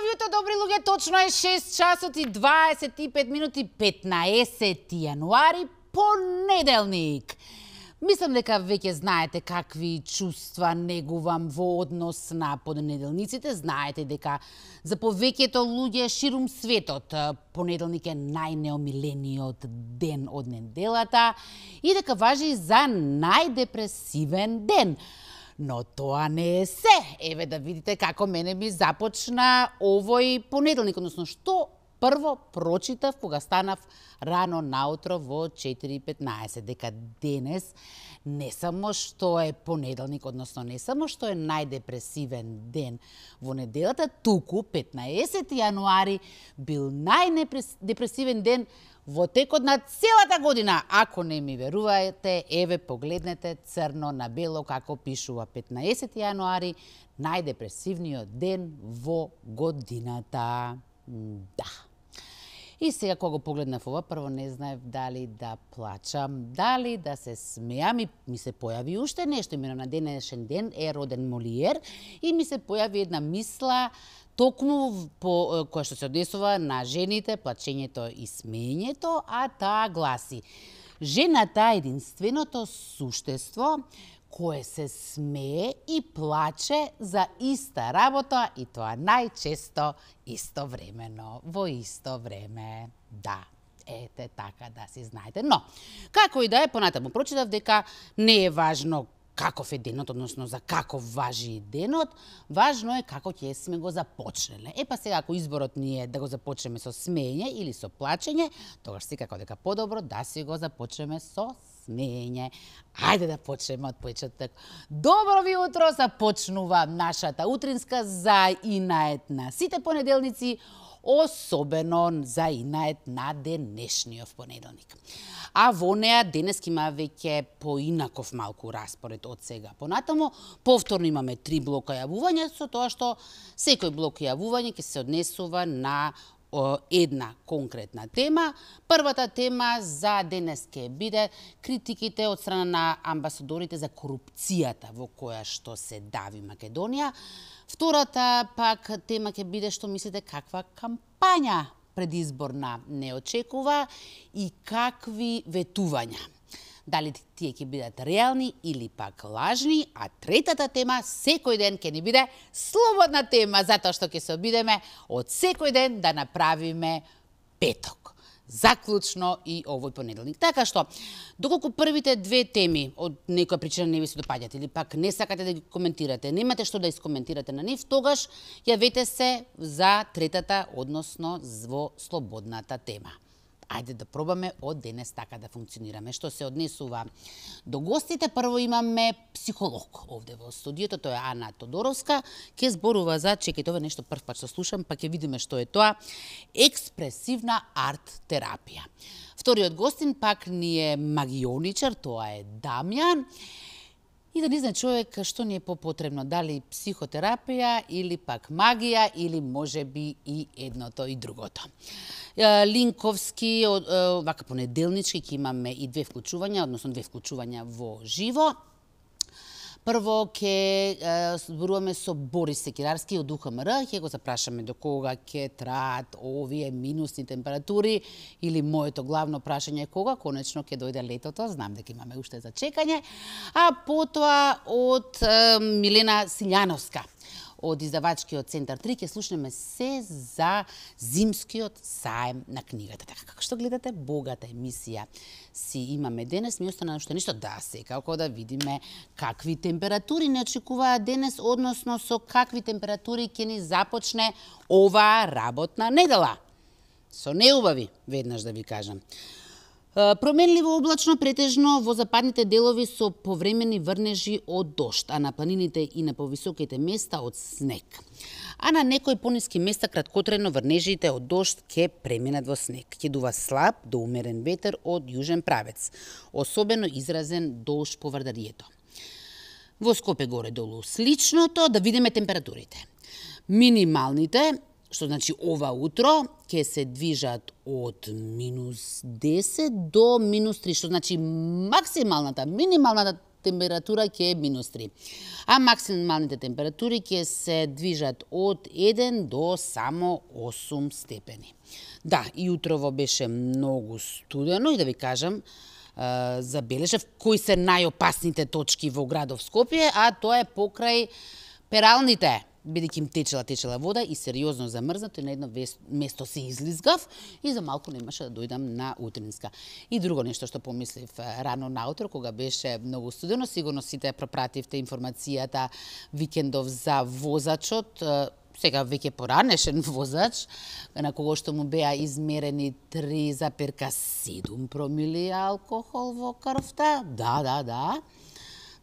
јутро, добри луѓе, точно е 6 часот и 25 минути, 15 јануари, понеделник. Мислам дека веќе знаете какви чувства негувам во однос на понеделниците. Знаете дека за повеќето луѓе ширум светот понеделник е најнеомилениот ден од неделата и дека важи за најдепресивен ден. Но тоа не е се. Еве да видите како мене ми започна овој понеделник, односно што прво прочитав кога станав рано наутро во 4:15, дека денес не само што е понеделник, односно не само што е најдепресивен ден во неделата, туку 15 јануари бил најдепресивен ден во текот на целата година. Ако не ми верувате, еве погледнете црно на бело како пишува 15 јануари, најдепресивниот ден во годината. Да. И сега кога го погледнав ова, прво не знаев дали да плачам, дали да се смеам и ми се појави уште нешто. Имено на денешен ден е роден Молиер и ми се појави една мисла токму по која што се однесува на жените, плачењето и смеењето, а таа гласи: жената е единственото суштество кое се смее и плаче за иста работа и тоа најчесто истовремено, во исто време. Да, ете така да си знаете. Но, како и да е, понатаму прочитав дека не е важно каков е денот, односно за каков важи денот, важно е како ќе сме го започнеле. Па сега, ако изборот ни е да го започнеме со смеење или со плачење, тогаш секако дека подобро да си го започнеме со смеење. Ајде да почнеме од почеток. Добро ви утро, започнува нашата утринска за инает на сите понеделници, особено за инает на денешниот понеделник. А во неа денес има веќе поинаков малку распоред од сега понатаму. Повторно имаме 3 блока јавувања, со тоа што секој блок јавување ќе се однесува на една конкретна тема. Првата тема за денес ќе биде критиките од страна на амбасадорите за корупцијата во која што се дави Македонија. Втората пак тема ќе биде што мислите каква кампања предизборна не очекува и какви ветувања. Дали тие ќе бидат реални или пак лажни, а третата тема секој ден ќе ни биде слободна тема, затоа што ќе се обидеме од секој ден да направиме петок. Заклучно и овој понеделник. Така што, доколку првите две теми од некоја причина не ви се допаѓат или пак не сакате да ги коментирате, немате што да искоментирате на нив, тогаш јавете се за третата, односно во слободната тема. Ајде да пробаме од денес така да функционираме. Што се однесува до гостите, прво имаме психолог овде во студиото, тоа е Ана Тодоровска, ќе зборува за, чекајте, ова нешто прв пат што слушам, па ќе видиме што е тоа, експресивна арт терапија. Вториот гостин пак ни е магионичар, тоа е Дамјан. И да не знае човек што ни е попотребно, дали психотерапија или пак магија или можеби и едното и другото. Линковски, вака понеделнички, ќе имаме и 2 вклучувања, односно 2 вклучувања во живо. Прво ќе зборуваме со Борис Секирарски од УХМР, ќе го запрашаме до кога ќе траат овие минусни температури или моето главно прашање е кога конечно ќе дојде летото, знам дека имаме уште за чекање, а потоа од Милена Силјановска од издавачкиот Центар 3 ќе слушнеме се за зимскиот саем на книгата. Така како што гледате, богата емисија си имаме денес, ми остана уште нешто да секако да видиме какви температури не очекуваат денес, односно со какви температури ќе ни започне оваа работна недела. Со неубави, веднаш да ви кажам. Променливо облачно, претежно во западните делови со повремени врнежи од дожд, а на планините и на повисоките места од снег. А на некои пониски места краткотрено врнежите од дожд ќе преминат во снег. Ќе дува слаб до умерен ветер од јужен правец, особено изразен долж по Вардарието. Во Скопје горе-долу сличното, да видиме температурите. Минималните, што значи ова утро, ќе се движат од -10 до -3, што значи максималната, минималната температура ќе е -3. А максималните температури ќе се движат од 1 до само 8 степени. Да, и утрово беше многу студено и да ви кажам, забележав кои се најопасните точки во градов Скопје, а тоа е покрај пералните, бидејќи им течела вода и сериозно замрзнато и на едно место се излизгав и за малку немаше да дојдам на утринска. И друго нешто што помислив рано наутро, кога беше многу студено, сигурно сите пропративте информацијата викендов за возачот, сега веќе поранешен возач, на кого што му беа измерени 3,7 промили алкохол во крвта.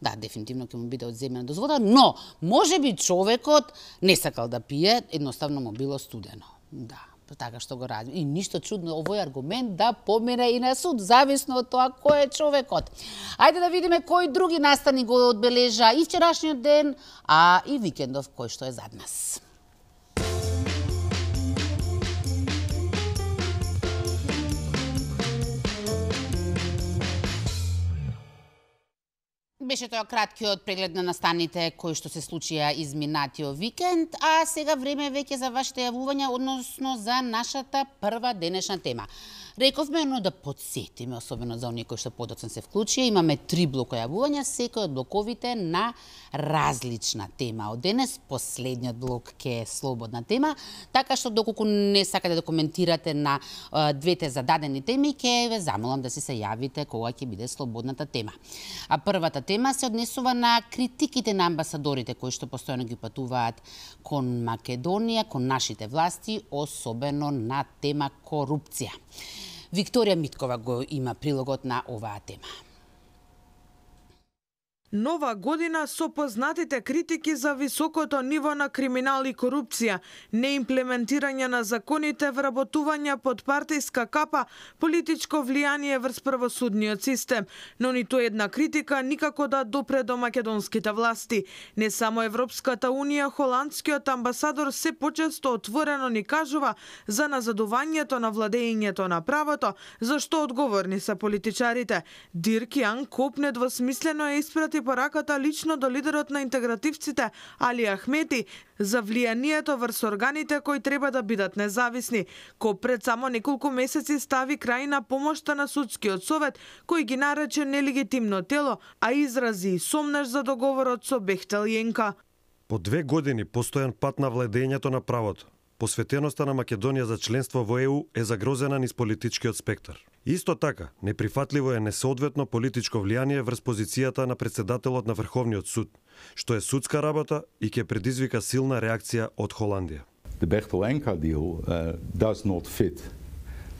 Да, дефинитивно ќе му биде одземена дозвола, но можеби човекот не сакал да пие, едноставно му било студено. Да, така што го ради. И ништо чудно овој аргумент да помине и на суд, зависно од тоа кој е човекот. Ајде да видиме кои други настани го одбележа и вчерашниот ден, а и викендов кој што е зад нас. Беше тоа краткиот преглед на настаните кои што се случија изминатиот викенд, а сега време веќе за вашите јавувања, односно за нашата прва денешна тема. Рековме, но да подсетиме, особено за оние кои што подоцна се вклучија, имаме 3 блока јавувања, секој од блоковите на различна тема. Од денес последниот блок ќе е слободна тема, така што доколку не сакате да коментирате на двете зададени теми, ќе ве замолам да се јавите кога ќе биде слободната тема. А првата тема се однесува на критиките на амбасадорите кои што постојано ги патуваат кон Македонија, кон нашите власти, особено на тема корупција. Викторија Миткова го има прилогот на оваа тема. Нова година со познатите критики за високото ниво на криминал и корупција, неимплементирање на законите, вработување под партиска капа, политичко влијание врз правосудниот систем. Но ниту една критика никако да допре до македонските власти. Не само Европската унија, холандскиот амбасадор се почесто отворено ни кажува за назадувањето на владеењето на правото, за што одговорни се политичарите. Дирк Јан копне двосмислено е испрати пораката лично до лидерот на интегративците Али Ахмети за влијанието врз органите кои треба да бидат независни, кој пред само неколку месеци стави крај на помошта на судскиот совет, кој ги нарече нелегитимно тело, а изрази и сомнеш за договорот со Бехтел Јенка. По 2 години постојан пат на владењето на правото. Посветеноста на Македонија за членство во ЕУ е загрозена низ политичкиот спектар. Исто така, неприфатливо е несоодветно политичко влијание врз позицијата на председателот на Врховниот суд, што е судска работа и ќе предизвика силна реакција од Холандија. The Bechtel-Enka deal does not fit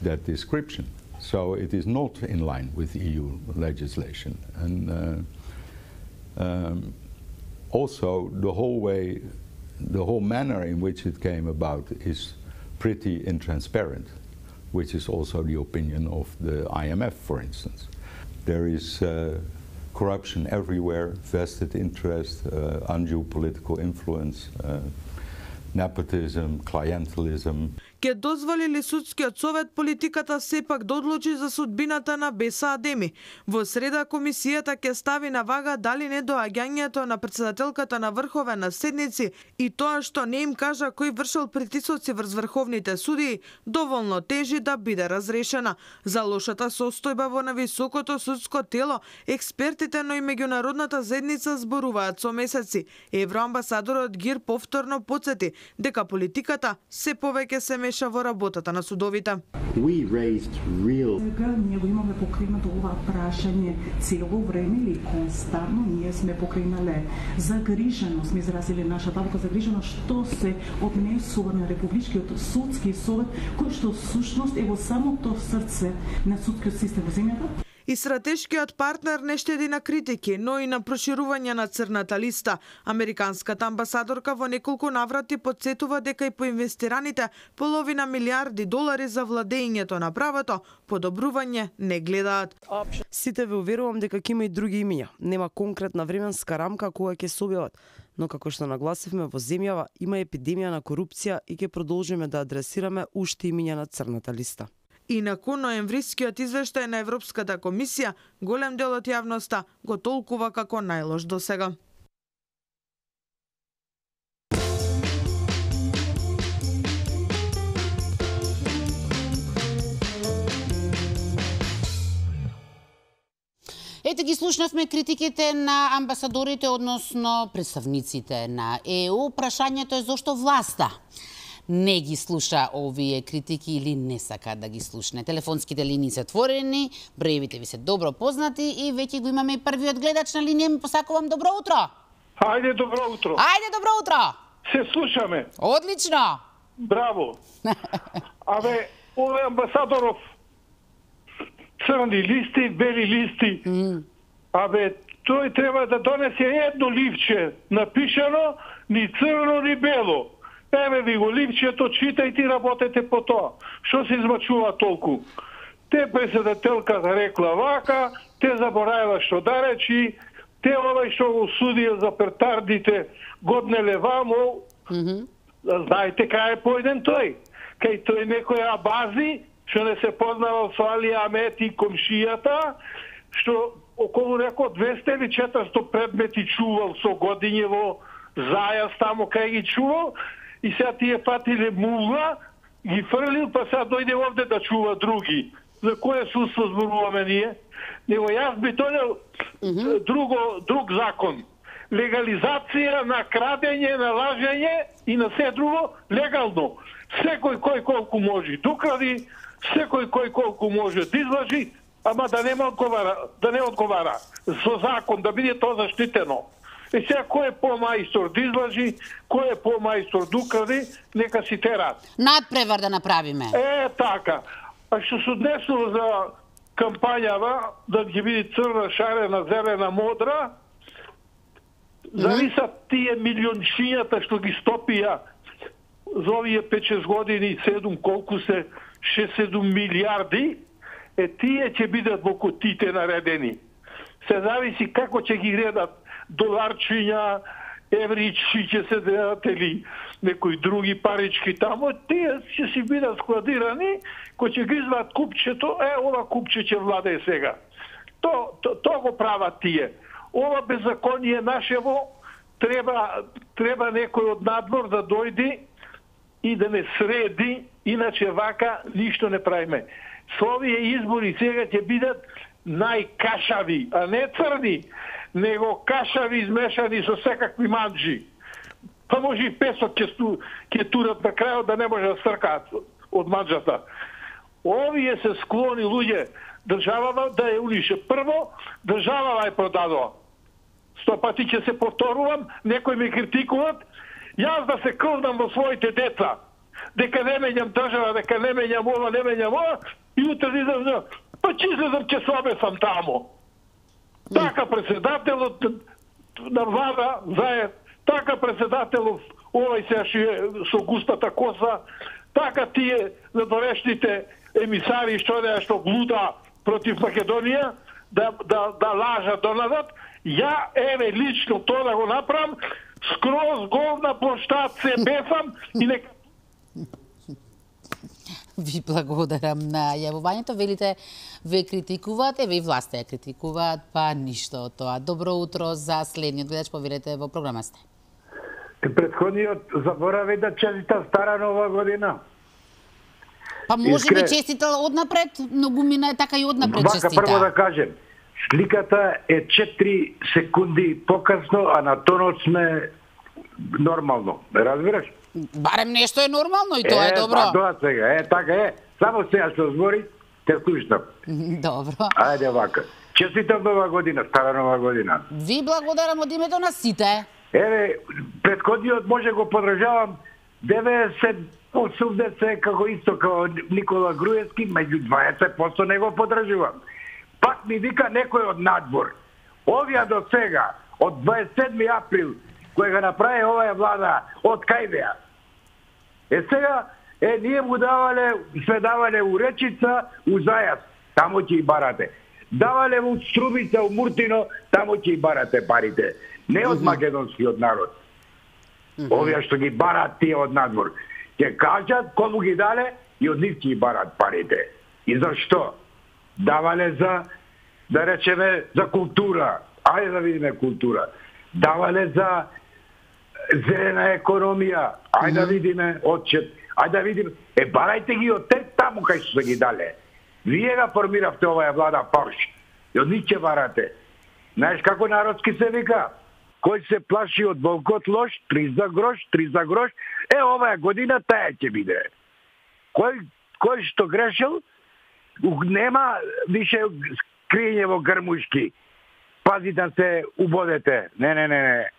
that description, so it is not in line with EU legislation. And also the whole manner in which it came about is pretty intransparent, which is also the opinion of the IMF, for instance. There is corruption everywhere, vested interest, undue political influence, nepotism, clientelism. Ке дозволи ли судскиот совет политиката сепак да одлучи за судбината на Беса Адеми? Во среда комисијата ќе стави на вага дали недоаѓањето на председателката на Врховен на седници и тоа што не им кажа кој вршил притисоци врз врховните судии доволно тежи да биде разрешена. За лошата состојба во нависокото судско тело, експертите, но и меѓународната заедница зборуваат со месеци. Евроамбасадорот Гир повторно потсети дека политиката се повеќе се меша во работата на судовите. Ние го имаме покренато ова прашање цело време или константно, ние сме покренале загриженост, сме изразили нашата загриженост што се однесува на Републичкиот судски совет, кој што сушност е во самото срце на судскиот систем во земјата. И стратешкиот партнер не штеди на критики, но и на проширување на црната листа. Американската амбасадорка во неколку наврати подсетува дека и по инвестираните половина милиарди долари за владењето на правото, подобрување не гледаат. Сите ве уверувам дека ќе има и други имиња. Нема конкретна временска рамка кога ќе се објават, но како што нагласивме, во земјава има епидемија на корупција и ќе продолжиме да адресираме уште имиња на црната листа. И након ноемврискиот извештај на Европската комисија, голем дел од јавноста го толкува како најлош досега. Ете ги слушнавме критиките на амбасадорите, односно представниците на ЕУ. Прашањето е зошто власта не ги слуша овие критики или не сака да ги слушне. Телефонските линии се отворени, броевите ви се добро познати и веќе го имаме и првиот гледач на линија. Ми посакувам добро утро. Ајде, добро утро. Ајде, добро утро. Се слушаме. Одлично. Браво. Абе, овој амбасадоров црни листи, бели листи. Абе, тој треба да донесе едно ливче напишано, ни црно, ни бело. Еве ви го ливчето, читајте и работете по тоа. Што се измачува толку? Те председателката рекла вака, те заборавила што да речи, те овај што го судија за петардите годнеле вамо, знаете кај е појден тој? Кај тој некој абази, што не се познавал со Али Амет и комшијата, што околу реко 200 или 400 предмети чувал со годињево зајас тамо кај ги чувал, и сега тие патиле мула, ги фрлил, па сега дојде овде да чува други. За кое судство зборуваме ние? Него јас би донел друг закон. Легализација на крадење, на лажење и на се друго легално. Секој кој колку може докради, секој кој колку може да излажи, ама да не одговара со закон, да биде тоа заштитено. И сега кој е помајстор да излажи, кој е помајстор да укради, нека си терат. Надпревар да направиме. Така. А што се однесло за кампањава, да ќе биде црна, шарена, зелена, модра, зависат тие милиончињата што ги стопија за овие 5-6 години, 7 колку се, 6-7 милиарди, тие ќе бидат во кутите наредени. Се зависи како ќе ги гледат доларчиња, евричи ќе се дадат или некои други парички тамо, тие ќе си бидат складирани, кој ќе ги извадат купчето, ова купче ќе владее сега. То го прават тие. Ова беззаконие нашево треба некој од надвор да дојде и да не среди, иначе вака ништо не правиме. Со овие избори сега ќе бидат најкашави, а не црни, него кашави измешани со секакви манџи. Па може и песок ќе турат на крајот да не може да стркаат од манџата. Овие се склони луѓе државава да ја унише. Прво, државава ја продадува. 100 пати ќе се повторувам, некои ме критикуват, јас да се крвнам во своите деца, дека не менјам држава, дека не менјам ова, не менјам ова, и утре излезам, па че излезам ќе се обесам тамо. Така председателот на влада заед, така председателов овај сега со густата коса, така тие надорешните емисари што глуда против Македонија, да лажат донадат. Ја еве лично тоа да го направам, скроз гол на плоштад се бефам и нека. Ви благодарам на јавувањето. Велите, ве критикуваат, еве и власта ја критикуваат, па ништо од тоа. Добро утро за следниот гледач, повелете во програма сте. Претходниот заборави да честита стара нова година. Па може би честитал однапред, многумина е така и однапред честита. Вака прво да кажем, сликата е 4 секунди покасно, а на тонот сме нормално. Разбираш? Барем нешто е нормално и тоа е добро. Тоа сега, така е. Само сега што збори, те слушнам. Добро. Ајде вака. Честитам нова година, стара нова година. Ви благодарам од името на сите. Еве, предходниот може го подржавам 90-80 како исто како Никола Груевски, меѓу 20% не го подржувам. Пак ми вика некој од надвор. Овие до сега, од 27 април, кој го направи оваа влада, од кај беа? Сега, ние му сме давале у Речица, у Зајас, тамо ќе и барате. Давале у Струмица, у Муртино, тамо ќе и барате парите. Не од македонскиот народ. Овие што ги барат тие од надвор. Ќе кажат кому ги дале и од нив ќе и барат парите. И зашто? Давале за, да речеме, за култура. Ајде да видиме култура. Давале за зелена економија. Ајде да видиме отчет. Ајде да видиме. Барајте ги од те таму кај што се ги дале. Вие ga формиравте оваа влада Порш. И од нив ќе барате. Знаеш како народски се вика? Кој се плаши од волкот лош, 3 за грош, 3 за грош, оваа година таа ќе биде. Кој што грешил, нема више криење во грмушки. Пази да се убодете. Не.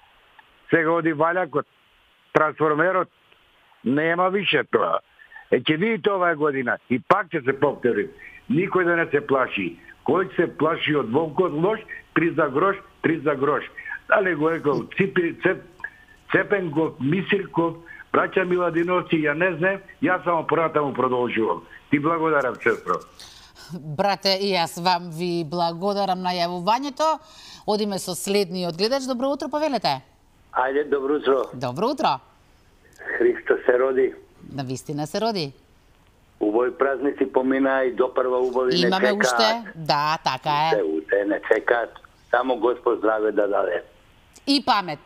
Сега оди валјакот, трансформерот, нема више тоа. Ќе видите оваа година и пак ќе се повтори. Никој да не се плаши. Кој се плаши од волкот лош, 3 за грош, 3 за грош. Дали го екол Цепенков, Мисирков, браќа Миладиновци, ја не знам, јас само понатаму продолжувам. Ти благодарам, сестро. Брате, и јас вам ви благодарам на јавувањето. Одиме со следниот гледач. Добро утро, повелете. Ајде, добро утро. Добро утро. Христо се роди. Навистина се роди. Убави празници помина и допрва убави не чекаат. Имаме уште? Да, така е. Уште не чекаат. Само Господ здраве да даде. И памет.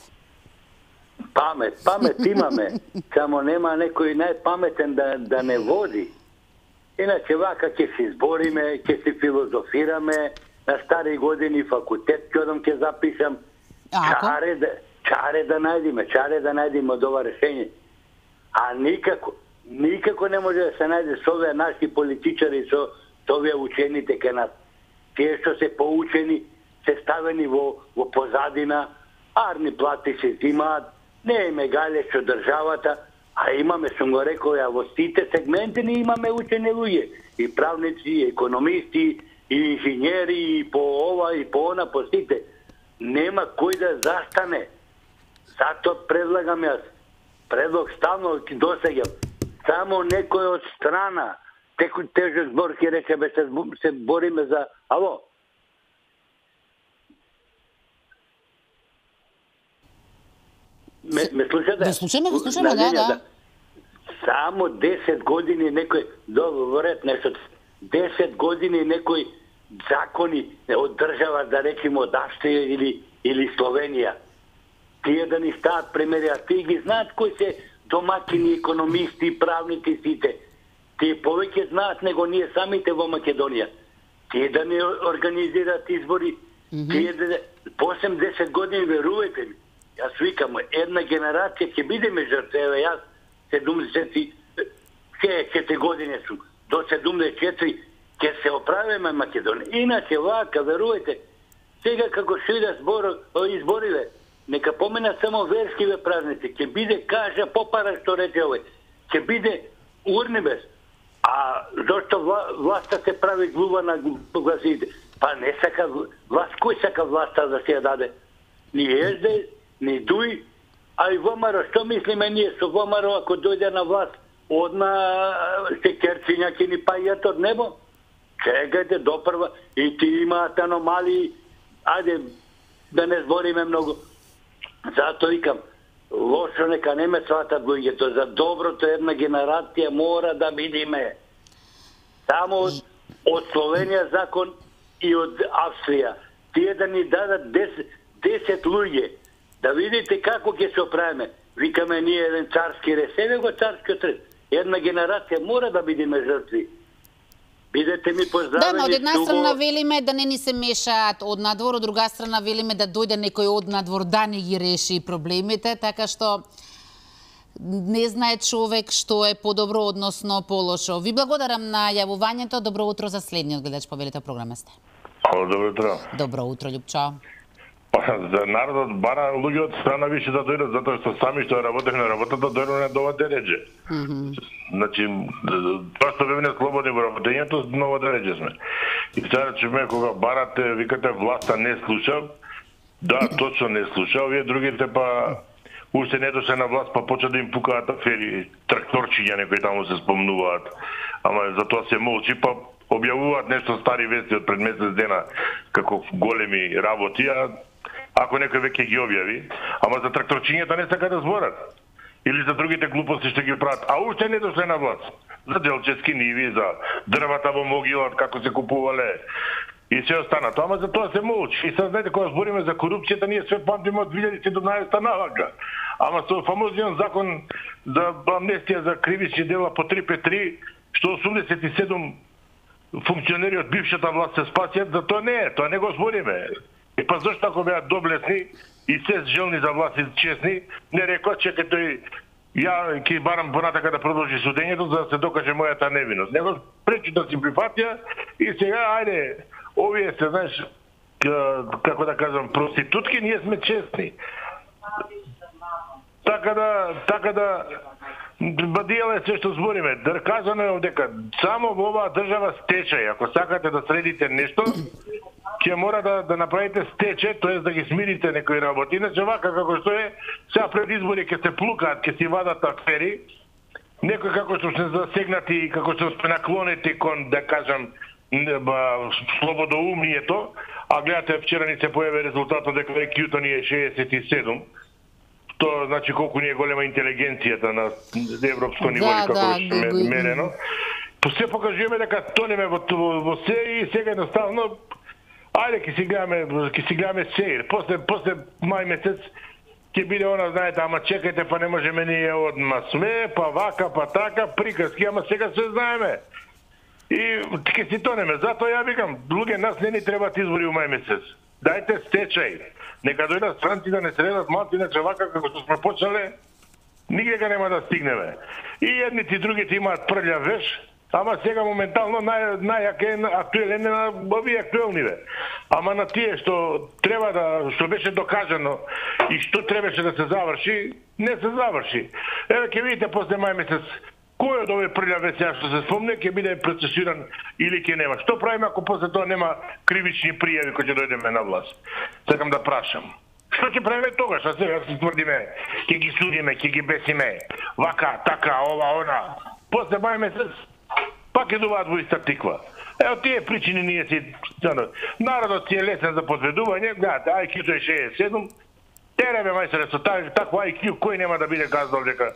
Памет имаме. Само нема некој најпаметен да не води. Иначе вака ќе се избориме, ќе се филозофираме, на стари години факултет ќе запишам. Чаре да најдеме од ова решење. А никако не може да се најде со овие наши политичари, со овие учените ке нас. Тие што се поучени, се ставени во позадина, арни плати се зимаат, не е мегале со државата, а имаме, сум го рекол, во сите сегменти не имаме учени луѓе. И правници, и економисти, и инженери, и по ова, и по она, по сите. Нема кој да застане. Зато предлагам јас. Предлог ставно досеѓам. Само некој од страна. Тежок збор ќе речеме, се бориме за... Ало? Ме слушате? Да слушаме, да. Само 10 години некој, говорет нешто, 10 години некој закони од држава, да речеме од Австрија или Словенија. Тие да ни стават примери, а тие ги знаат кои се домакини, економисти, правници сите. Тие повеќе знаат него ние самите во Македонија. Тие да не организираат избори, тие да... По 80 години, верувате ми, јас викам, една генерација ќе бидеме жртве, јас 74 години сум, до 74 ќе се оправиме Македонија. Иначе вака, верувате, сега како што иде избориве, нека помена само верскиве празници, ќе биде кажа попара што рече овој, ќе биде урнибес. А зашто власта се прави глува на гласите? Па не сака власт, кој сака власта да се ја даде? Ни езде, ни дуј, а и ВМРО, што мислиме ние со ВМРО ако дојде на власт, одна секерцинја ќе ни пајат од небо? Чекајте допрва, и ти имаат аномалии, ајде да не збориме многу. Зато викам, лошо нека не ме сватат луѓето, за доброто една генерација мора да видиме. Само од Словенија закон и од Австрија. Тие да ни дадат 10 луѓе, да видите како ќе се оправиме. Викаме ние еден царски ред, себе го царскиот ред. Една генерација мора да бидеме жртви. Бидете ми поздравени. Да, од една страна велиме да не ни се мешаат од надвор, од друга страна велиме да дојде некој од надвор да ни ги реши проблемите, така што не знае човек што е подобро, односно полошо. Ви благодарам на јавувањето. Добро утро за следниот гледач, повелете програма сте. Добро утро. Добро утро, Љупчо. За народот бара луѓе од страна више да дојдат, затоа што сами што работевме на работата дојдоме до ова дереđe. Значи, тоа што бевме слободни во работењето, ново дереđe сме. И сега чуме кога барате, викате власта не слуша, да, точно не слуша, овие другите па уште не дошле на власт, па почна да им пукаат афери, тракторчиња некои таму се спомнуваат, ама за тоа се молчи, па објавуваат нешто стари вести од пред месец дена како големи работи, ако некој веќе ги објави, ама за тракторчињата не сака да зборат. Или за другите глупости што ги прават, а уште не дошле на власт. за делчески ниви, за дрвата во могилот, како се купувале и се останато. Ама за тоа се молчи. И сега, знаете, кога збориме за корупцијата, ние све памтиме од 2017 навака. Ама со фамозниот закон за амнестија за кривични дела по 353, што 87 функционери од бившата власт се спасиат, за тоа не е, тоа не го збориме. И па зашто ако беа доблесни и се желни за власт и честни, не рекоа, чекај тој, ја ќе барам понатака да продолжи судењето за да се докаже мојата невиност. Него пречи да си прифатија и сега, ајде, овие се, знаеш, како да кажам, проститутки, ние сме честни. Така да бадијале се што збориме. Кажано е дека само во оваа држава стечај. Ако сакате да средите нешто, ќе мора да направите стече, тоа да ги смирите некои работи. Иначе вака како што е, сега пред избори ќе се плукаат, ќе си вадат афери, некои како што се засегнати, како што се наклонети кон, да кажам, слободоумнието, а гледате, вчера ни се појави резултатот дека IQ-то ни е 67. Тоа значи колку ни е голема интелигенцијата на европско ниво, како што мерено. Се покажуваме дека тонеме во се и сега едноставно ајде ќе си гледаме сеир. После мај месец ќе биде она, знаете, ама чекајте, па не можеме ние одма све, па вака, па така, приказки, ама сега се знаеме. И ќе си тонеме. Затоа ја викам, луѓе, нас не ни требаат избори у мај месец. Дајте стечај. Нека дојдат странци да не средат малци, иначе вака како што сме почнале, нигде нема да стигнеме. И едните и другите имаат прљав веш, ама сега моментално најак е актуелен на овие актуелниве. Ама на тие што треба што беше докажано и што требаше да се заврши, не се заврши. Еве ќе видите после мај месец кој од овие прљави сега што се спомне ќе биде процесиран или ќе нема. Што правиме ако после тоа нема кривични пријави кои ќе дојдеме на власт? Сакам да прашам. Што ќе правиме тогаш? А сега се тврдиме, ќе ги судиме, ќе ги бесиме, вака, така, ова, она. После мај месец пак ќе дуваат во иста тиква. Ево тие причини ние си... Народот си е лесен за подведување, гледате, IQ-то е 67, теребе мајсоре со такво IQ, кој нема да биде казал дека...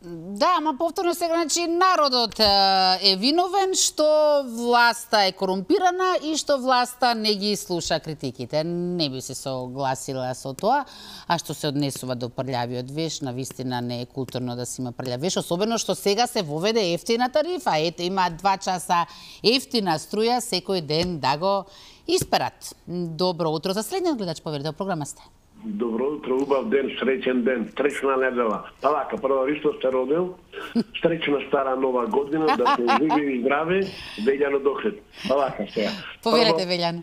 Да, ама повторно сега, значи, народот е виновен што власта е корумпирана и што власта не ги слуша критиките. Не би се согласила со тоа, а што се однесува до прљавиот веш, навистина не е културно да си има прљав веш, особено што сега се воведе ефтина тарифа. Ето, има 2 часа ефтина струја секој ден да го исперат. Добро утро за следниот гледач, поверите, програма сте. Добро утро, убав ден, среќен ден, среќна недела. Па вака, прво Ристо се родил, среќна стара нова година, да се живи и здрави, Велјано дохлед. Па вака сега. Поверете, Велјано.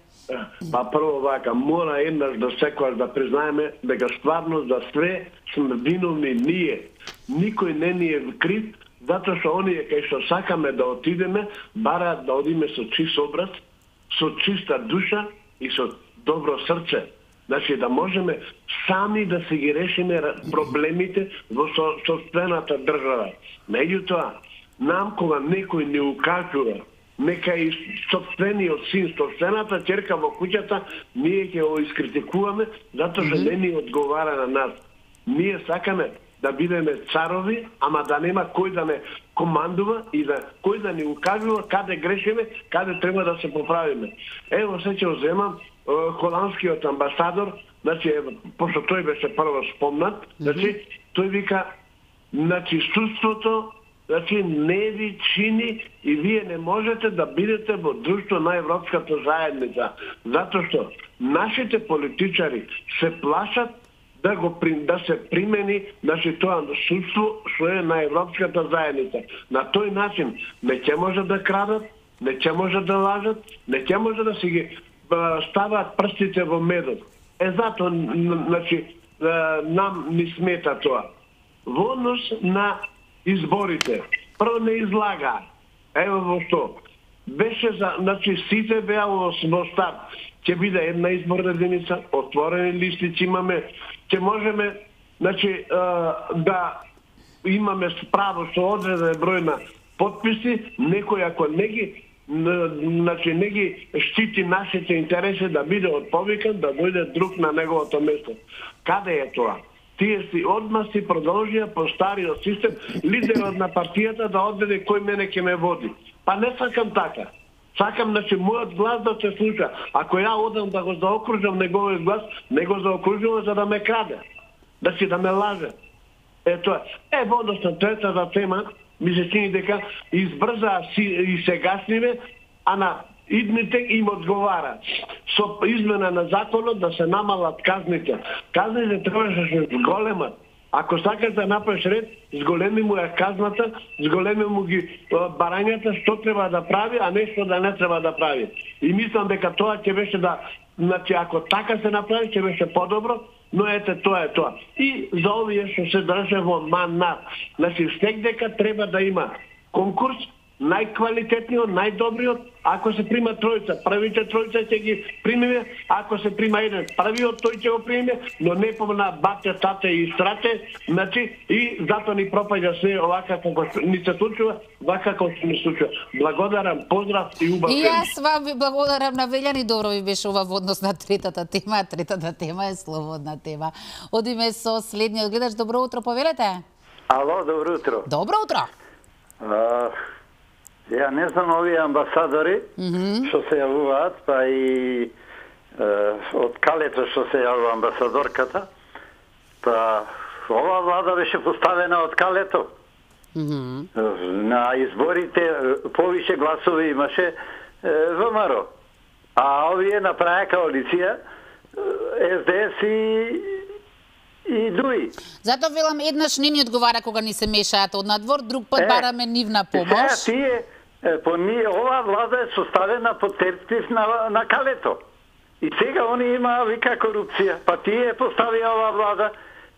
Па прво вака, мора еднаш да секојаш да признаеме дека стварно за све сме виновни ние. Никој не ни е крив, затоа што оние кај што сакаме да отидеме, бараат да одиме со чист образ, со чиста душа и со добро срце. Значи да можеме сами да си ги решиме проблемите во сопствената држава. Меѓутоа, нам кога некој не укажува, нека и сопствениот син, сопствената ќерка во куќата, ние ќе го искритикуваме, затоа што не ни одговара на нас. Ние сакаме да бидеме царови, ама да нема кој да не командува и да кој да ни укажува каде грешиме, каде треба да се поправиме. Ево се ќе земам холандскиот амбасадор, значи, пошто тој беше прво спомнат, значи, тој вика, значи, судството, значи, не ви чини и вие не можете да бидете во друштво на Европската заедница. Затоа што нашите политичари се плашат да се примени, значи, тоа судство што е на Европската заедница. На тој начин не ќе може да крадат, не ќе може да лажат, не ќе може да си ги ставаат прстите во медот. Затоа, значи, нам ни смета тоа. Во однос на изборите, прво не излага. Ево во што. Беше за, значи, сите беа во старт. Ќе биде една изборна единица, отворени листи ќе имаме, ќе можеме, значи, да имаме право со одреден број на потписи, некој ако не ги значи не ги штити нашите интереси да биде отповикан, да дојде друг на неговото место. Каде е тоа? тие си одма си продолжија по стариот систем, лидерот на партијата да одведе кој мене ќе ме води. Па не сакам така. Сакам, значи, мојот глас да се слуша. Ако ја одам да го заокружам неговиот глас, не го заокружувам за да ме краде. Значи, да ме лаже. Тоа. Односно, третата тема, ми се чини дека избрзаа и сегашниве, а на идните им одговара. Со измена на законот да се намалат казните. Казните требаше да се зголемат. Ако сакаш да направиш ред, зголеми му е казната, зголеми му ги барањата што треба да прави, а не што да не треба да прави. И мислам дека тоа ќе беше да, значи ако така се направи, ќе беше подобро, но ете тоа е тоа. И за овие што се држе во манат, значи дека треба да има конкурс, најквалитетниот, најдобриот, ако се прима тројца, првите тројца ќе ги примиме, ако се прима еден, првиот тој ќе го примиме, но не помна бате, тате и страте, значи и затоа ни пропаѓа се овака како ни се случува, вака како се ни случува. Благодарам, поздрав и убав ден. И јас вам ви благодарам на Велјани, добро ви беше ова во однос на третата тема, третата тема е слободна тема. Одиме со следниот гледач, добро утро, повелете. Ало, добро утро. Добро утро. Ја не знам овие амбасадори што се јавуваат, па и од калето што се јавува амбасадорката, па ова влада беше поставена од калето. На изборите повише гласови имаше ВМРО, а овие направија коалиција СДС и ДУИ. Зато велам еднаш не ни одговара кога ни се мешаат од надвор, друг пат бараме нивна помош. Ова влада е составена под терптив на калето. И сега они има вика корупција. Па тие поставија ова влада,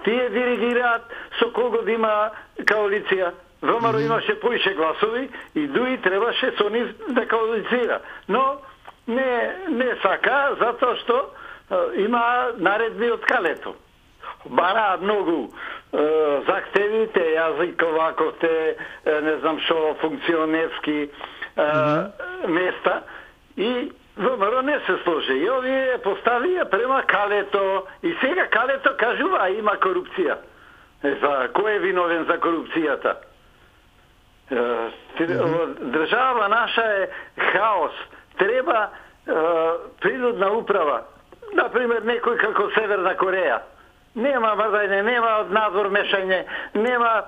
тие диригираат со кого да има коалиција. ВМРО имаше поише гласови и ДУИ требаше со нив да коалицира. Но не сака, затоа што има наредби од калето. Бараат многу захтевите, јазиковаковте, не знам шо, функционерски места и ВМРО не се сложи. И овие поставија према калето и сега калето кажува има корупција. За кој е виновен за корупцијата? Држава наша е хаос. Треба принудна управа. Например, некој како Северна Кореја. Нема врдање, нема од надвор мешање, нема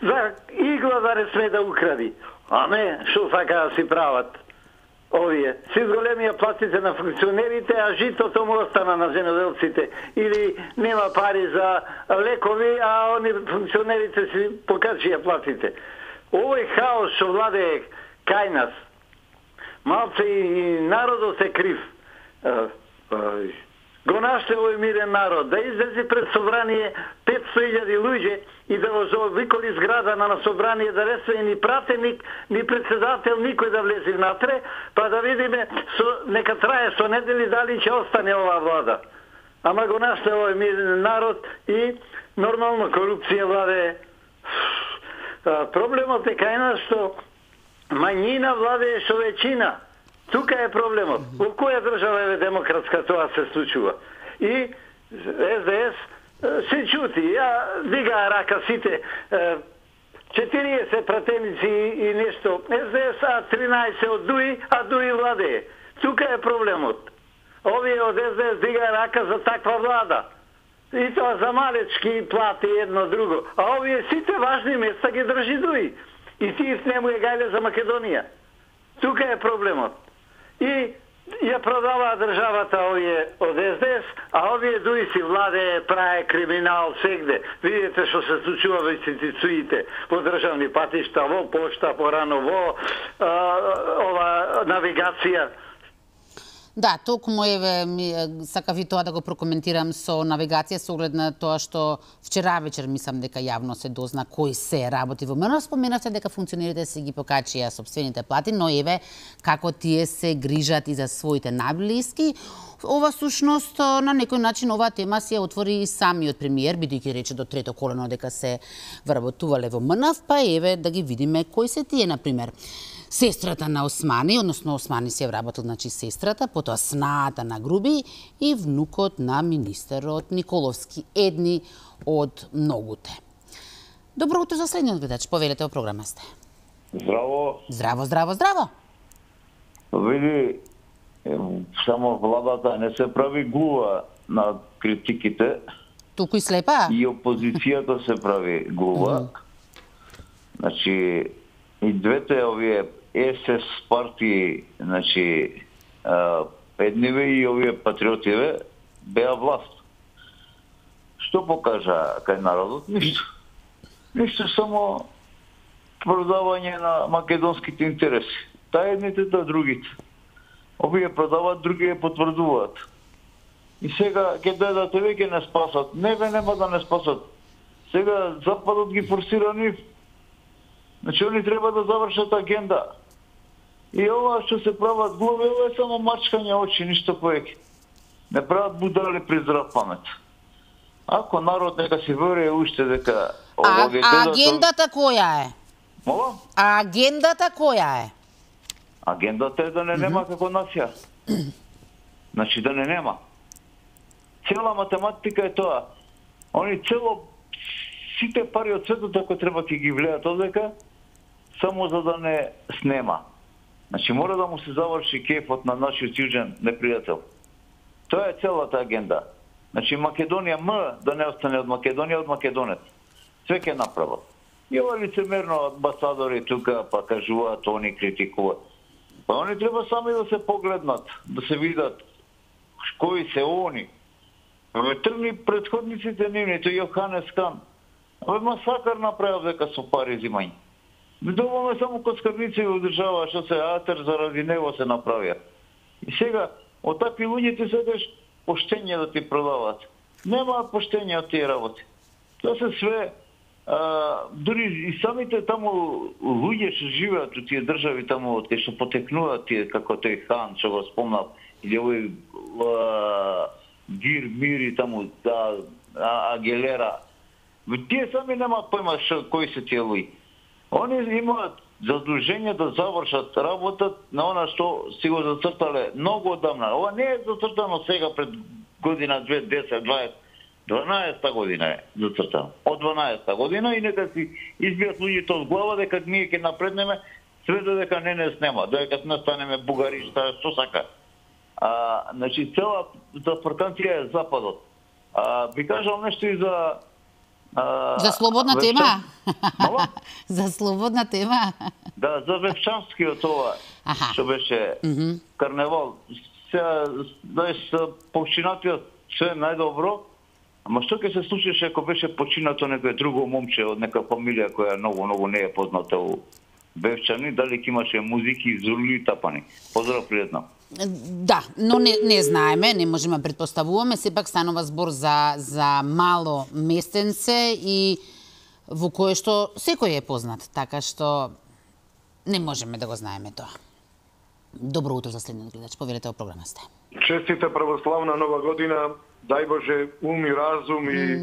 за игла да не сме да укради. А не, што сака да си прават овие. Си зголемија платите на функционерите, а житото му остана на земјоделците. Или нема пари за лекови, а они функционерите си покачија платите. Овој хаос што владее кај нас, малце и народот е крив. Го наште овој мирен народ, да излезе пред собрание 500.000 луѓе и да го заобиколи зграда на собрание, да не се ни пратеник, ни председател, никој да влезе внатре, па да видиме, нека трае со недели дали ќе остане ова влада. Ама го наште овој мирен народ и нормално корупција владее. Проблемот е кај нас што мањина владее со веќина. Тука е проблемот. Во која држава е демократска тоа се случува? И СДС се чути. Ја дигаа рака сите 40 пратеници и нешто. СДС 13 од ДУИ, а ДУИ владее. Тука е проблемот. Овие од СДС дигаа рака за таква влада. И тоа за малечки плати едно друго. А овие сите важни места ги држи ДУИ. И тие не му е гајле за Македонија. Тука е проблемот. И ја продава државата овие од СДС, а овие ДУИ си владее, праe криминал сегде. Видите што се случува во институциите, во државни патишта, во пошта, порано во ова навигација. Да, токму сакав и тоа да го прокоментирам со навигација со оглед на тоа што вчера вечер мислам дека јавно се дозна кој се работи во МНР. Споменавте дека функционерите се ги покачија сопствените плати, но еве како тие се грижат и за своите најблиски. Ова сушност на некој начин оваа тема си ја отвори и самиот премиер, бидејќи рече до трето колено дека се вработувале во МНФ, па еве да ги видиме кои се тие, например. сестрата на Османи, односно Османи си ја вработил, значи сестрата, потоа снаата на Груби и внукот на министерот Николовски, едни од многуте. Добро утро за следниот гледач, повелете о програма сте. Здраво. Здраво, здраво, здраво. Види, само владата не се прави глува на критиките. Туку и слепа? И опозицијата се прави глува. Значи, и двете овие СС партии, значи, едниве и овие патриотиве, беа власт. Што покажа кај народот? Ништо. Ништо, само продавање на македонските интереси. Та едните, та другите. Овие продават, другие потврдуваат. И сега ќе дојдат еве ќе не спасат. Неве нема да не спасат. Сега Западот ги форсира нив. Значи они треба да завршат агенда. И ова што се прават глави, ова е само мачкање очи, ништо повеќе. Не прават будали при здрав памет. Ако народ нека си верuje уште дека агендата која е? Мола? Агендата која е? Агендата е да не нема како нација. Значи да не нема. Цела математика е тоа. Они сите пари од светот ако треба ќе ги влеат одека, само за да не снема. Значи мора да му се заврши кефот на нашиот јужен непријател. Тоа е целата агенда. Значи Македонија да не остане од Македонија, од македонец. Све ќе направат. И ова лицемерно амбасадори тука па кажуваат, они критикуваат. Па они треба сами да се погледнат, да се видат кои се они. Тргни предходниците нивните, Јоханес Кан. Овој масакар направил дека со пари зимање. Доволно е само коскарници во држава, што се атер заради него се направија. И сега, од такви луѓе ти седеш поштење да ти продават. Нема поштење од тие работи. Тоа се све, дури и самите таму луѓе што живеат во тие држави таму, од кај што потекнуваат тие, како тој Хан, што го спомнав, или овој Гир, Мири таму, Агелера. Тие сами немаат појма кои се тие луѓе. Они имаат задолжение да завршат работа на она што си го зацртале многу одамна. Ова не е зацртано сега пред година 2, 10, 20, 12 година е зацртано. Од 12 година и нека си избијат луѓето од глава дека ние ќе напреднеме све додека не снема, додека не станеме бугари, што сака. Значи целата фрканција е Западот. Би кажал нешто и за слободна тема? За слободна тема? Да, за Вевчанскиот ова, што беше карневал. Сега, починатиот се најдобро, ама што ќе се случеше ако беше починато некој друго момче од нека фамилија која многу не е позната у Вевчани, дали ќе имаше музики, зули и тапани. Поздрав, пријатно. Да, но не знаеме, не можеме да предпоставуваме, сепак станува збор за мало местенце и во кое што секој е познат, така што не можеме да го знаеме тоа. Добро утро за следниот гледач, повелете о програма сте. Честита православна нова година, дај Боже ум и разум и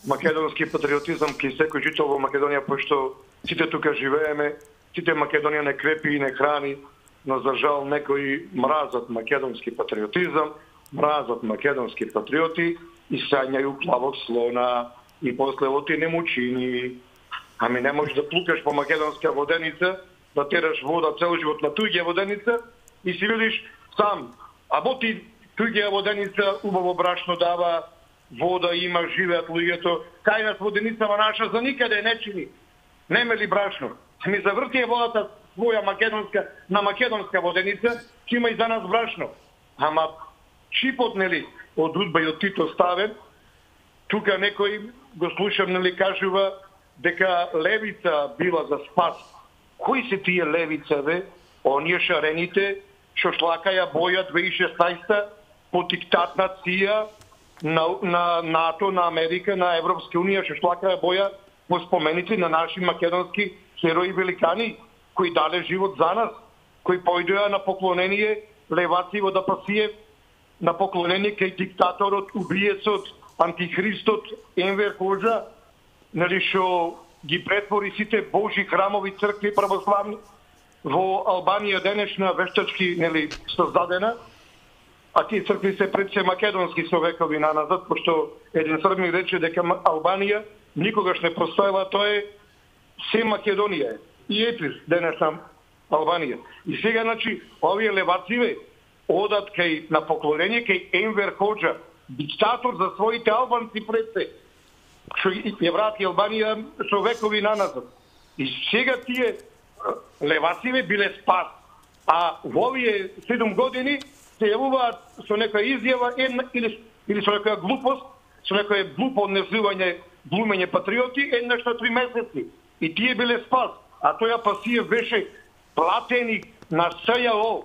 македонски патриотизам ки секој жител во Македонија, пошто сите тука живееме, сите Македонија не крепи и не храни, но за жал некои мразат македонски патриотизам, мразат македонски патриоти и сањају плавот слона и после оти не му чини. Ами не можеш да плукаш по македонска воденица, да тераш вода цел живот на туѓа воденица и си видиш сам, а ти туѓа воденица убаво брашно дава, вода има, живеат луѓето, кај нас воденицава наша за никаде не чини. Нема ли брашно? Ми завртија водата своја македонска, на македонска воденица, ќе има и за нас брашно. Ама чипот, нели, од Удба и од Тито ставен, тука некој го слушам, нели, кажува дека левица била за спас. Кои се тие левица, бе? Оние шарените, што шлакаја боја 2016 по диктат на ЦИА, на НАТО, на Америка, на Европска унија, што шлакаја боја по споменици на наши македонски херои великани, кои дале живот за нас, кои појдоа на поклонение Леваци во Дапасиев, на поклонение кај диктаторот, убиецот, антихристот Енвер Ходжа, нели што ги претвори сите божи храмови цркви православни во Албанија денешна вештачки, нели, создадена, а тие цркви се пред се македонски со векови наназад, пошто еден Србин рече дека Албанија никогаш не постоела, тоа е се Македонија и Епир, денешна Албанија. И сега, значи, овие левациве одат кај на поклонение кај Енвер Хоџа, диктатор за своите албанци пред се, што ја врати Албанија со векови наназад. И сега тие левациве биле спас, а во овие 7 години се јавуваат со некоја изјава или со некоја глупост, со некоја глупо однесување, глумење патриоти еднаш на 3 месеци. И тие биле спас. А тој Апасиев беше платеник на СЈО,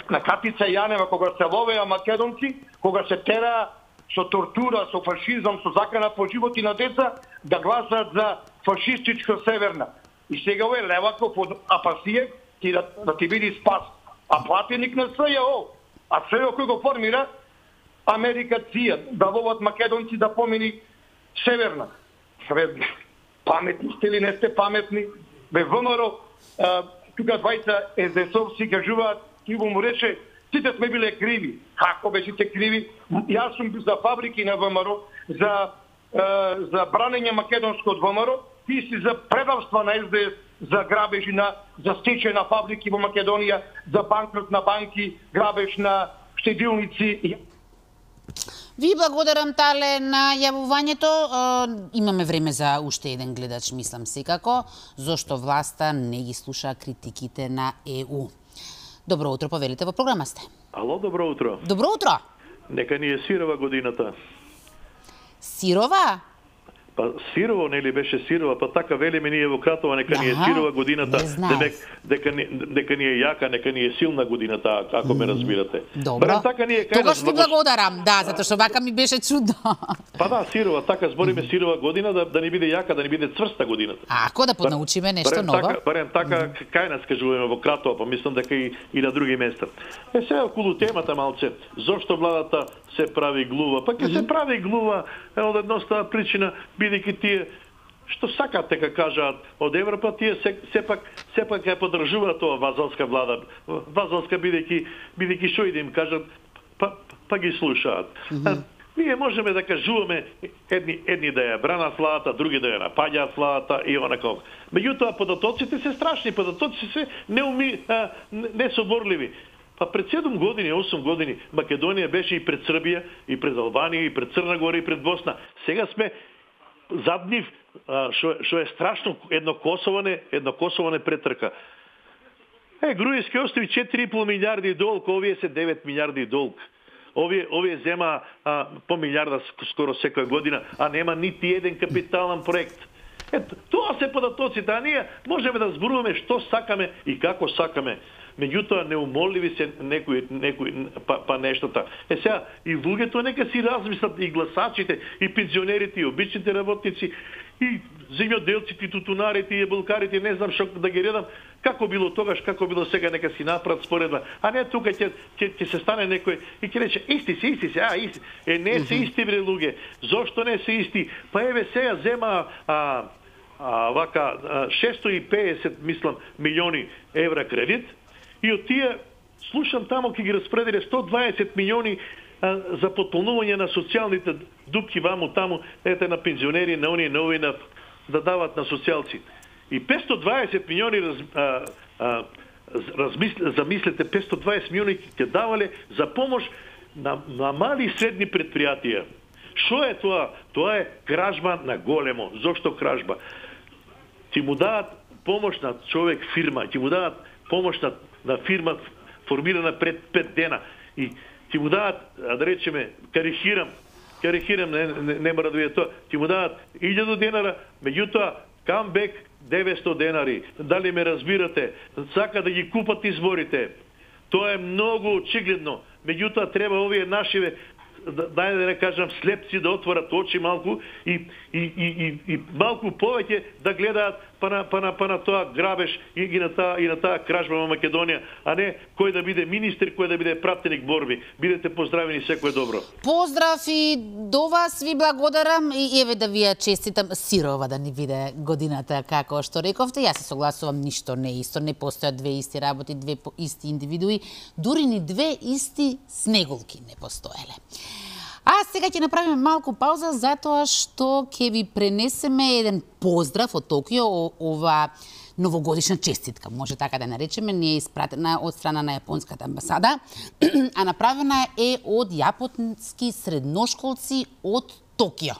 на Катица Јанева, кога се ловеа македонци, кога се тераа со тортура, со фашизам, со закана по животи на деца, да гласаат за фашистичко Северна. И сега овој Леваков од Апасиев да ти биде спас. А платеник на СЈО. А СЈО кој го формира? Америка ЦИА, да ловат македонци да помини Северна. Паметни сте или не сте паметни? Бе ВМРО, тука двајца СДСовци кажуваат, Иво му рече, сите сме биле криви. Како бе сите криви? Јас сум за фабрики на ВМРО, за бранење македонско од ВМРО, ти си за предавства на СДС, за грабежи за стечај на фабрики во Македонија, за банкрот на банки, грабеж на штедилници. Ви благодарам, Тале, на јавувањето. Имаме време за уште еден гледач, мислам секако, зошто власта не ги слуша критиките на ЕУ. Добро утро, повелите, во програма сте. Ало, добро утро. Добро утро. Нека ни е сирова годината. Сирова? Па сирово, нели беше сирова, па така велиме ние во Кратова, нека ни е сирова годината, дека ни е јака, нека ни е силна годината, ако ме разбирате. Добро. Така ние тогаш ти благодарам, да, затоа што вака ми беше чудно. Па да, сирова, така збориме сирова година, да ни биде јака, да ни биде цврста годината. Ако да поднаучиме нешто ново. Барем така, кај нас кажуваме во Кратова, па мислам дека и на други места. Сега околу темата малце, зошто владата се прави глува? Па ќе се прави глува од едноставна причина, бидејќи тие што сакат дека кажаат од Европа, тие сепак ја поддржуваат тоа вазалска влада. Вазалска бидејќи што и да им кажат, па ги слушаат. Ние можеме да кажуваме едни да ја бранат владата, други да ја напаѓаат владата и онако. Меѓутоа податоците се страшни, податоците се несоборливи. Па пред 7 години, 8 години Македонија беше и пред Србија, и пред Албанија, и пред Црна Гора, и пред Босна. Сега сме зад нив, што е страшно, едно Косово не претрка. Груевски острови 4,5 милиарди долг, овие се 9 милиарди долг. Овие зема по милиарда скоро секоја година, а нема нити еден капитален проект. Ето, тоа се податоците, а ние можеме да зборуваме што сакаме и како сакаме. Меѓутоа неумоливи се некои па нештата. Сега и луѓето нека си размислат, и гласачите, и пензионерите, и обичните работници, и земјоделците, и тутунарите, и ебулкарите, не знам што да ги редам, како било тогаш, како било сега, нека си направат споредба. А не тука ќе се стане некој и ќе рече исти се, исти. Не се исти бре луѓе. Зошто не се исти? Па еве сега зема вака 650 мислам милиони евра кредит. И од тие, слушам тамо, ќе ги распределе 120 милиони за потполнување на социјалните дупки ваму таму, ете на пензионери, на оние нови, да дават на социјалци. И 520 милиони, замислете, 520 милиони ќе давале за помош на мали и средни предпријатија. Што е тоа? Тоа е кражба на големо. Зошто кражба? Ти му дадат помош на човек фирма, ти му дадат помош на фирма формирана пред 5 дена и ти му дадат, да речеме, карикирам, не мора да биде тоа, ти му дадат 1000 денара, меѓутоа камбек 900 денари. Дали ме разбирате? Сака да ги купат изборите. Тоа е многу очигледно. Меѓутоа треба овие нашиве да не кажам, слепци да отворат очи малку и малку повеќе да гледаат па на тоа грабеж и на таа кражба во Македонија, а не кој да биде министер, кој да биде пратеник борби. Бидете поздравени, секое добро. Поздрав и до вас, ви благодарам и еве да ви ја честитам сирова да ни биде годината како што рековте. Јас се согласувам, ништо не е исто, не постојат две исти работи, две исти индивидуи, дури ни две исти снеголки не постоеле. А сега ќе направиме малку пауза затоа што ќе ви пренесеме еден поздрав од Токио, ова новогодишна честитка, може така да наречеме, не е испратена од страна на јапонската амбасада, а направена е од јапонски средношколци од Токио,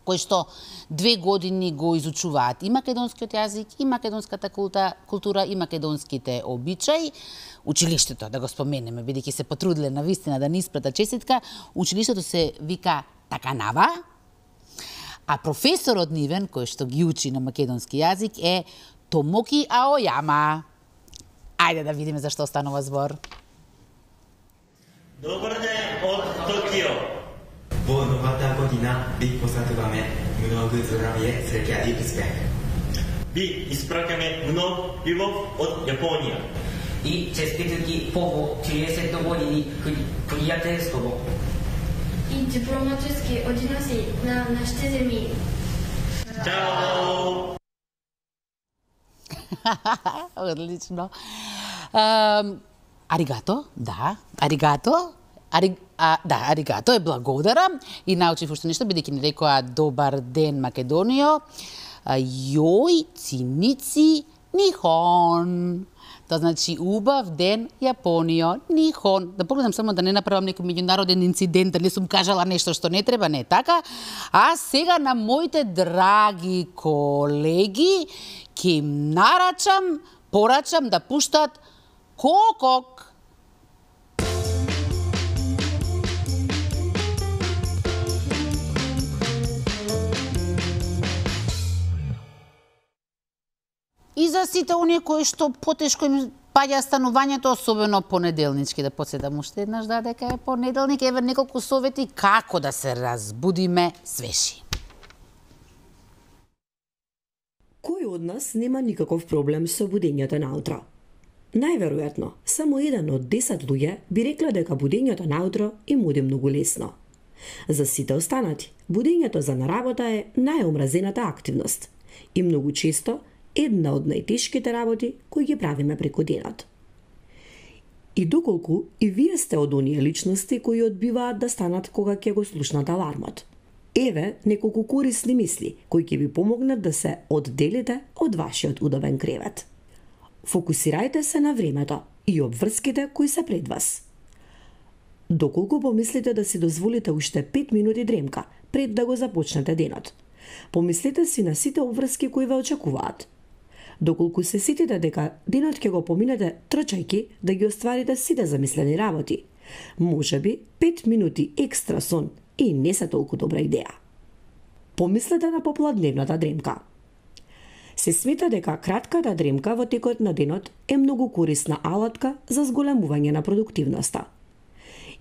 кои што 2 години го изучуваат и македонскиот јазик, и македонската култура, и македонските обичаи. Училиштето, да го споменеме, бидејќи се потрудиле на вистина да ни испрата честитка, училиштето се вика Таканава, а професорот нивен, кој што ги учи на македонски јазик, е Томоки Аојама. Ајде да видиме за што станува збор. Добар ден од Токио. Во новата година би посетуваме многу здравје среќа и успех. Би испракаме многу љубов од Јапонија. И честитки по 30 години пријателство. И дипломатски односи на нашите земји. Чао! Одлично. Аригато, да, аригато. Да, аригато е благодарам и научив уште нешто, бидејќи ни рекоа добар ден Македонијо. Јој циници нихон. Тоа значи убав ден Јапонијо, нихон. Да погледам само да не направам некој меѓународен инцидент, дали сум кажала нешто што не треба, не така. А сега на моите драги колеги ќе им порачам да пуштат Кокок. И за сите оние кои што потешко им паѓа станувањето, особено понеделнички, да подсетам уште еднаш дека е понеделник, еве неколку совети како да се разбудиме свежи. Кој од нас нема никаков проблем со будењето наутро? Најверојатно, само 1 од 10 луѓе би рекле дека будењето наутро им оди многу лесно. За сите останати, будењето за на работа е најомразената активност и многу често една од најтешките работи кои ги правиме преку денот. И доколку и вие сте од оние личности кои одбиваат да станат кога ќе го слушнат алармот. Еве неколку корисни мисли кои ќе ви помогнат да се одделите од вашиот удобен кревет. Фокусирајте се на времето и обврските кои се пред вас. Доколку помислите да си дозволите уште 5 минути дремка пред да го започнете денот, помислете си на сите обврски кои ве очекуваат. Доколку се сетите дека денот ќе го поминете трчајки да ги остварите сите замислени работи, можеби 5 минути екстра сон и не се толку добра идеја. Помислете на попладневната дремка. Се смета дека кратката дремка во текот на денот е многу корисна алатка за зголемување на продуктивноста.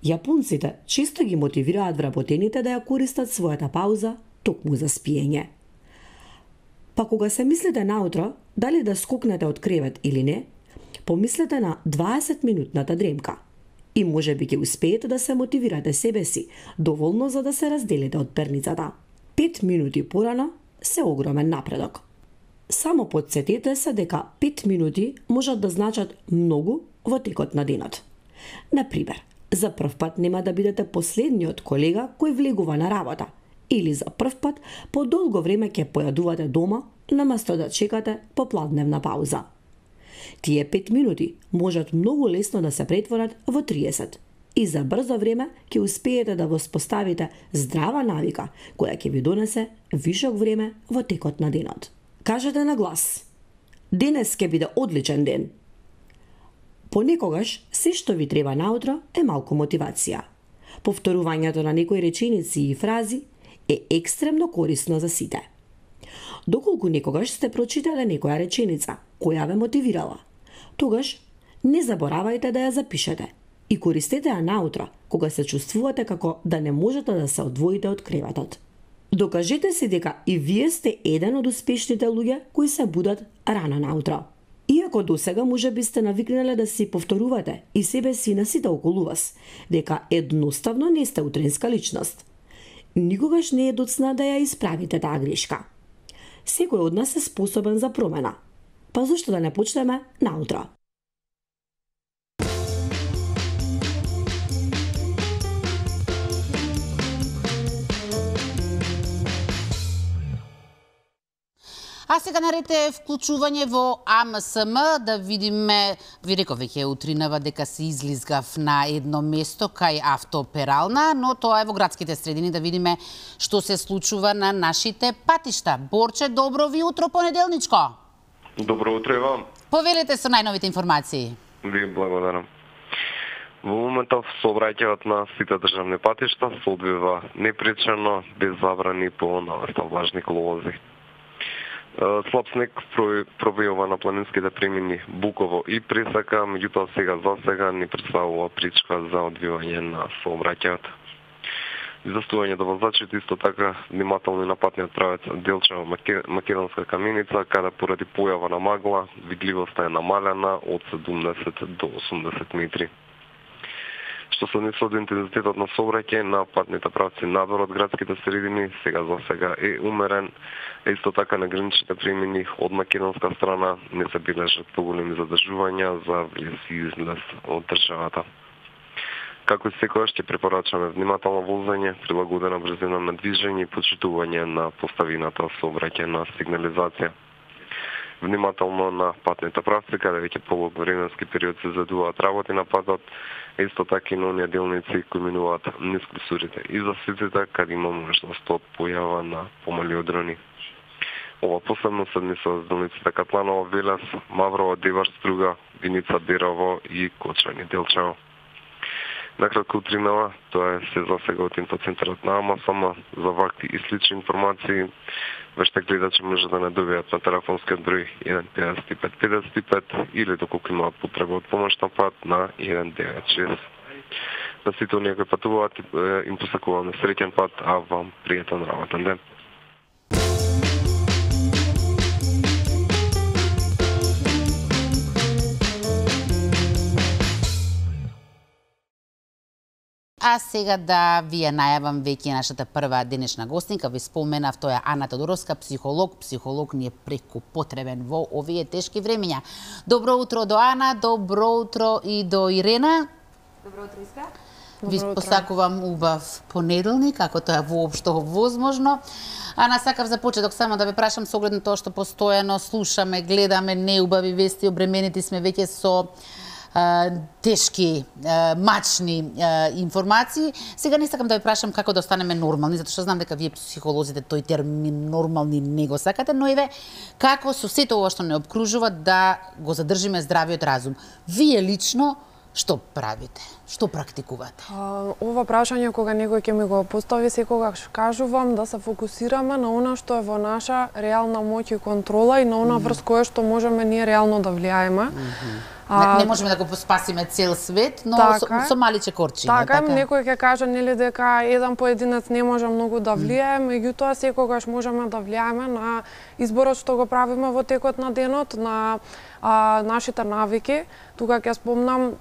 Јапонците често ги мотивираат вработените да ја користат својата пауза токму за спиење. Па кога се мислите наутро дали да скокнете од кревет или не, помислете на 20-минутната дремка и можеби ќе успеете да се мотивирате себе си доволно за да се разделите од перницата. 5 минути порано се огромен напредок. Само подсетете се дека 5 минути можат да значат многу во текот на денот. Например, за прв пат нема да бидете последниот колега кој влегува на работа, или за прв пат по долго време ќе појадувате дома наместо да чекате попладневна пауза. Тие 5 минути можат многу лесно да се претворат во 30 и за брзо време ќе успеете да воспоставите здрава навика која ќе ви донесе вишок време во текот на денот. Кажете на глас: денес ќе биде одличен ден. Понекогаш се што ви треба наутро е малку мотивација. Повторувањето на некои реченици и фрази е екстремно корисно за сите. Доколку некогаш сте прочитале некоја реченица која ве мотивирала, тогаш не заборавајте да ја запишете и користете ја наутро, кога се чувствувате како да не можете да се одвоите од креветот. Докажете си дека и вие сте еден од успешните луѓе кои се будат рано наутро. Иако досега можеби сте навикнале да си повторувате и себе си на сите околу вас, дека едноставно не сте утринска личност. Никогаш не е доцна да ја исправите таа грешка. Секој од нас е способен за промена. Па зошто да не почнеме наутро? А сега наред е вклучување во АМСМ, да видиме, ви реков веќе утринава дека се излизгав на едно место кај автоперална, но тоа е во градските средини, да видиме што се случува на нашите патишта. Борче, добро ви утро, понеделничко. Добро утро и вам. Повелете со најновите информации. Ви благодарам. Во моментов сообраќајот на сите државни патишта се одвива непречено, без забрани по навеста влажни колози. Слаб снег провејува на планинските премини Буково и Пресака, меѓутоа сега за сега не представува пречка за одвивање на сообраќајот. Изостување до возачите исто така внимателни на патниот правец Делчево Македонска каменица, каде поради појава на магла видливоста е намалена од 70 до 80 метри. Што се однесува до интензитетот на сообраќај на патните правци надвор од градските средини, сега за сега е умерен. Исто така на граничните премини од македонска страна не се бележат поголеми задржувања за влез и излез од државата. Како и секогаш ќе препорачаме внимателно возење, прилагодена брзина на движење и почитување на поставината сообраќајна сигнализација. Внимателно на патните правци, каде веќе полог временски период се задуваат работи на патот, исто така и на оние делници кои минуваат низ клисурите и за сите каде има можност од појава на помали одрони. Ова посебно се однесува за делниците Катланово, Велес, Маврово, Девар, Струга, Виница, Берово и Кочани, Делчево. Накратко утринава, тоа е се за сега од инфоцентарот на АМСМ. За вакви и слични информации, веште гледачи може да не добијат на телефонскиот број 15555 или доколку имаат потреба од помош на пат на 196. На сите оние кои патуваат им посакуваме среќен пат, а вам пријатен работен ден. А сега да ви ја најавам веќе нашата прва денешна гостинка. Ви споменав, тоа е Ана Тодоровска, психолог. Психолог ни е преку потребен во овие тешки времења. Добро утро до Ана, добро утро и до Ирена. Добро утро, Иска. Ви посакувам убав понеделник, ако тоа е воопшто возможно. Ана, сакав за почеток само да ве прашам со оглед на тоа што постојано слушаме, гледаме неубави вести, обременети сме веќе со тешки, мачни информации. Сега не сакам да ви прашам како да останеме нормални, затоа што знам дека вие психолозите тој термин нормални не го сакате, но еве како со сето ова што не обкружува да го задржиме здравиот разум. Вие лично што правите? Што практикувате? Ова прашање кога некој ќе ми го постави, секогаш кажувам да се фокусираме на она што е во наша реална моќ и контрола и на она врз кое што можеме ние реално да влијаеме. Не можеме да го спасиме цел свет, но со маличе корчиња. Така, некој ќе каже нели дека еден поединец не може многу да влијае, меѓутоа секогаш можеме да влијаеме на изборот што го правиме во текот на денот, на нашите навики. Тука ќе спомнам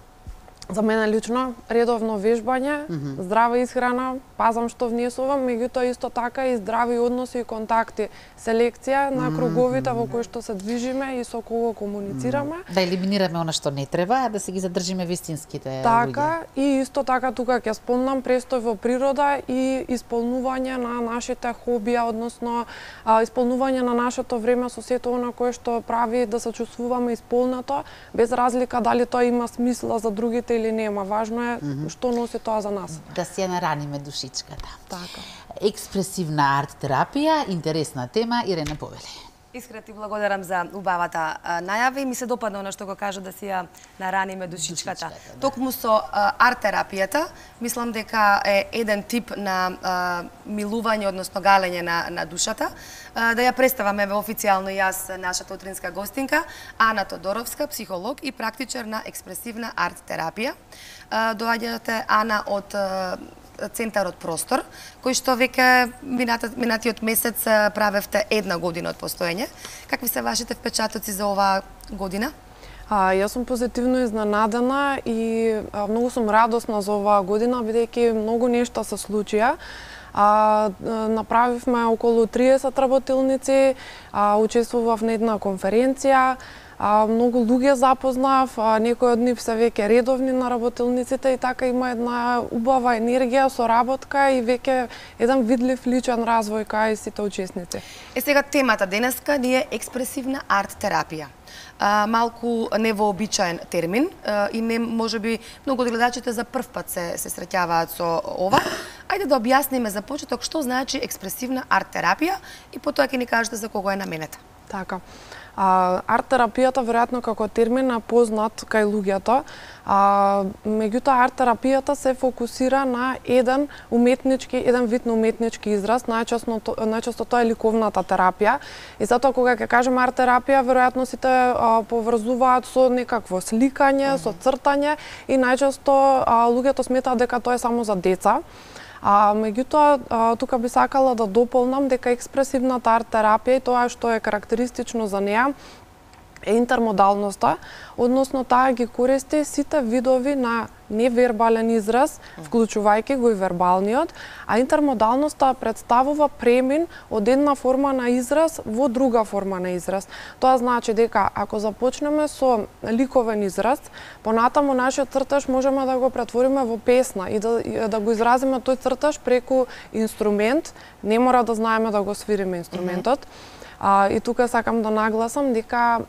за мене лично редовно вежбање, здрава исхрана, пазам што внесувам, меѓутоа исто така и здрави односи и контакти, селекција на круговите во кои што се движиме и со кого комуницираме. Да елиминираме она што не треба, а да се ги задржиме вистинските така, луѓе. И исто така тука ќе спомнам престој во природа и исполнување на нашите хобија, односно исполнување на нашето време со сето она кое што прави да се чувствуваме исполнато, без разлика дали тоа има смисла за другите или нема. Важно е што носи тоа за нас. Да се нараниме душичката. Така. Експресивна арт терапија, интересна тема, Ирена повели. Искрено ти благодарам за убавата најава и ми се допадна она што го кажа да си ја нараниме душичката. Токму со арт-терапијата, мислам дека е еден тип на милување, односно галење на душата. Да ја представаме официјално јас нашата утринска гостинка, Ана Тодоровска, психолог и практичар на експресивна арт-терапија. Доаѓате, Ана, од Центарот Простор, кој што веќе минатиот месец правевте 1 година од постоење. Какви се вашите впечатоци за оваа година? Јас сум позитивно изненадена и многу сум радосна за оваа година, бидејќи многу нешта се случија. Направивме околу 30 работилници, учествував на една конференција, многу луѓе запознав, некои од нив се веќе редовни на работилниците и така има една убава енергија, соработка и веќе еден видлив личен развој кај сите учесници. Сега темата денеска ни е експресивна арт-терапија. Малку невообичаен термин и не можеби многу од гледачите за прв пат се среќаваат со ова. Ајде да објасниме за почеток што значи експресивна арт-терапија и потоа ќе ни кажете за кого е наменета. Така. Арт-терапијата веројатно како термин е познат кај луѓето, меѓутоа арт-терапијата се фокусира на еден вид на уметнички израз, најчесто тоа е ликовната терапија. И затоа кога ќе кажеме арт-терапија, веројатно сите поврзуваат со некакво сликање, со цртање и најчесто луѓето сметаат дека тоа е само за деца. Меѓутоа, тука би сакала да дополнам дека експресивната арт-терапија и тоа што е карактеристично за неа е интермодалноста, односно таа ги користи сите видови на невербален израз, вклучувајќи го и вербалниот, а интермодалноста представува премин од една форма на израз во друга форма на израз. Тоа значи дека ако започнеме со ликовен израз, понатаму нашиот цртаж можеме да го претвориме во песна и да го изразиме тој цртаж преку инструмент, не мора да знаеме да го свириме инструментот. И тука сакам да нагласам дека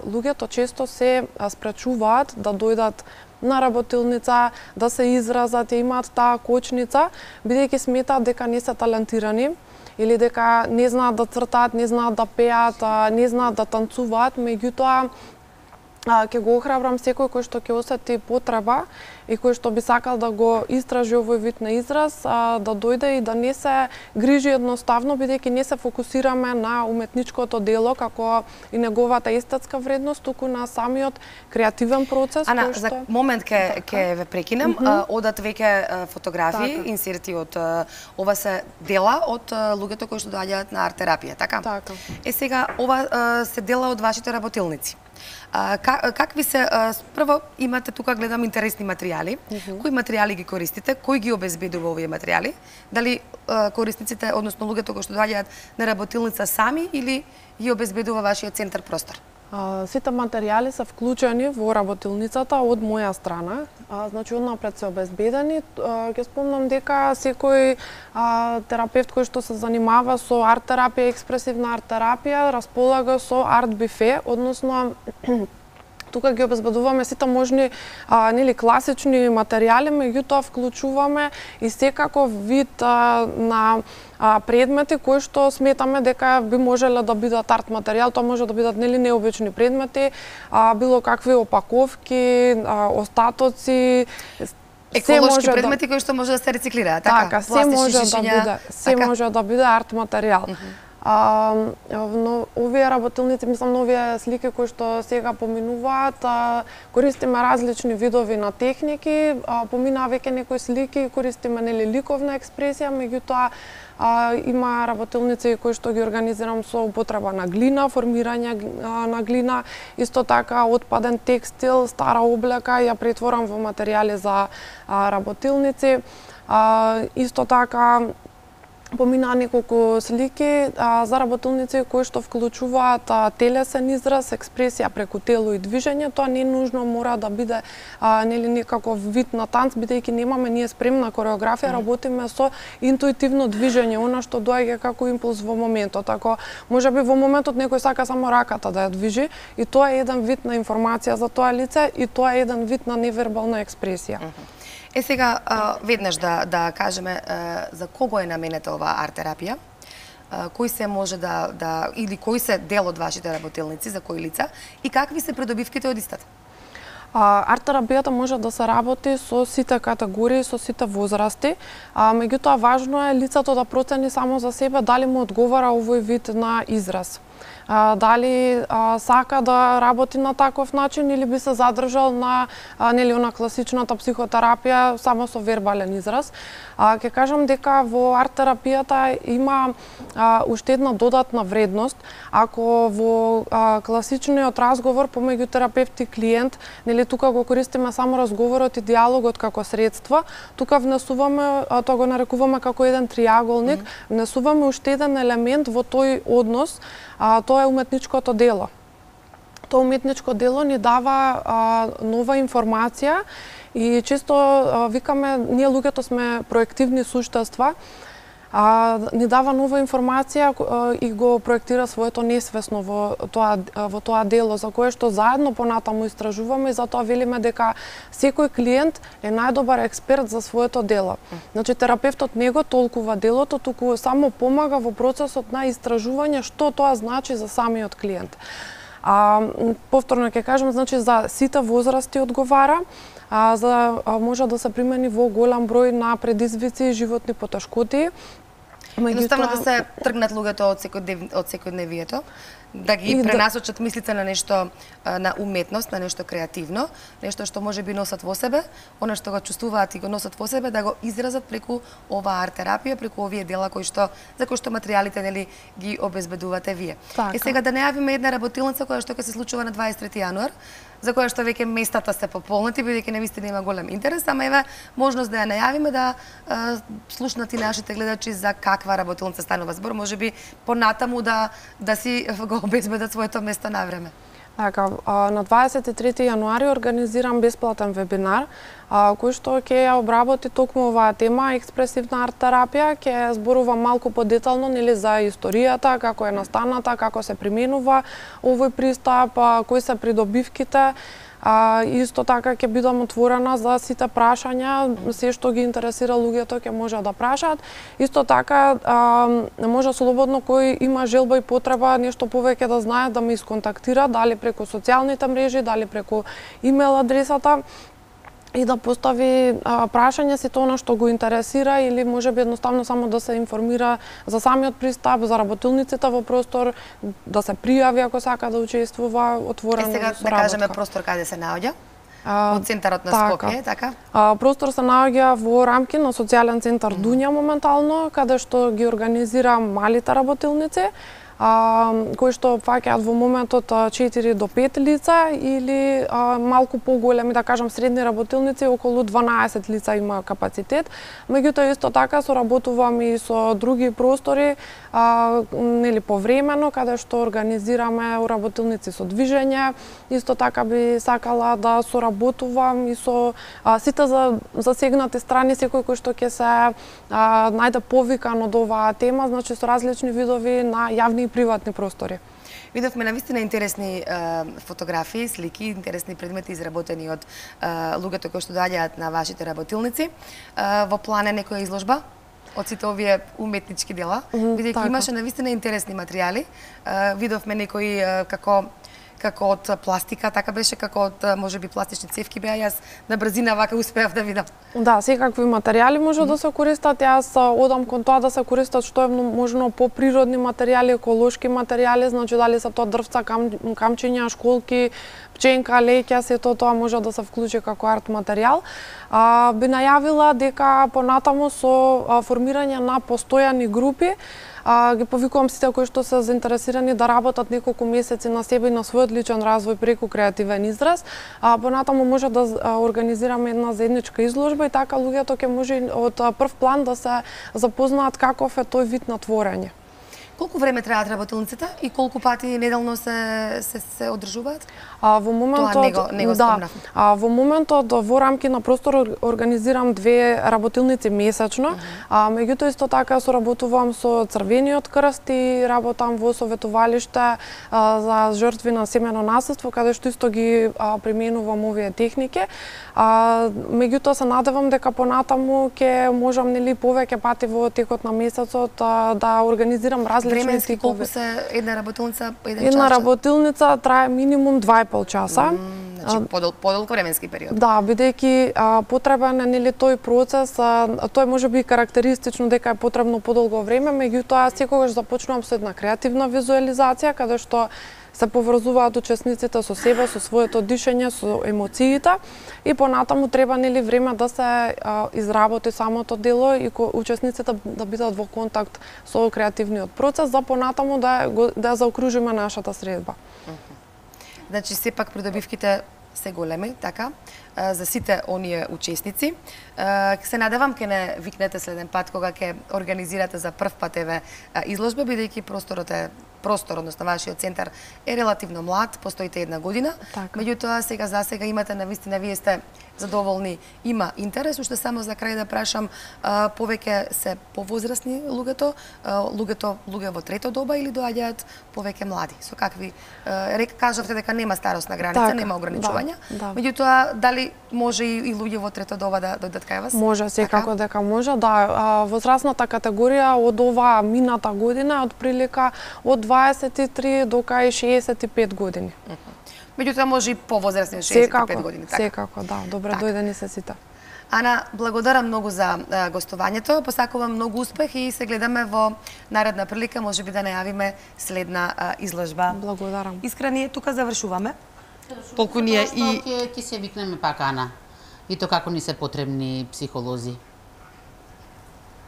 луѓето често се спречуваат да дојдат на работилница, да се изразат, имаат таа кочница, бидејќи сметаат дека не се талентирани или дека не знаат да цртаат, не знаат да пеат, не знаат да танцуваат, меѓутоа ќе го охрабрам секој кој што ќе осети потреба и кој што би сакал да го истражи овој вид на израз, да дојде и да не се грижи едноставно, бидејќи не се фокусираме на уметничкото дело како и неговата естетска вредност, туку на самиот креативен процес. Ана, за момент ќе ве прекинем, одат веќе фотографии, инсерти од ова се дела од луѓето кои што доаѓаат на арт-терапија, така? Така. Сега ова се дела од вашите работилници. Какви се, прво имате тука гледам интересни материјали, кои материјали ги користите, кој ги обезбедува овие материјали, дали корисниците, односно луѓето кои што доаѓаат на работилница сами или ги обезбедува вашиот центар Простор? Сите материјали се вклучени во работилницата од моја страна, значи однапред се обезбедени. Ќе спомнам дека секој терапевт кој што се занимава со арт-терапија, експресивна арт-терапија, располага со арт-бифе, односно тука ги обезбедуваме сите можни класични материјали, меѓутоа вклучуваме и секаков вид на предмети кои што сметаме дека би можеле да бидат арт материјал. Тоа може да бидат необични предмети, било какви опаковки, остатоци, еколошки предмети кои што може да се рециклираат, така? Се може да биде арт материјал. Но овие работилници, мислам, овие слики кои што сега поминуваат, користиме различни видови на техники, поминаа веќе некои слики, користиме ликовна експресија, меѓутоа има работилници кои што ги организирам со употреба на глина, формирање на глина, исто така отпаден текстил, стара облека, ја претворам во материјали за работилници. Исто така поминаа неколку слики за работилници кои што вклучуваат телесен израз, експресија преку тело и движење. Тоа не нужно мора да биде некаков вид на танц, бидејќи немаме ние спремна кореографија, работиме со интуитивно движење, она што доаѓа како импулс во моментот. Ако можеби во моментот некој сака само раката да ја движи, и тоа е еден вид на информација за тоа лице, и тоа е еден вид на невербална експресија. Сега, веднаш да кажеме за кого е наменета оваа арт-терапија. кој се може или кој се дел од вашите работилници, за кои лица и какви се придобивките од истата? Арт-терапијата може да се работи со сите категории, со сите возрасти, меѓутоа важно е лицето да процени само за себе дали му одговара овој вид на израз. Дали сака да работи на таков начин или би се задржал на на класичната психотерапија само со вербален израз. Ќе кажам дека во арт-терапијата има уште една додатна вредност. Ако во класичниот разговор помеѓу терапевт и клиент, тука го користиме само разговорот и диалогот како средство, тука внесуваме, тоа го нарекуваме како еден триаголник, внесуваме уште еден елемент во тој однос, тоа е уметничкото дело. Тоа уметничко дело ни дава нова информација и често викаме, ние луѓето сме проективни суштества, ни дава нова информација и го проектира своето несвесно во тоа дело, за кое што заедно понатаму истражуваме и затоа велиме дека секој клиент е најдобар експерт за своето дело. Значи, терапевтот не го толкува делото, туку само помага во процесот на истражување што тоа значи за самиот клиент. Повторно ќе кажам, значи за сите возрасти одговара, може да се примени во голем број на предизвици и животни потешкоти. Едноставно да се тргнат луѓето од секојдневието, да ги пренасочат мислите на нешто, на уметност, на нешто креативно, нешто што може би носат во себе, она што го чувствуваат и го носат во себе, да го изразат преку оваа арт-терапија, преку овие дела за кои што материјалите ги обезбедувате вие. И сега да најавиме една работилница која што ќе се случува на 23 јануар, за која што веќе местата се пополнати, бидејќи навистина има голем интерес, ама еве можност да ја најавиме да слушнат и нашите гледачи за каква работилница станува збор, можеби понатаму да си го обезбедат своето место на време. Така, на 23 јануари организирам бесплатен вебинар, кој што ќе ја обработи токму оваа тема, експресивна арт-терапија, ќе зборува малку подетално за историјата, како е настаната, како се применува овој пристап, кои се придобивките. Исто така ќе бидам отворена за сите прашања, се што ги интересира луѓето ќе може да прашаат. Исто така може слободно кој има желба и потреба нешто повеќе да знае да ме исконтактира, дали преку социјалните мрежи, дали преку имейл адресата и да постави прашање си тоа што го интересира или можеби едноставно само да се информира за самиот пристап, за работилниците во простор, да се пријави ако сака да учествува отворено со работа. Сега да кажеме простор каде се наоѓа? Во центарот на Скопје, така? Простор се наоѓа во рамки на социјален центар Дуња моментално, каде што ги организира малите работилници, кои што фаќаат во моментот 4 до 5 лица или малку поголеми, да кажам, средни работилници, околу 12 лица има капацитет. Меѓутоа исто така соработувам и со други простори, повремено, каде што организираме работилници со движење. Исто така би сакала да соработувам и со сите засегнати страни, секој кој што ќе се најде повикан од оваа тема, значи со различни видови на јавни и приватни простори. Видовме навистина интересни фотографии, слики, интересни предмети изработени од луѓето кои што доаѓаат на вашите работилници. Во план е некоја изложба од сите овие уметнички дела, бидејќи имаше навистина интересни материјали. Видовме некои како од пластика, така беше, како од можеби пластични цевки беа, јас на брзина вака успеав да видам. Да, секакви материјали може да се користат. Јас одам кон тоа да се користат што е можно поприродни материјали, еколошки материјали, значи дали се тоа дрвца, камчиња, школки, пченка, леќа, сето тоа може да се вклучи како арт материјал. Би најавила дека понатаму со формирање на постојани групи ги повикувам сите кои што се заинтересирани да работат неколку месеци на себе и на својот личен развој преку креативен израз. Понатаму може да организираме една заедничка изложба и така луѓето ќе може од прв план да се запознаат каков е тој вид на творење. Колку време траат работилниците и колку пати неделно се одржуваат? Во моментот во моментот во рамки на простор организирам 2 работилници месечно, меѓутоа исто така соработувам со Црвениот крст и работам во советувалиште за жртви на семено насилство, каде што исто ги применувам овие техники. Меѓутоа се надевам дека понатаму ќе можам повеќе пати во текот на месецот да организирам различни временски колку се една работилница по еден час? Една работилница трае минимум 2,5 часа. Значи подолго временски период. Да, бидејќи потребен е тој процес, тој може би карактеристично дека е потребно подолго време, меѓутоа секогаш започнувам со една креативна визуализација каде што се поврзуваат учесниците со себе, со своето дишење, со емоциите и понатаму треба време да се изработи самото дело и учесниците да бидат во контакт со креативниот процес за понатаму да заокружиме нашата средба. Значи сепак придобивките се големи, така, за сите оние учесници. Се надевам ке не викнете следен пат кога ќе организирате за прв пат изложба, бидејќи простор, односно вашиот центар е релативно млад, постоите 1 година. Меѓутоа за сега имате навистина, вие сте задоволни, има интерес. Уште само за крај да прашам, повеќе се повозрасни луѓе во трето доба или доаѓаат повеќе млади? Со какви кажавте дека нема старосна граница, нема ограничувања. Меѓутоа дали може и луѓе во трето доба да дојдат кај вас? Може, секако дека може. Да, возрастната категорија од оваа мината година од прилика од 23 до кај 65 години. Меѓутоа може и повозрастни од 65 години, така? Секако, да. Добре дојдени се сите. Ана, благодарам многу за гостувањето, посакувам многу успех и се гледаме во наредна прилика, можеби да најавиме следна изложба. Благодарам. Искрени, тука завршуваме. Толку ние и ќе се викнеме пак, Ана. И то како ни се потребни психолози.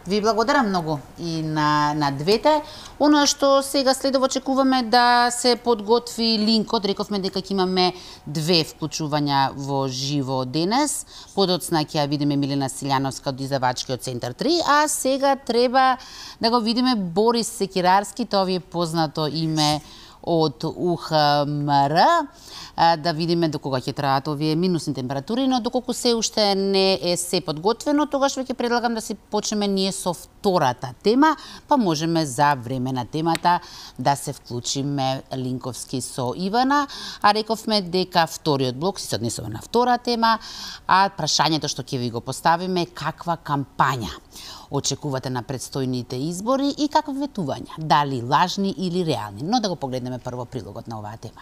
Ви благодарам многу и на двете. Оно што сега следово очекуваме да се подготви линкот, рековме дека ќе имаме 2 вклучувања во живо денес. Подоцна ќе ја видиме Милена Силјановска од Издавачкиот центар 3, а сега треба да го видиме Борис Секирарски, тоа ви е познато име од УХМР, да видиме до кога ќе траат овие минусни температури, но доколку се уште не е се подготвено, тогаш веќе предлагам да се почнеме ние со втората тема, па можеме за време на темата да се вклучиме линковски со Ивана, а рековме дека вториот блок се однесува на втора тема, а прашањето што ќе ви го поставиме е каква кампања очекувате на предстојните избори и какви ветувања, дали лажни или реални. Но да го погледнеме прво прилогот на оваа тема.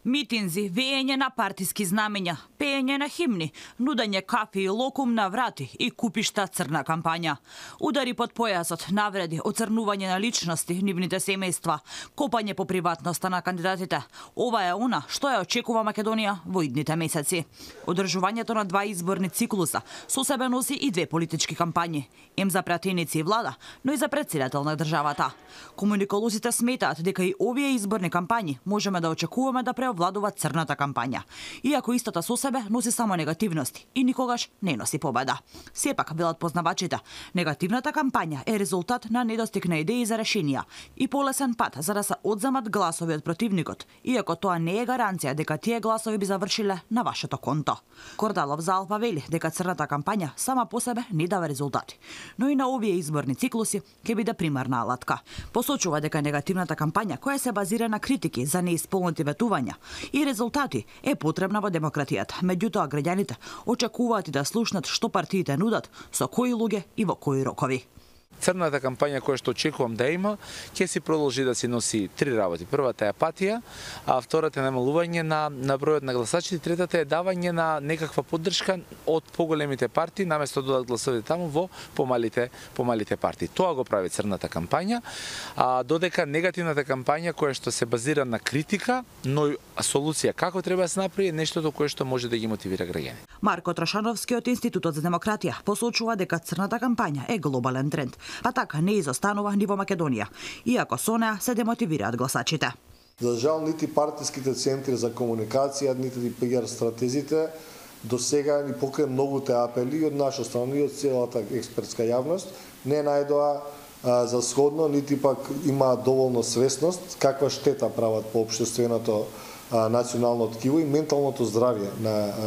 Митинзи, веење на партиски знамења, пеење на химни, нудење кафи и локум на врати и купишта црна кампања. Удари под појасот, навреди, оцрнување на личности, нивните семејства, копање по приватноста на кандидатите. Ова е она што ја очекува Македонија во идните месеци. Одржувањето на 2 изборни циклуса со себе носи и 2 политички кампањи. Ем за пратеници и влада, но и за претседател на државата. Комуниколозите сметаат дека и овие изборни кампањи можеме да очекуваме да владува црната кампања, иако истата со себе носи само негативности и никогаш не носи победа. Сепак, велат познавачите, негативната кампања е резултат на недостиг на идеи за решенија и полесен пат за да се одземат гласови од противникот, иако тоа не е гаранција дека тие гласови би завршиле на вашето конто. Кордалов за Алпа вели дека црната кампања сама по себе не дава резултати, но и на овие изборни циклуси ќе биде примерна алатка. Посочува дека негативната кампања, која се базира на критики за неисполнети ветувања и резултати, е потребна во демократијата. Меѓутоа, граѓаните очекуваат и да слушнат што партиите нудат, со кои луѓе и во кои рокови. Црната кампања која што очекувам да има, ќе си продолжи да си носи 3 работи. Првата е апатија, а втората е намалување на бројот на гласачите, третата е давање на некаква поддршка од поголемите партии, наместо да дадат гласовите таму во помалите партии. Тоа го прави црната кампања, додека негативната кампања која што се базира на критика, но и солуција како треба да се направи, е нештото кое што може да ги мотивира граѓани. Марко Трошановски од Институтот за демократија посочува дека црната кампања е глобален тренд, па така не изостанува ни во Македонија, иако со неа се демотивираат гласачите. За жал, нити партиските центри за комуникација, нити PR стратезите до сега ни покрај многуте апели од наша страна и од целата експертска јавност не најдоа за сходно, нити пак има доволно свесност каква штета прават по општественото национално ткиво и менталното здравје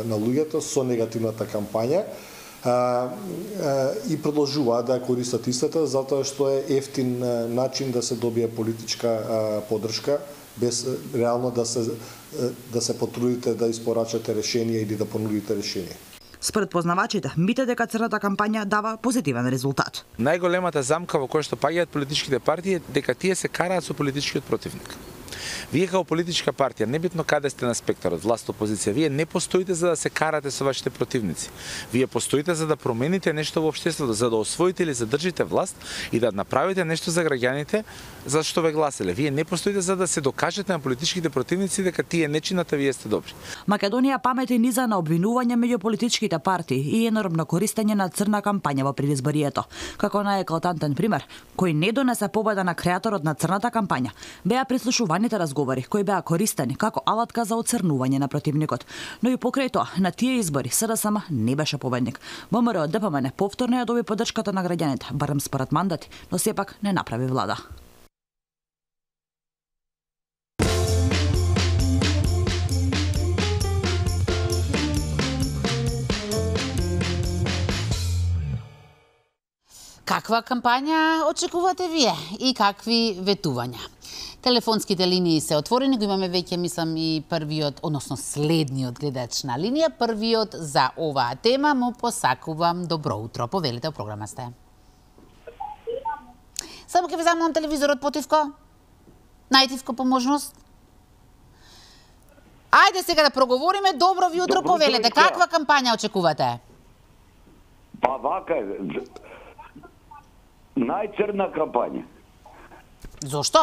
на луѓето со негативната кампања. И продолжуваат да користат истата затоа што е ефтин начин да се добие политичка поддршка без реално да се потрудите да испорачате решение или да понудите решение. Според познавачите, мите дека црната кампања дава позитивен резултат. Најголемата замка во која што паѓаат политичките партии е дека тие се караат со политичкиот противник. Вие како политичка партија, небитно каде сте на спектарот, власт, опозиција, вие не постоите за да се карате со вашите противници. Вие постоите за да промените нешто во општеството, за да освоите или задржите власт и да направите нешто за граѓаните за што ве гласеле. Вие не постоите за да се докажете на политичките противници дека тие не чинат, а вие сте добри. Македонија памети низа на обвинување меѓу политичките партии и енормно користење на црна кампања во предизборието. Како најеклатантен пример, кој не донесе победа на креаторот на црната кампања, беа прислушуваните разговори кои беа користени како алатка за оцрнување на противникот. Но и покрај тоа, на тие избори СДСМ не беше победник. ВМРО ДПМН повторно ја доби поддршката на граѓаните, барем според мандати, но сепак не направи влада. Каква кампања очекувате вие и какви ветувања? Телефонските линии се отворени, го имаме веќе, мислам, и првиот, односно следниот гледач на линија. Првиот за оваа тема му посакувам добро утро. Повелите, програма сте. Само ќе ви замолам телевизорот потивко. Најтивко по можност. Ајде сега да проговориме. Добро ви утро, повелете. Каква кампања очекувате? Па вака е. Најцрна кампања. Зошто?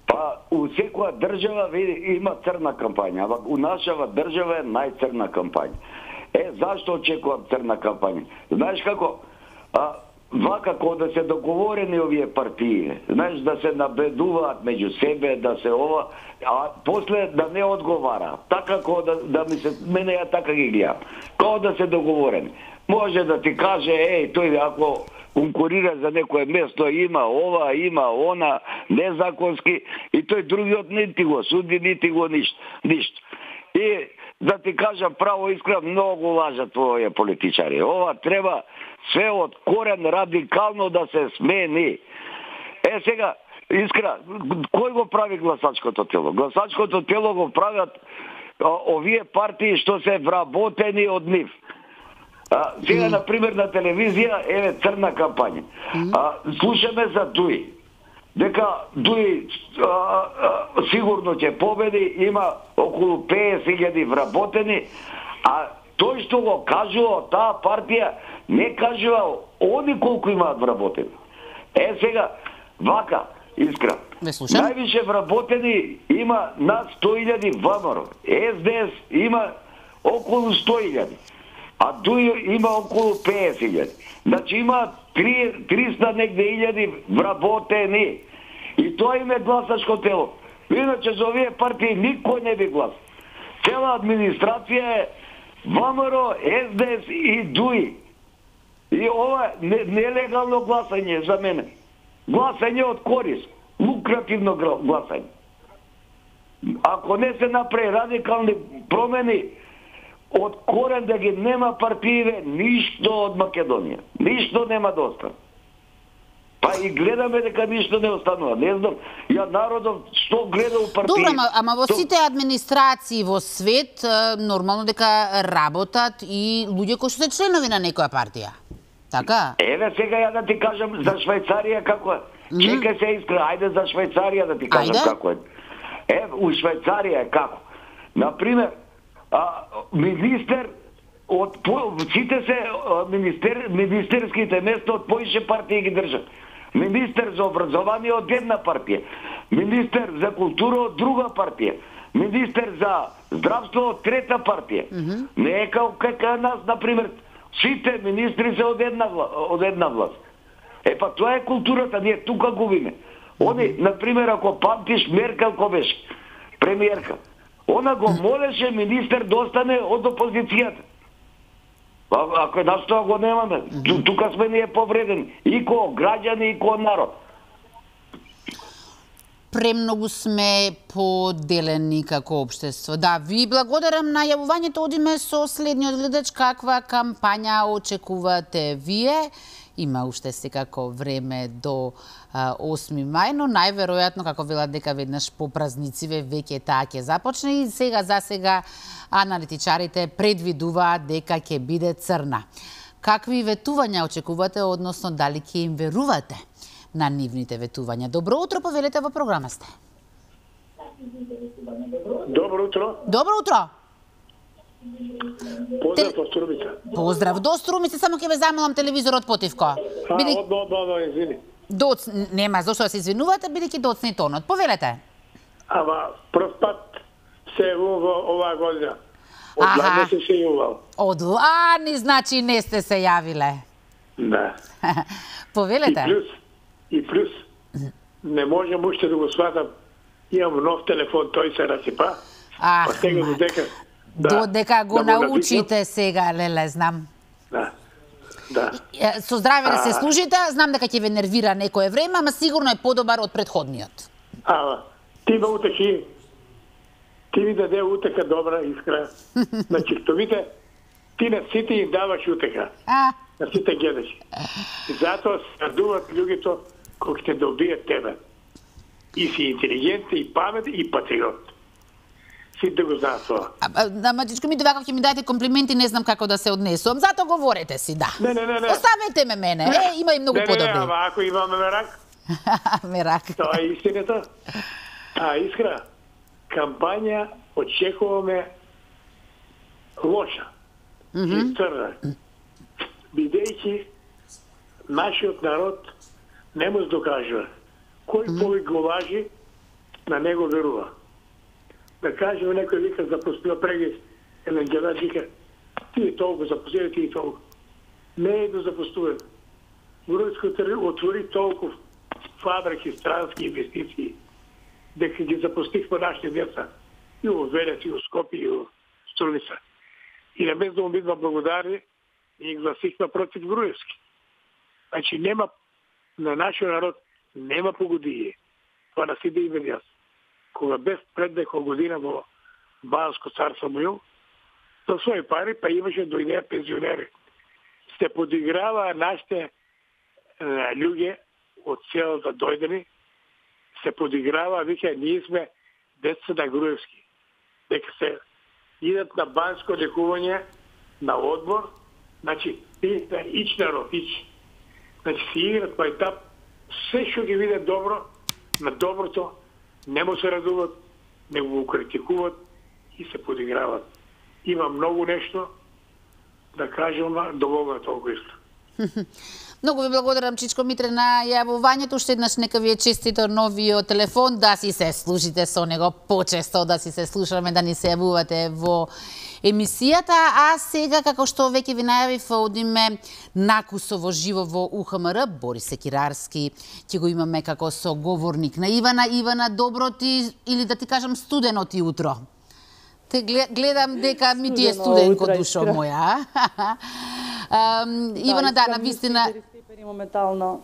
Па, у секоја држава има црна кампања, а у нашава држава е најцрна кампања. Зашто очекувам црна кампања? Знаеш како? Вака кога да се договорени овие партии, знаеш, да се набедуваат меѓу себе, да се ова, а после да не одговара. Така кога да ми се, мене ја така ги гледам. Кога да се договорени. Може да ти каже, тој ако конкурира за некое место, има ова, има она, незаконски, и тој другиот не ти го суди, не ти го ништо. И да ти кажам право искрено, многу лажат овие политичари. Ова треба све од корен радикално да се смени. Сега, искрено, кој го прави гласачкото тело? Гласачкото тело го правят овие партии што се вработени од нив. Сега, например, на телевизија, црна кампања. Слушаме за Дуи. Дека Дуи сигурно ќе победи, има околу 50.000 вработени, а тој што го кажува таа партија, не кажува они колку имаат вработени. Сега, вака, искрено. Највише вработени има над 100.000 ВМРО. СДС има околу 100.000. А Дуи има околу 50.000. Значи има 300 негде илјади вработени. И тоа им е гласачко тело. Иначе за овие партии никој не би глас. Цела администрација е ВМРО, СДС и Дуи. И ова нелегално гласање за мене. Гласање од корис. Лукративно гласање. Ако не се направи радикални промени, од корен да ги нема партиите, ништо од Македонија. Ништо нема да остане. Па и гледаме дека ништо не останува. Не знам, ја народов што гледа у партиите. Добро, ама во сите администрации во свет, нормално дека работат и луѓе кои што се членови на некоја партија. Така? Сега ја да ти кажам за Швајцарија како е. Чекај се искрено, ајде за Швајцарија да ти кажам како е. У Швајцарија е како. Например, министер од сите се министерските места од поише партии ги држат. Министер за образование од една партија, министер за култура од друга партија, министер за здравство од трета партија. Не е како нас, например, сите министри се од една власт. Па тоа е културата, ние тука губиме. Они, например, ако памтиш Меркел кој беше премиерка, она го молеше министер да остане од опозицијата. Ако нас тоа го немаме, тука сме ние повредени и ко граѓани и ко народ. Премногу сме поделени како општество. Да, ви благодарам на јавувањето. Одиме со следниот гледач. Каква кампања очекувате вие? Има уште секако време до 8 мај, но најверојатно, како велат дека веднаш по празнициве веќе таа ќе започне и сега за сега аналитичарите предвидуваат дека ќе биде црна. Какви ветувања очекувате, односно дали ќе им верувате на нивните ветувања? Добро утро, повелете, во програма сте. Добро утро. Добро утро. Поздрав од Струмица. Поздрав до Струмица, само ќе ве замолам телевизорот потивко. Извини. Нема зошто да се извинувате, бидејќи доцни тонот. Повелете. Ама прв пат се јавувам оваа година. Од лани се јавувал. Од лани, значи не сте се јавиле. Да. Повелете. И плюс, не можам уште да го сватам. Имам нов телефон, тој се расипа. Па сега додека го научите сега, леле, знам. Да. Со здраве да се служите, знам дека ќе ве нервира некое време, ама сигурно е подобар од претходниот. Ти ме утехи. Ти ми даде утеха добра, искра. Значи, што видите, ти на сите им даваш утеха. На сите гледаш. И затоа се радуват луѓето кои ќе добијат тебе. И си интелигентен, и паметен, и патриот. Сите го знаат тоа. Ама, дечко ми, довака ќе ми дајте комплименти, не знам како да се однесувам. Зато говорете си, да. Не. Оставете ме мене. Има и многу подобри. Не, ама ако имаме мерак. Мерак. Тоа е истината. Искра, кампања очекуваме лоша. И црна. Бидејќи нашиот народ не може докажува. Кој повеќе го лажи, на него верува. Да кажем, некој вика запустила преги, еден гледач вика, тие толку запустили, тие толку. Не е да запустуват. Груевски отвори толку фабрики, странски инвестиции, дека ги запустихме нашите деца. И во Велес, и во Скопје, и во Струмица. И на место да му бидва благодарни, и гласихме против Груевски. Значи нема, на нашиот народ нема погодие. Това на сите и јас. Кога без пред некоја година во Банско царство Муил, со своји пари, па имаше дојдеа пензионери. Се подиграваа нашите луѓе од селото дојдени, се подиграваа, вика, ние сме деца на Груевски. Дека се идат на банско лекување, на одбор, значи, ич народ, ич. Значи, се играт па етап, се што ги видат добро, на доброто, не му се радуват, не го критикуват и се подиграват. Има многу нешто да кажем, доволно е толку исто. Многу ви благодарам, Чичко Митре, на јавувањето. Уште еднаш нека ви е честито новиот телефон, да си се служите со него почесто, да си се слушаме, да ни се јавувате во емисијата. А сега, како што веќе ви најавив, одиме накусово живо во УХМР. Борис Секирарски ќе го имаме како соговорник на Ивана. Ивана, добро ти, или да ти кажам студено ти утро. Те гледам дека ми ти е студенко, душо моја. Ивана, да, на вистина... Моментално.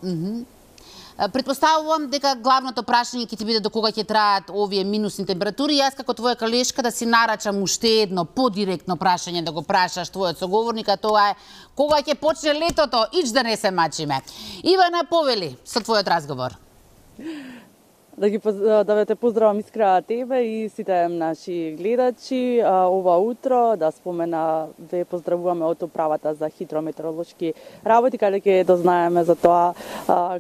Предпоставувам дека главното прашање ќе ти биде до кога ќе траат овие минусни температури. Јас како твоја колешка да си нарачам уште едно подиректно прашање да го прашаш твојот соговорник, а тоа е кога ќе почне летото, ич да не се мачиме. Ивана, повели со твојот разговор. Да те поздравам, Искра, тебе и сите наши гледачи. Ова утро да спомена, ве поздравуваме од управата за хидрометеоролошки работи, каде ќе дознаеме за тоа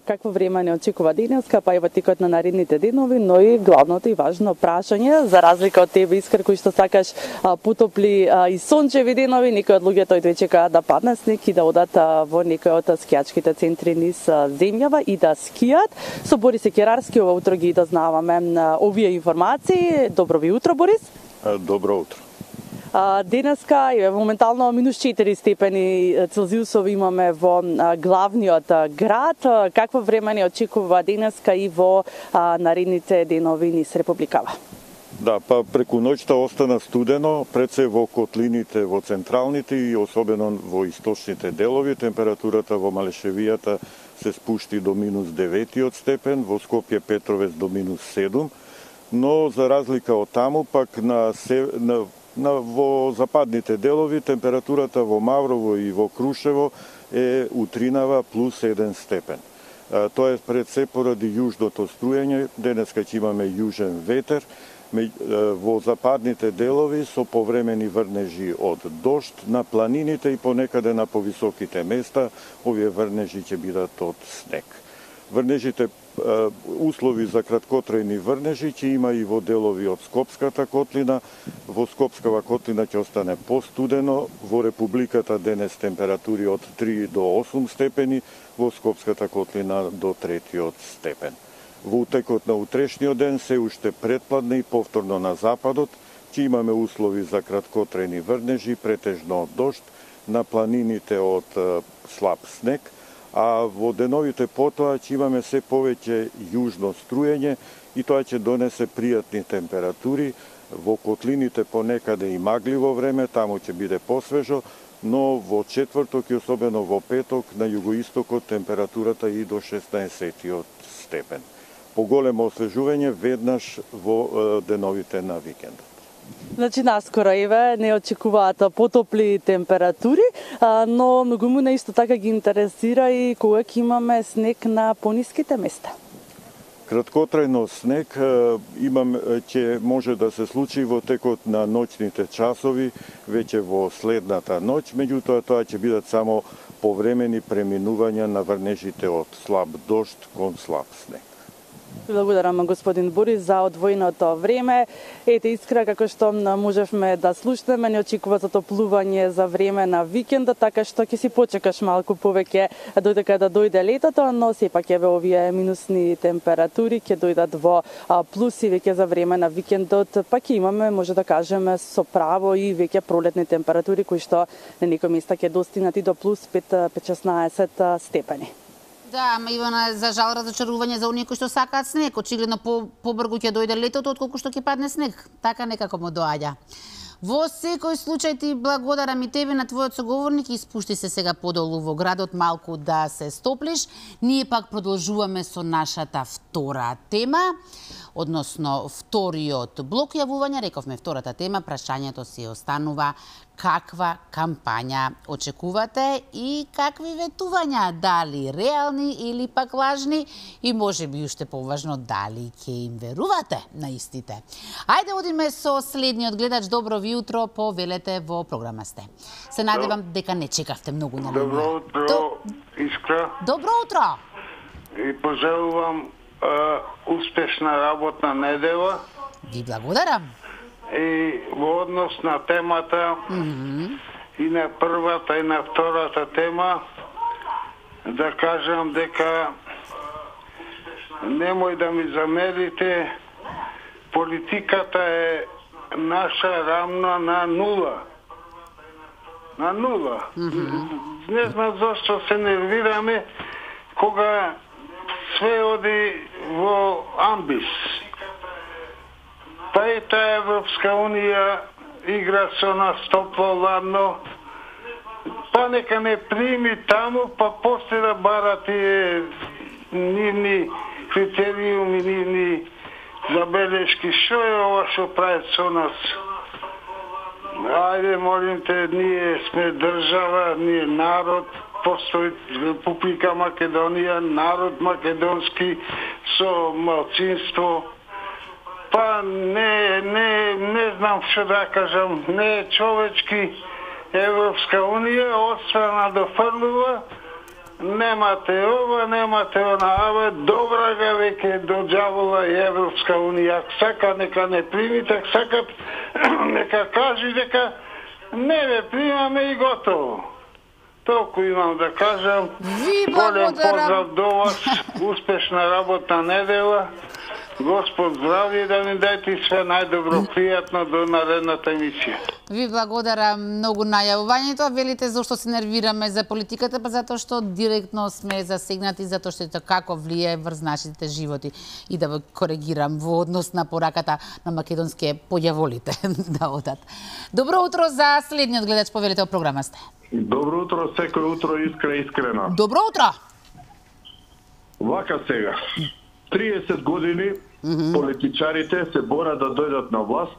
какво време не очекува денеска, па и во текот на наредните денови, но и главното и важно прашање, за разлика од тебе, Искра, кој што сакаш потопли и сончеви денови, некои од луѓето и чекаат да падне снег и да одат во некои од скијачките центри низ земјава и да скијат. Со Борис Секирарски ова утро ги дознаваме овие информации. Добро ви утро, Борис. Добро утро. Денеска е моментално минус 4 степени Целзиусови имаме во главниот град. Какво време не очекува денеска и во наредните денови низ Републикава? Да, па преку ноќта остана студено, пред се во котлините, во централните и особено во источните делови. Температурата во Малешевијата се спушти до -9 степен, во Скопје Петровец до -7, но за разлика од таму, пак во западните делови температурата во Маврово и во Крушево е утринава +1 степен. Тоа е пред се поради јужното струење, денеска ќе имаме јужен ветер, во западните делови со повремени врнежи од дожд, на планините и понекаде на повисоките места, овие врнежи ќе бидат од снег. Врнежите, услови за краткотрајни врнежи ќе има и во делови од Скопската котлина. Во Скопскава котлина ќе остане постудено, во Републиката денес температури од 3 до 8 степени, во Скопската котлина до 3 степен. Во утекот на утрешниот ден се уште предпладне и повторно на западот ќе имаме услови за краткотрајни врнежи, претежно од дожд, на планините од слаб снег, а во деновите потоа ќе имаме се повеќе јужно струење и тоа ќе донесе пријатни температури. Во котлините понекаде и магливо време, таму ќе биде посвежо, но во четврток и особено во петок на југоистокот температурата и до 16 степен. Поголемо освежување веднаш во деновите на викендот. Значи, наскоро еве не очекуваат потопли температури, но многуму исто така ги интересира и кога ќе имаме снег на пониските места. Краткотрајно снег ќе може да се случи во текот на ноќните часови, веќе во следната ноќ, меѓутоа тоа ќе бидат само повремени преминувања на врнежите од слаб дожд кон слаб снег. Благодарам, господин Борис, за одвоеното време. Ете, искра, како што можевме да слушнеме, не очекува затоплување за време на викендот, така што ќе си почекаш малку повеќе додека да дојде летото, но сепак еве овие минусни температури ќе дојдат во плюси веќе за време на викендот, па ќе имаме, може да кажеме, со право и веќе пролетни температури кои што на некои места ќе достигнат и до плюс 5-16 степени. Да, ама Ивана, за жал разочарување за оние кои што сакаат снег. Очигледно побрзо ќе дојде летото отколку што ќе падне снег. Така некако му доаѓа. Во секој случај ти благодарам и тебе на твојот соговорник и спушти се сега подолу во градот малку да се стоплиш. Ние пак продолжуваме со нашата втора тема, односно вториот блок јавувања. Рековме втората тема, прашањето си останува каква кампања очекувате и какви ветувања, дали реални или пак лажни и можеби уште поважно дали ќе им верувате на истите. Ајде одиме со следниот гледач. Добро ви утро, повелете во програма сте. Се надевам дека не чекавте многу на линија. Добро утро, Искра. Добро утро. И пожелувам успешна работна недела. Ви благодарам. И во однос на темата и на првата и на втората тема да кажам дека немој да ми замерите, политиката е наша рамна на нула. На нула. Не знам зашто се нервираме кога све оди во амбис. Па и таа Европска Унија игра со нас топло ладно, па нека не прими таму, па после да бара тие нивни критериуми, нивни забелешки. Шо е ова што прави со нас? Ајде, молим те, ние сме држава, ние народ, постои Република Македонија, народ македонски со малцинство. Па не знам што да кажам, не е човечки. Европска Унија отстрана дофрлува, немате ова, немате она, абе добра га веќе до џавола и Европска Унија. Сака нека не примите, сакат нека кажи дека не ве примаме и готово. Толку имам да кажам. Голем поздрав до вас, успешна работна недела. Господ здравје, да ни дајте све најдобро, пријатно до наредната емисија. Ви благодарам многу најавувањето, велите зашто се нервираме за политиката, па затоа што директно сме засегнати, затоа што ето како влијае врз нашите животи. И да коригирам во однос на пораката на македонски појаволите да одат. Добро утро за следниот гледач, повелите во програма сте. Добро утро, секој утро искрено. Добро утро. Вака сега. 30 години политичарите се борат да дојдат на власт,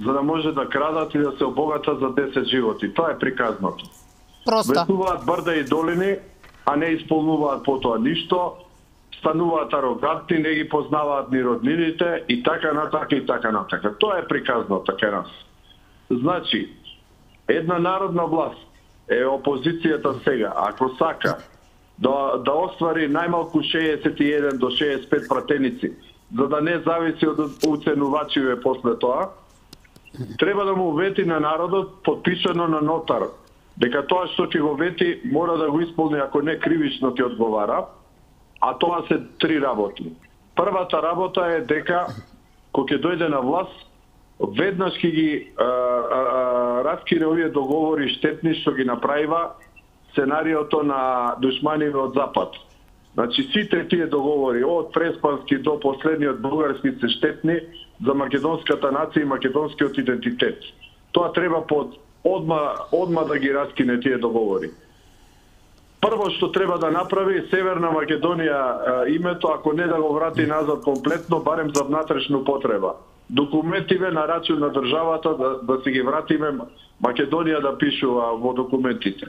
за да може да крадат и да се обогатат за 10 животи. Тоа е приказното. Просто. Ветуваат брда и долини, а не исполнуваат потоа ништо, стануваат арогантни, не ги познаваат ни роднините и така натака и така натака. Тоа е приказното кај нас. Значи, една народна власт е опозицијата сега, ако сака да оствари најмалку 61 до 65 пратеници, за да не зависи од уценувачиве после тоа, треба да му вети на народот подпишано на нотар, дека тоа што ќе го вети мора да го исполни, ако не кривично ќе одговара, а тоа се 3 работи. Првата работа е дека кога ќе дојде на власт, веднаш ќе ги раскине овие договори штетни што ги направива сценариото на душманиве од Запад. Значи, сите тие договори, од Преспански до последниот бугарски се штетни за македонската нација и македонскиот идентитет. Тоа треба одма да ги раскине тие договори. Прво што треба да направи Северна Македонија името, ако не да го врати назад комплетно, барем за внатрешна потреба. Документиве на рачун на државата да си ги вратиме Македонија да пишува во документите.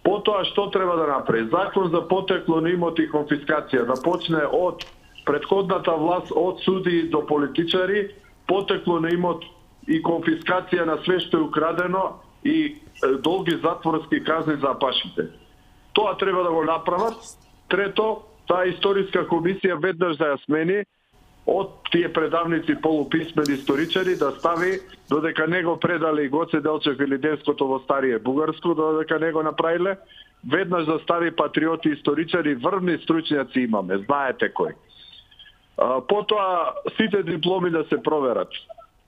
Потоа што треба да направи? Закон за потекло на имоти и конфискација, да почне од претходната власт, од суди до политичари, потекло на имот и конфискација на све што е украдено и долги затворски казни за апашите. Тоа треба да го направат. Трето, таа историска комисија веднаш да ја смени од тие предавници полуписмени историчари да стави додека не го предали Гоце Делчев или Денското во Старие Бугарско, додека не го направиле, веднаш да стави патриоти историчари, врвни стручњаци имаме, знаете кој. Потоа сите дипломи да се проверат.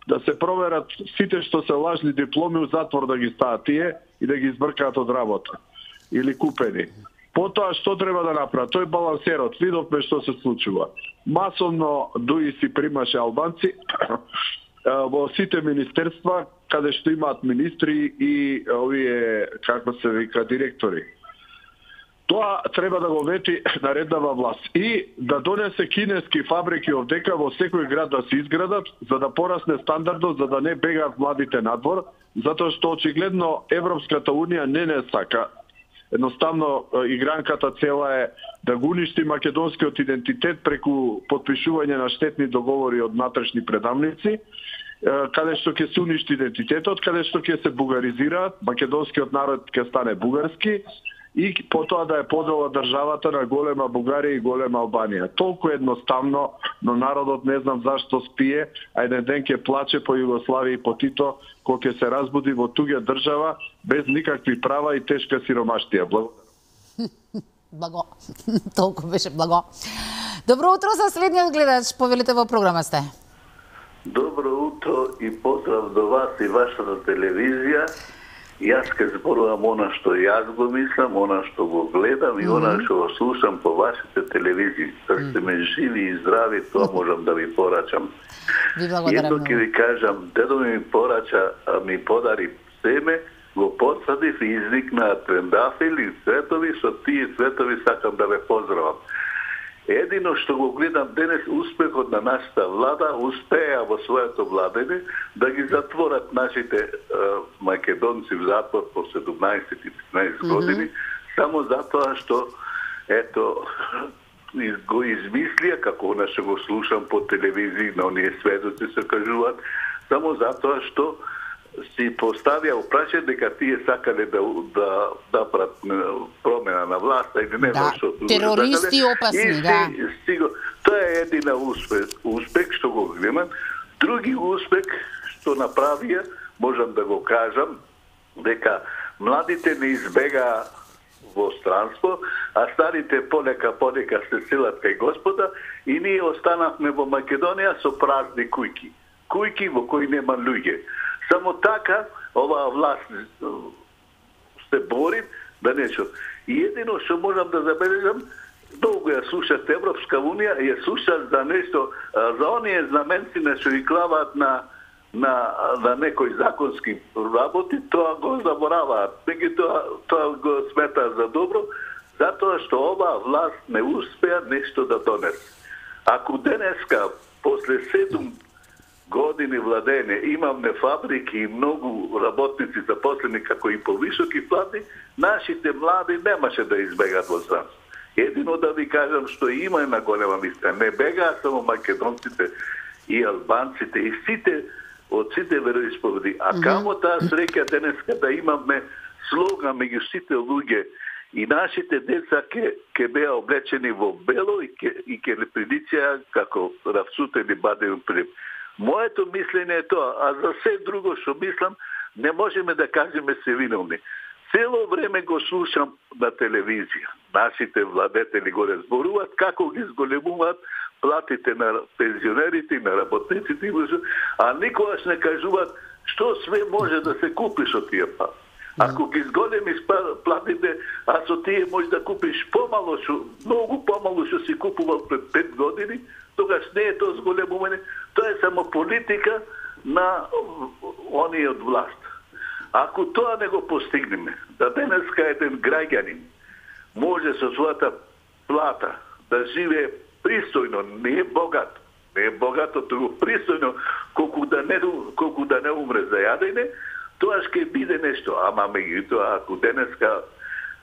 Да се проверат сите што се лажни дипломи у затвор да ги стават тие и да ги избркаат од работа или купени. Потоа што треба да направат? Тој балансерот, видовме што се случува. Масовно дуи си примаше албанци во сите министерства каде што имаат министри и овие, како се вика, директори. Тоа треба да го вети нареднава власт и да донесе кинески фабрики овдека во секој град да се изградат, за да порасне стандардот, за да не бегаат младите надвор, затоа што очигледно Европската унија не сака. Едноставно, игранката цела е да го уништи македонскиот идентитет преку подпишување на штетни договори од натрешни предавници, каде што ќе се уништи идентитетот, каде што ќе се бугаризираат, македонскиот народ ќе стане бугарски и потоа да е подела државата на голема Бугарија и голема Албанија. Толку едноставно, но народот не знам зашто спие, а еден ден ќе плаче по Југославија и по Тито, кога ќе се разбуди во туѓа држава, без никакви права и тешка сиромаштија. Благо. Благо. Толку беше благо. Добро утро за следниот гледач, повелите во програма сте. Добро утро и поздрав до вас и вашата телевизија. Јас ке зборувам она што јас го мислам, она што го гледам и она што го слушам по вашите телевизии. Да сте ме живи и здрави, тоа можам да ви порачам. Едно ќе ви кажам, дедо ми порача, ми подари семе, го посадив и извикна трендафили, цветови, со тие цветови сакам да ве поздравам. Едино што го гледам денес, успехот на нашата влада, успеа во своето владење да ги затворат нашите македонци в затвор по 17-15 години, само затоа што ето го измислија, како она што го слушам по телевизии, на оние сведоци се кажуваат, само затоа што си поставија опрашање дека тие сакале да прат промена на власта или не што терористи опасни, да. Тоа е едина успех што го гледам. Други успех што направија, можам да го кажам, дека младите не избегаа во странство, а старите понека се селат кај Господа и ние останавме во Македонија со празни кујки. Кујки во кои нема луѓе. Само така оваа власт се бори да нешто. И едино што можам да забележам, долго ја слушат Европска Унија, ја слушат за нешто, за оние знаменци на што ги клаваат на некои законски работи, тоа го забораваат. Тоа го сметаат за добро, затоа што оваа власт не успеа нешто да донесе. Ако денеска, после 7 години владење, имаме фабрики и многу работници запослени како и повисоки плати, нашите млади немаше да избегат во странство. Едино да ви кажам што има една голема мисла. Не бегаат само македонците и албанците и сите од сите вероисповеди. А камо таа среќа денеска да имаме слога меѓу сите луѓе и нашите деца ќе беа облечени во бело и ќе ли приличеа како равцутени бадеви прип. Моето мислење е тоа, а за се друго што мислам, не можеме да кажеме се виновни. Цело време го слушам на телевизија. Нашите владетели го разборуваат како ги зголемуваат платите на пензионерите и на работниците, а никогаш не кажуваат што све може да се купи со тие плати. Ако ги зголемиш платите, а со тие може да купиш помало, многу помало што си купувал пред 5 години, тогаш не е тоа зголемување, тоа е само политика на оние од власт. Ако тоа не го постигнеме, да денеска еден граѓанин може со својата плата да живее пристојно, не е богато, туку пристојно, колку да не умре за јадење, тоа ќе биде нешто. Ама меѓутоа, ако денеска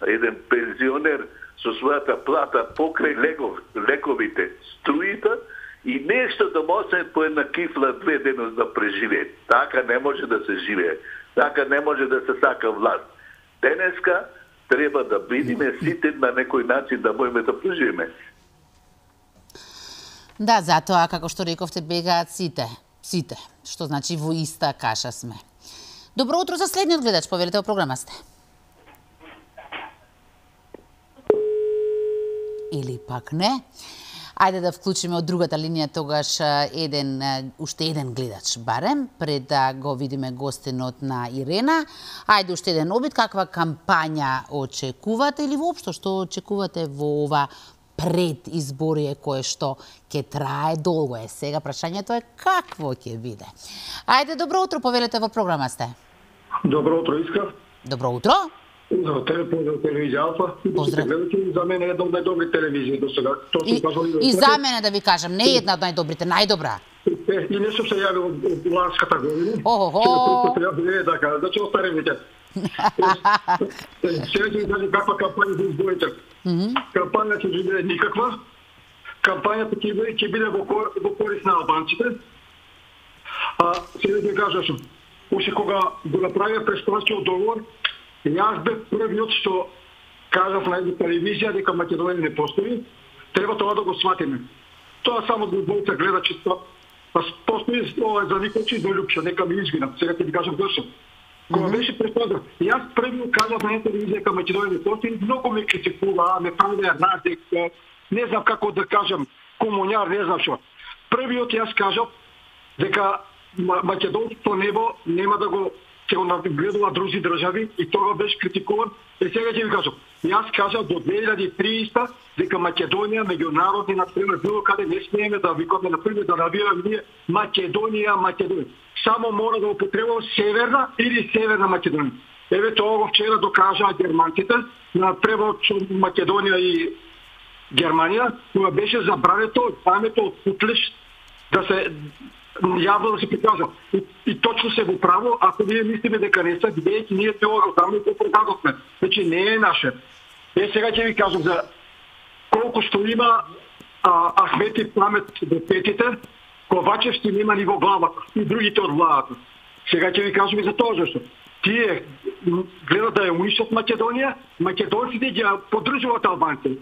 еден пензионер со својата плата покрај лековите, струјата и нешто да му остане по една кифла 2 денос да преживее. Така не може да се живее. Така не може да се сака власт. Денеска треба да бидиме сите на некој начин да можеме да преживеме. Да, затоа, како што рековте, бегаат сите. Сите. Што значи во иста каша сме. Добро утро за следниот гледач, повелете во програма сте. Или пак не. Ајде да вклучиме од другата линија тогаш уште еден гледач барем, пред да го видиме гостинот на Ирена. Ајде уште еден обид, каква кампања очекувате или воопшто што очекувате во ова предизборие кое што ќе трае долго е. Сега прашањето е какво ќе биде. Ајде, добро утро, повелете во програма сте. Добро утро, Искра. Добро утро. За телевизија Алфа. Поздрав. За мене е една од најдобри телевизии до сега. И за мене да ви кажам, не е една од најдобрите, најдобра. И не сум се јавил од ланската година. Охо. Е така, значи остаремите. Сега ќе ви кажам каква кампања за изборите. Кампања ќе биде никаква. Кампањата ќе биде во корис на албанците. А сега ќе кажам, уште кога го направија престојскиот договор, јас бев првиот што кажав на една телевизија дека Македонија не постои, треба тоа да го сватиме. Тоа само за двојца гледачи, постои за никој до Лјупша, нека ми извинат, сега ќе ви кажам зашто. Кога беше престојано, јас првиот кажав на една телевизија дека Македонија не постои, многу ме критикуваа, ме правеа разек, не знам како да кажам, комуњар, не знам што. Првиот јас кажав дека македонското небо нема да го ќе го нагледува други држави и тоа беше критикуван. И сега ќе ви кажам, јас кажав до 2030 дека Македонија меѓународни например било каде не смееме да викаме например да навираме ние Македонија. Само мора да употребува северна или северна Македонија. Еве тоа го вчера докажаа германците на превод со Македонија и Германија, кога беше забрането памето од Путлиш да се јавно да се прикажа. И точно се во право, ако ние мислиме дека не се, бидејќи ние тоа го знаме и го продадовме. Значи не е наше. Сега ќе ви кажам за колку што има Ахмети памет до петите, Ковачевски нема ни во главата и другите од владата. Сега ќе ви кажам и за тоа зашто. Тие гледат да ја унишат Македонија, македонците ги поддржуваат албанците.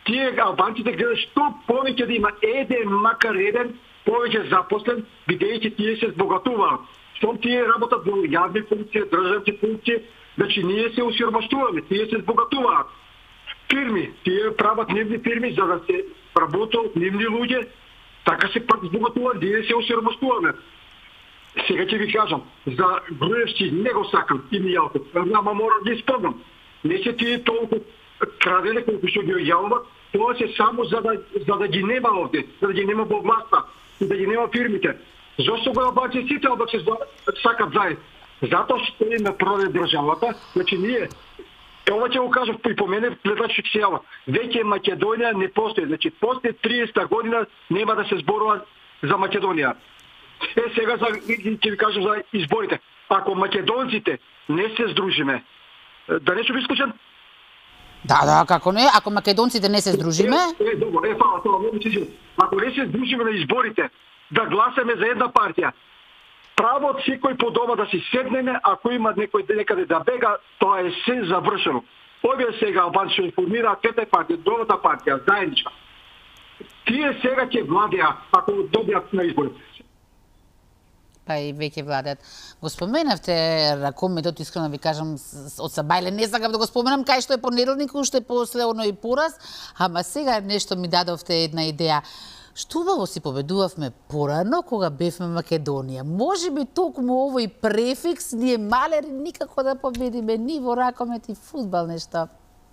Тие албанците гледат што повеќе да има еден, макар еден, повеќе запослен, бидејќи тие се збогатуваат. Штом тие работат во јавни функции, државни функции, Значи ние се осиромаштуваме, тие се збогатуваат. Фирми, тие прават нивни фирми за да се работат нивни луѓе, така се пак збогатуваат, ние се осиромаштуваме. Сега ќе ви кажам, за Груевски не го сакам и Мијалков, ама морам да испомнам. Не се тие толку крадене колку што ги јавуват, тоа се само за да ги нема овде, за да ги нема во власта и да ги нема фирмите. Зошто го обаче сите да се сакат заедно? Затоа што им продаде државата, значи ние ова ќе го кажам и по мене гледачи ќе се јава. Веќе Македонија не постои, значи после 30 година нема да се зборува за Македонија. Сега ќе ви кажам за изборите. Ако македонците не се здружиме, да не сум исклучен? Да, како не? Ако македонците не се здружиме? Добро, фала, многу се извинувам. Ако не се здружиме на изборите, да гласаме за една партија, право од секој по дома да си седнеме, ако има некој некаде да бега, тоа е се завршено. Овие сега албанци информираат двете партии, другата партија, заедничка. Тие сега ќе владеа ако добијат на изборите. Па и веќе владеат. Го споменавте ракометот, искрено ви кажам, од Сабајле не сакам да го споменам, кај што е понеделник, уште после оној пораз, ама сега нешто ми дадовте една идеја. Што убаво си победувавме порано кога бевме Македонија. Може би токму овој префикс ние малери никако да победиме ни во ракомет и фудбал нешто.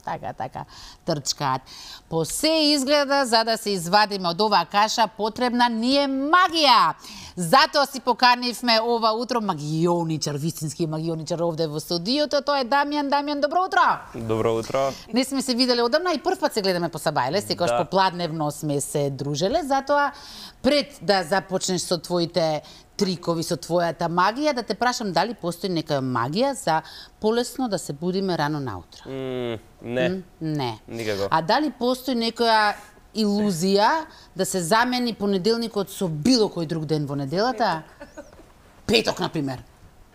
Така, трчкаат. По се изгледа, за да се извадиме од оваа каша, потребна ни е магија. Затоа си поканивме ова утро магионичар, вистински магионичар овде во студиото. Тоа е Дамјан. Дамјан, добро утро! Добро утро! Не сме се виделе одамна и прв пат се гледаме по Сабајле, секогаш попладневно сме се дружеле, затоа пред да започнеш со твоите трикови, со твојата магија, да те прашам дали постои некоја магија за полесно да се будиме рано наутро? Не. Не. Никако. А дали постои некоја илузија да се замени понеделникот со било кој друг ден во неделата? Петок, например.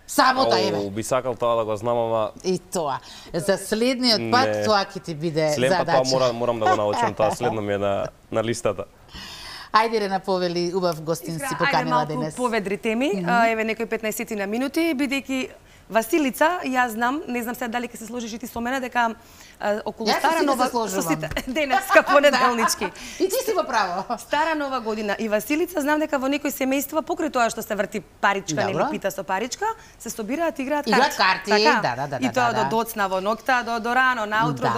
Сабота, еве. Би сакал тоа да го знам, ама... И тоа. За следниот пат тоа ќе ти биде задача. Следниот пат тоа морам да го научам, тоа следно ми е на листата. Ајде Рена Повели, убав гостин си поканила денес. Ајде малку поведри теми, еве некои 15 на минути, бидејќи Василица, јас знам, не знам сега дали ќе се сложиш и ти со мене, дека околу Стара Нова денеска понеделнички. И ти си во право. Стара Нова година и Василица, знам дека во некои семејства покрај тоа што се врти паричка, нели пита со паричка, се собираат и играат карти. Играат карти, да. И тоа до доцна во ноќта, до рано наутро,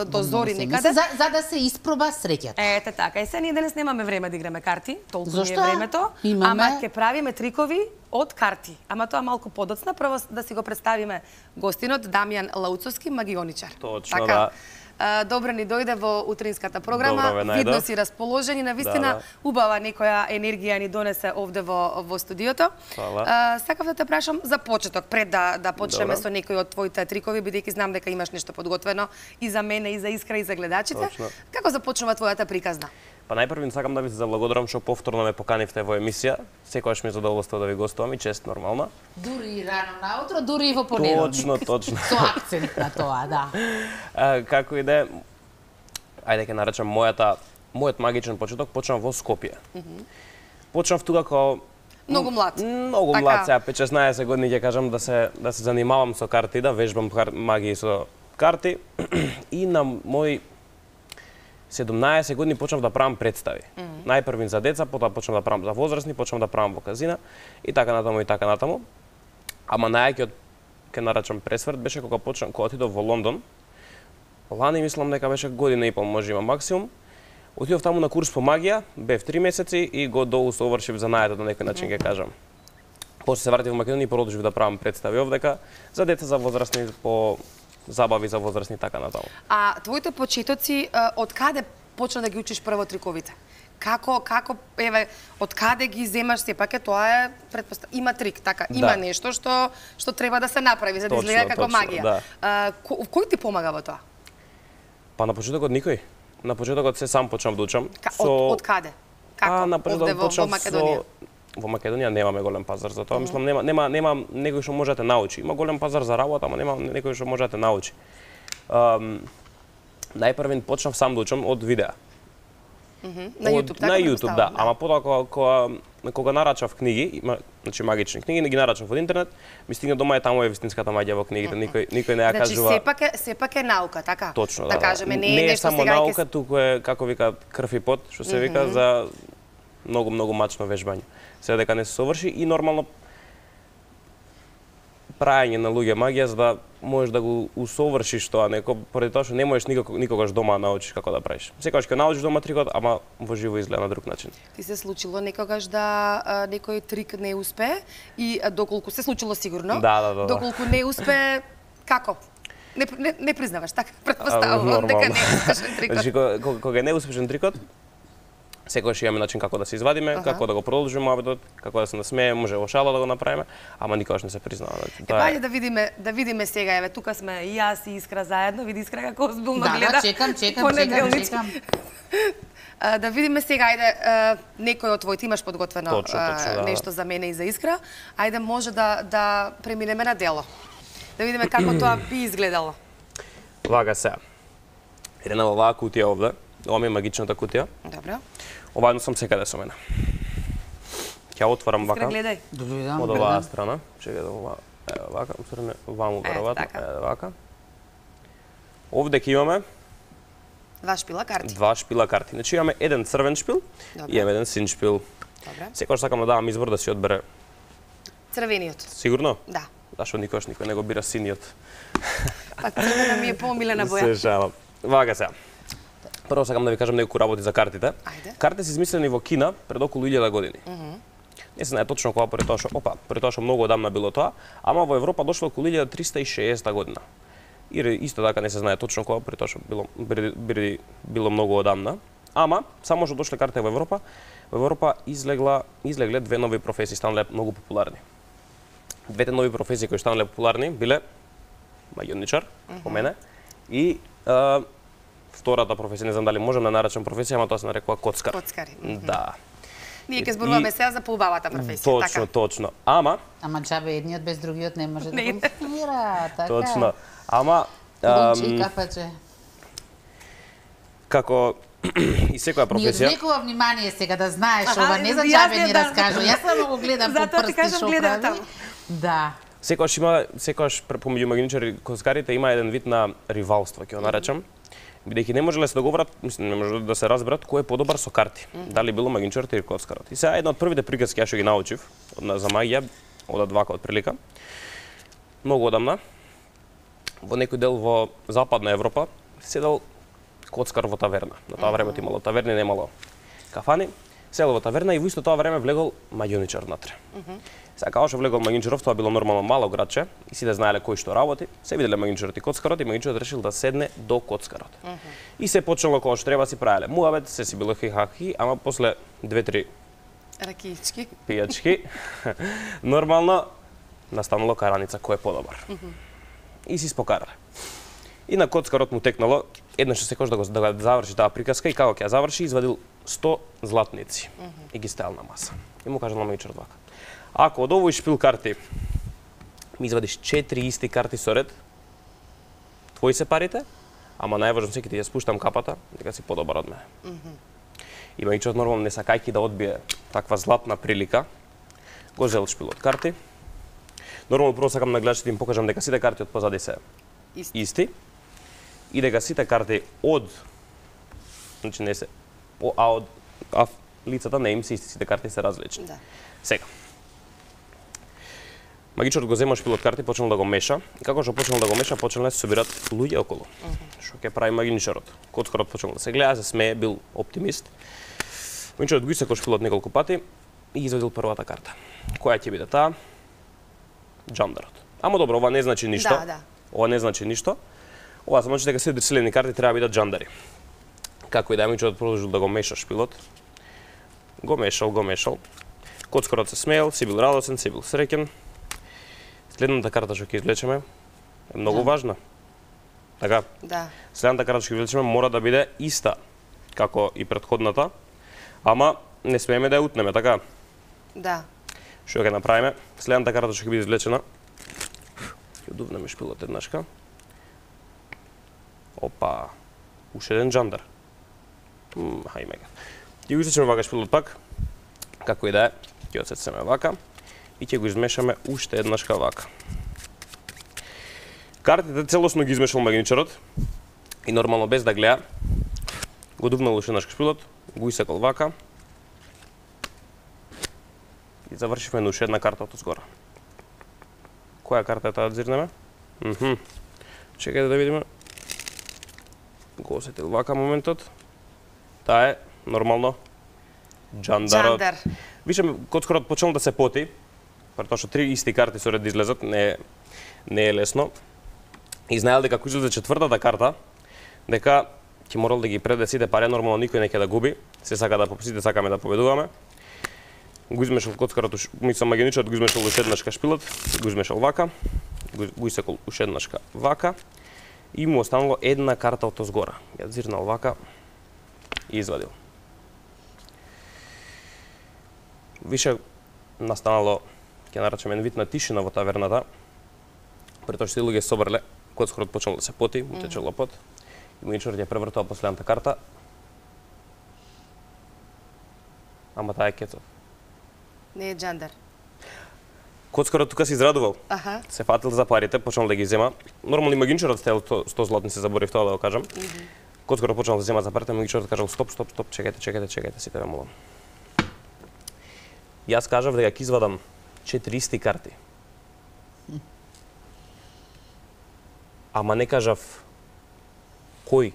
до зори некаде. За да се испроба среќата. Ете така. И се ние денес немаме време да играме карти, толку ни е времето, ама ќе правиме трикови од карти. Ама тоа малку подоцна, прво да си го представиме гостинот Дамјан Лауцовски, магионичар. Точно, така, да. Добро ни дојде во утринската програма. Видно си расположени, навистина убава некоја енергија ни донесе овде во студиото. Сакав да те прашам за почеток, пред да почнеме со некои од твоите трикови, бидејќи знам дека имаш нешто подготвено и за мене, и за Искра, и за гледачите. Како започнува твојата приказна? Па најпрво сакам да ви се заблагодарам што повторно ме поканивте во емисија. Секогаш ми е задоволство да ви гостувам и чест нормална. Дури и рано наутро, дури и во понеделник. Точно. Со акцент на тоа, да. Како и да е, ајде ќе наречам мојот магичен почеток почнав во Скопје. Почнав тука као многу млад. Многу млад, сега 5-16 години ќе кажам да се занимавам со карти, да вежбам магии со карти и на мој 17 години почнав да правам представи. Најпрви за деца, потоа почнав да правам за возрастни, почнав да правам во казина и така натаму. Ама најаќиот ќе наречам пресврт беше кога отидов во Лондон. Лани мислам дека беше година и пол, може има максимум. Отидов таму на курс по магија, бев 3 месеци и го доусовршив занајдот на некој начин ќе кажам. После се вратив во Македонија и продолжив да правам представи овдека за деца, за возрастни, по забави за возрастни така натаму. А твоите почетоци од каде почна да ги учиш прво триковите? Како еве од каде ги земаш, сепак тоа е има трик, така, има нешто што треба да се направи за да изгледа како магија. Кој ти помага во тоа? Па на почетокот никој. На почетокот се сам почнав да учам. Од каде? Како? На почетокот почнав во Македонија? Во Македонија немаме голем пазар за тоа. Мислам нема некој што може да те научи. Има голем пазар за работа, ама нема некој што може да те научи. Најпрвен почнав сам да учам од видеа. На YouTube, така? На YouTube, да. Ама потоа кога нарачав книги, значи магични книги, не ги нарачав од интернет, ми стигна дома е таму е вистинската маѓа во книгите, никој не ја кажува. Значи сепак е наука, така? Точно, да кажеме, не е нешто само наука, туку е како вика крв и пот, што се вика за многу мачно вежбање. Сега дека не се соврши и нормално праење на луѓе магија за да можеш да го усовршиш тоа неко, поради тоа што не можеш никогаш дома да научиш како да правиш. Секогаш ќе научиш дома трикот, ама во живо изгледа на друг начин. Ти се случило некогаш да некој трик не успе и доколку се случило сигурно, доколку не успе, како? Не признаваш, така претпоставувам дека не е успешен трикот. Значи кога не е успешен трикот, секогаш имаме начин како да се извадиме, како да го продолжиме муабетот, како да се насмееме, може во шала да го направиме, ама никогаш не се признава. Ајде да видиме сега, еве тука сме и јас и Искра заедно, види Искра како озбилно гледа. Да, чекам. Да видиме сега, ајде некој од твоите имаш подготвено нешто за мене и за Искра. Ајде може да преминеме на дело. Да видиме како тоа би изгледало. Вака сега. Една оваа кутија овде. Ова ми е магичната кутија. Добро. Ова едно сам секаде со мене. Ќе отворам вака. Гледај. Од оваа страна. Чекај да ова вака, усредне ваму веројатно, вака. Овде ќе имаме два шпила карти. Значи имаме еден црвен шпил и имаме еден син шпил. Добре. Секогаш сакам да давам избор да си одбере црвениот. Сигурно? Да. Зашто никош никој не го бира синиот. Па црвена ми е помилена боја. Се шалам. Вака сега. Прво сакам да ви кажам неколку работи за картите. Картите се измислени во Кина пред околу 1000 години. Не се знае точно кога, поради тоа што многу одамна било тоа, ама во Европа дошло околу 1360 година. И исто така не се знае точно кога, поради тоа што било многу одамна. Ама само што дошле картите во Европа излегле две нови професии, станале многу популарни. Двете нови професии кои станале популарни биле магионичар, по мене, и втората професија, не знам дали можам да наречам професија, ама тоа се нарекува коцкар. Коцкари. Да. Ние ќе зборуваме сега за поубавата професија, Точно. Ама џабе едниот без другиот не може да функционира, така. Точно. Ама Бонче, капаче. Како и секоја професија. Ни одвлекува внимание сега да знаеш, ова не за џабе ни раскажу. Јас само го гледам по прсти што прави. Да. Секогаш помеѓу магионичари и коцкарите има еден вид на ривалство, ќе го наречам. Бидејќи не можеле да се договорат, мислам, не може да се разберат кој е подобар со карти. Дали било магионичарот или коцкарот. И сега една од првите приказки што ги научив за магија, одат вака од прилика. Многу одамна во некој дел во Западна Европа седел коцкар во таверна. На тоа време имало таверни, немало кафани. Седел во таверна и во исто тоа време влегол магионичар внатре. Сега кога што влегол магионичаров, тоа било нормално мало градче и сите знаеле кој што работи. Се виделе магионичарот и коцкарот и магионичарот решил да седне до коцкарот. И се почнало кога што треба си правеле муабет, се си било хихахи, ама после 2-3 ракиички, пијачки, нормално настанало караница кој е подобар. И си спокарале. И на коцкарот му текнало еднаш секој да го заврши таа приказка и како ќе ја заврши, извадил 100 златници и ги ставил на маса. И му кажал на магионичарот вака: ако од овој шпил карти ми извадиш 4 исти карти со ред, твои се парите, ама најважно секи ти ја спуштам капата, дека си подобар од мене. И магионичарот нормално не сакајќи да одбие таква златна прилика, го зел шпилот карти. Нормално прво сакам на гледачите им покажам дека сите карти од позади се исти и дека сите карти од, значи не се, од лицата не им се исти, сите карти се различни. Сега, магичарот го зема шпилот карти, почнал да го меша, и како што почнал да го меша, почнал да се собират луѓе околу. Што ќе прави магичарот? Коцкарот почнал да се гледа, се смее, бил оптимист. Магичарот го исекол шпилот неколку пати и извадил првата карта. Која ќе биде таа? Джандарот. Ама добро, ова не значи ништо. Ова не значи ништо. Ова значи дека сите дрсилени карти треба да бидат джандари. Како и да магичарот продолжил да го меша шпилот. Го мешал. Коцкарот се смеел, си бил радосен, си бил среќен. Следната карта што ќе извлечеме е многу важна. Така? Да. Следната карта што ќе извлечеме мора да биде иста како и претходната, ама не смееме да ја утнеме, така? Да. Што ќе направиме? Следната карта што ќе биде извлечена, ќе дувнеме шпилот еднашка. Опа, уште еден джандар. Хајме га. Ќе го исечеме вака шпилот пак, како и да е, ќе отсецеме вака и ќе го измешаме уште еднашка вака. Картите целосно ги измешал магионичарот и нормално без да гледа, го дувнал уште еднашка шпилот, го исекал вака и завршивме на уште една карта од згора. Која карта е таа да зирнеме? Чекајте да видиме. Го осетил вака моментот. Таа е нормално джандарот. Вишем, коцкарот почнал да се поти, претоа што 3 исти карти со ред да излезат, не е лесно. И знаел дека ако излезе четвртата карта, дека ќе морал да ги предаде сите пари, нормално никој не ќе да губи, сите сакаме да победуваме. Го измешал коцкарот, мислам магионичарот го измешал уште еднашка шпилот, го измешал вака, го исекол уште еднашка вака и му останало една карта од озгора. Ја зирнал вака и извадил. Више настанало, ќе наречеме, вид на тишина во таверната, претоа што луѓе собрале, коцкарот почнал да се поти, му тече лопот, и магионичарот ја превртал последната карта. Ама таа е кецот. Не е джандар. Коцкарот тука се израдувал. Се фатил за парите, почнал да ги зема. Нормално и магионичарот стел 100 златници, заборив тоа да го кажам. Коцкарот почнал да зема за парите, магионичарот кажал стоп, чекајте, сите ве молам. Јас кажав дека ќе извадам 4 исти карти. Ама не кажав кои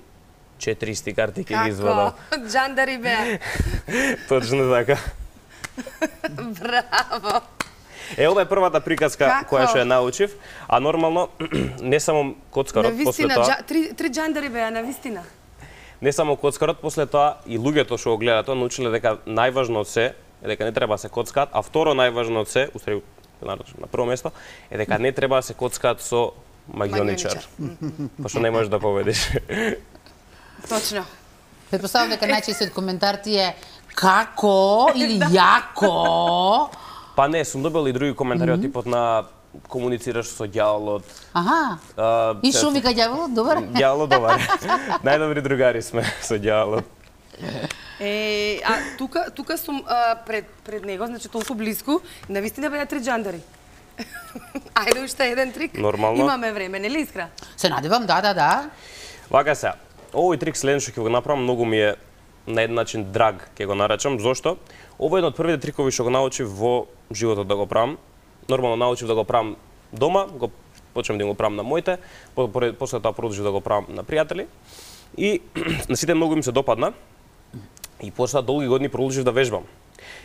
4 исти карти ќе ги извадам. Како? Джандари беа. Точно така. Браво. Ова е првата приказка која што ја научив, а нормално не само коцкарот после тоа. Три джандари беа на вистина. Не само коцкарот, после тоа и луѓето што го гледаат тоа научиле дека најважно од се е дека не треба да се коцкаат, а второ најважно од се, устари на прво место, е дека не треба да се коцкаат со магионичар. Пошто не можеш да победиш. Точно. Претпоставам дека најчестиот коментар ти е како или јако. Па не, сум добил и други коментари од типот на комуницираш со ѓаволот. И шо вика ѓаволот, добар? Ѓаволот добар. Најдобри другари сме со ѓаволот. А тука сум пред него, значи толку близко, навистина беа 3 джандари. Ајде уште еден трик. Нормално. Имаме време, нели Искра? Се надевам, да. Вака се. Овој трик следен што ќе го направам многу ми е на еден начин драг, ќе го наречам. Зошто? Ова е еден од првите трикови што го научив во животот да го правам. Нормално научив да го правам дома, го почнем да го правам на моите, после тоа продолжив да го правам на пријатели. И на сите многу им се допадна. И после долги години продолжив да вежбам.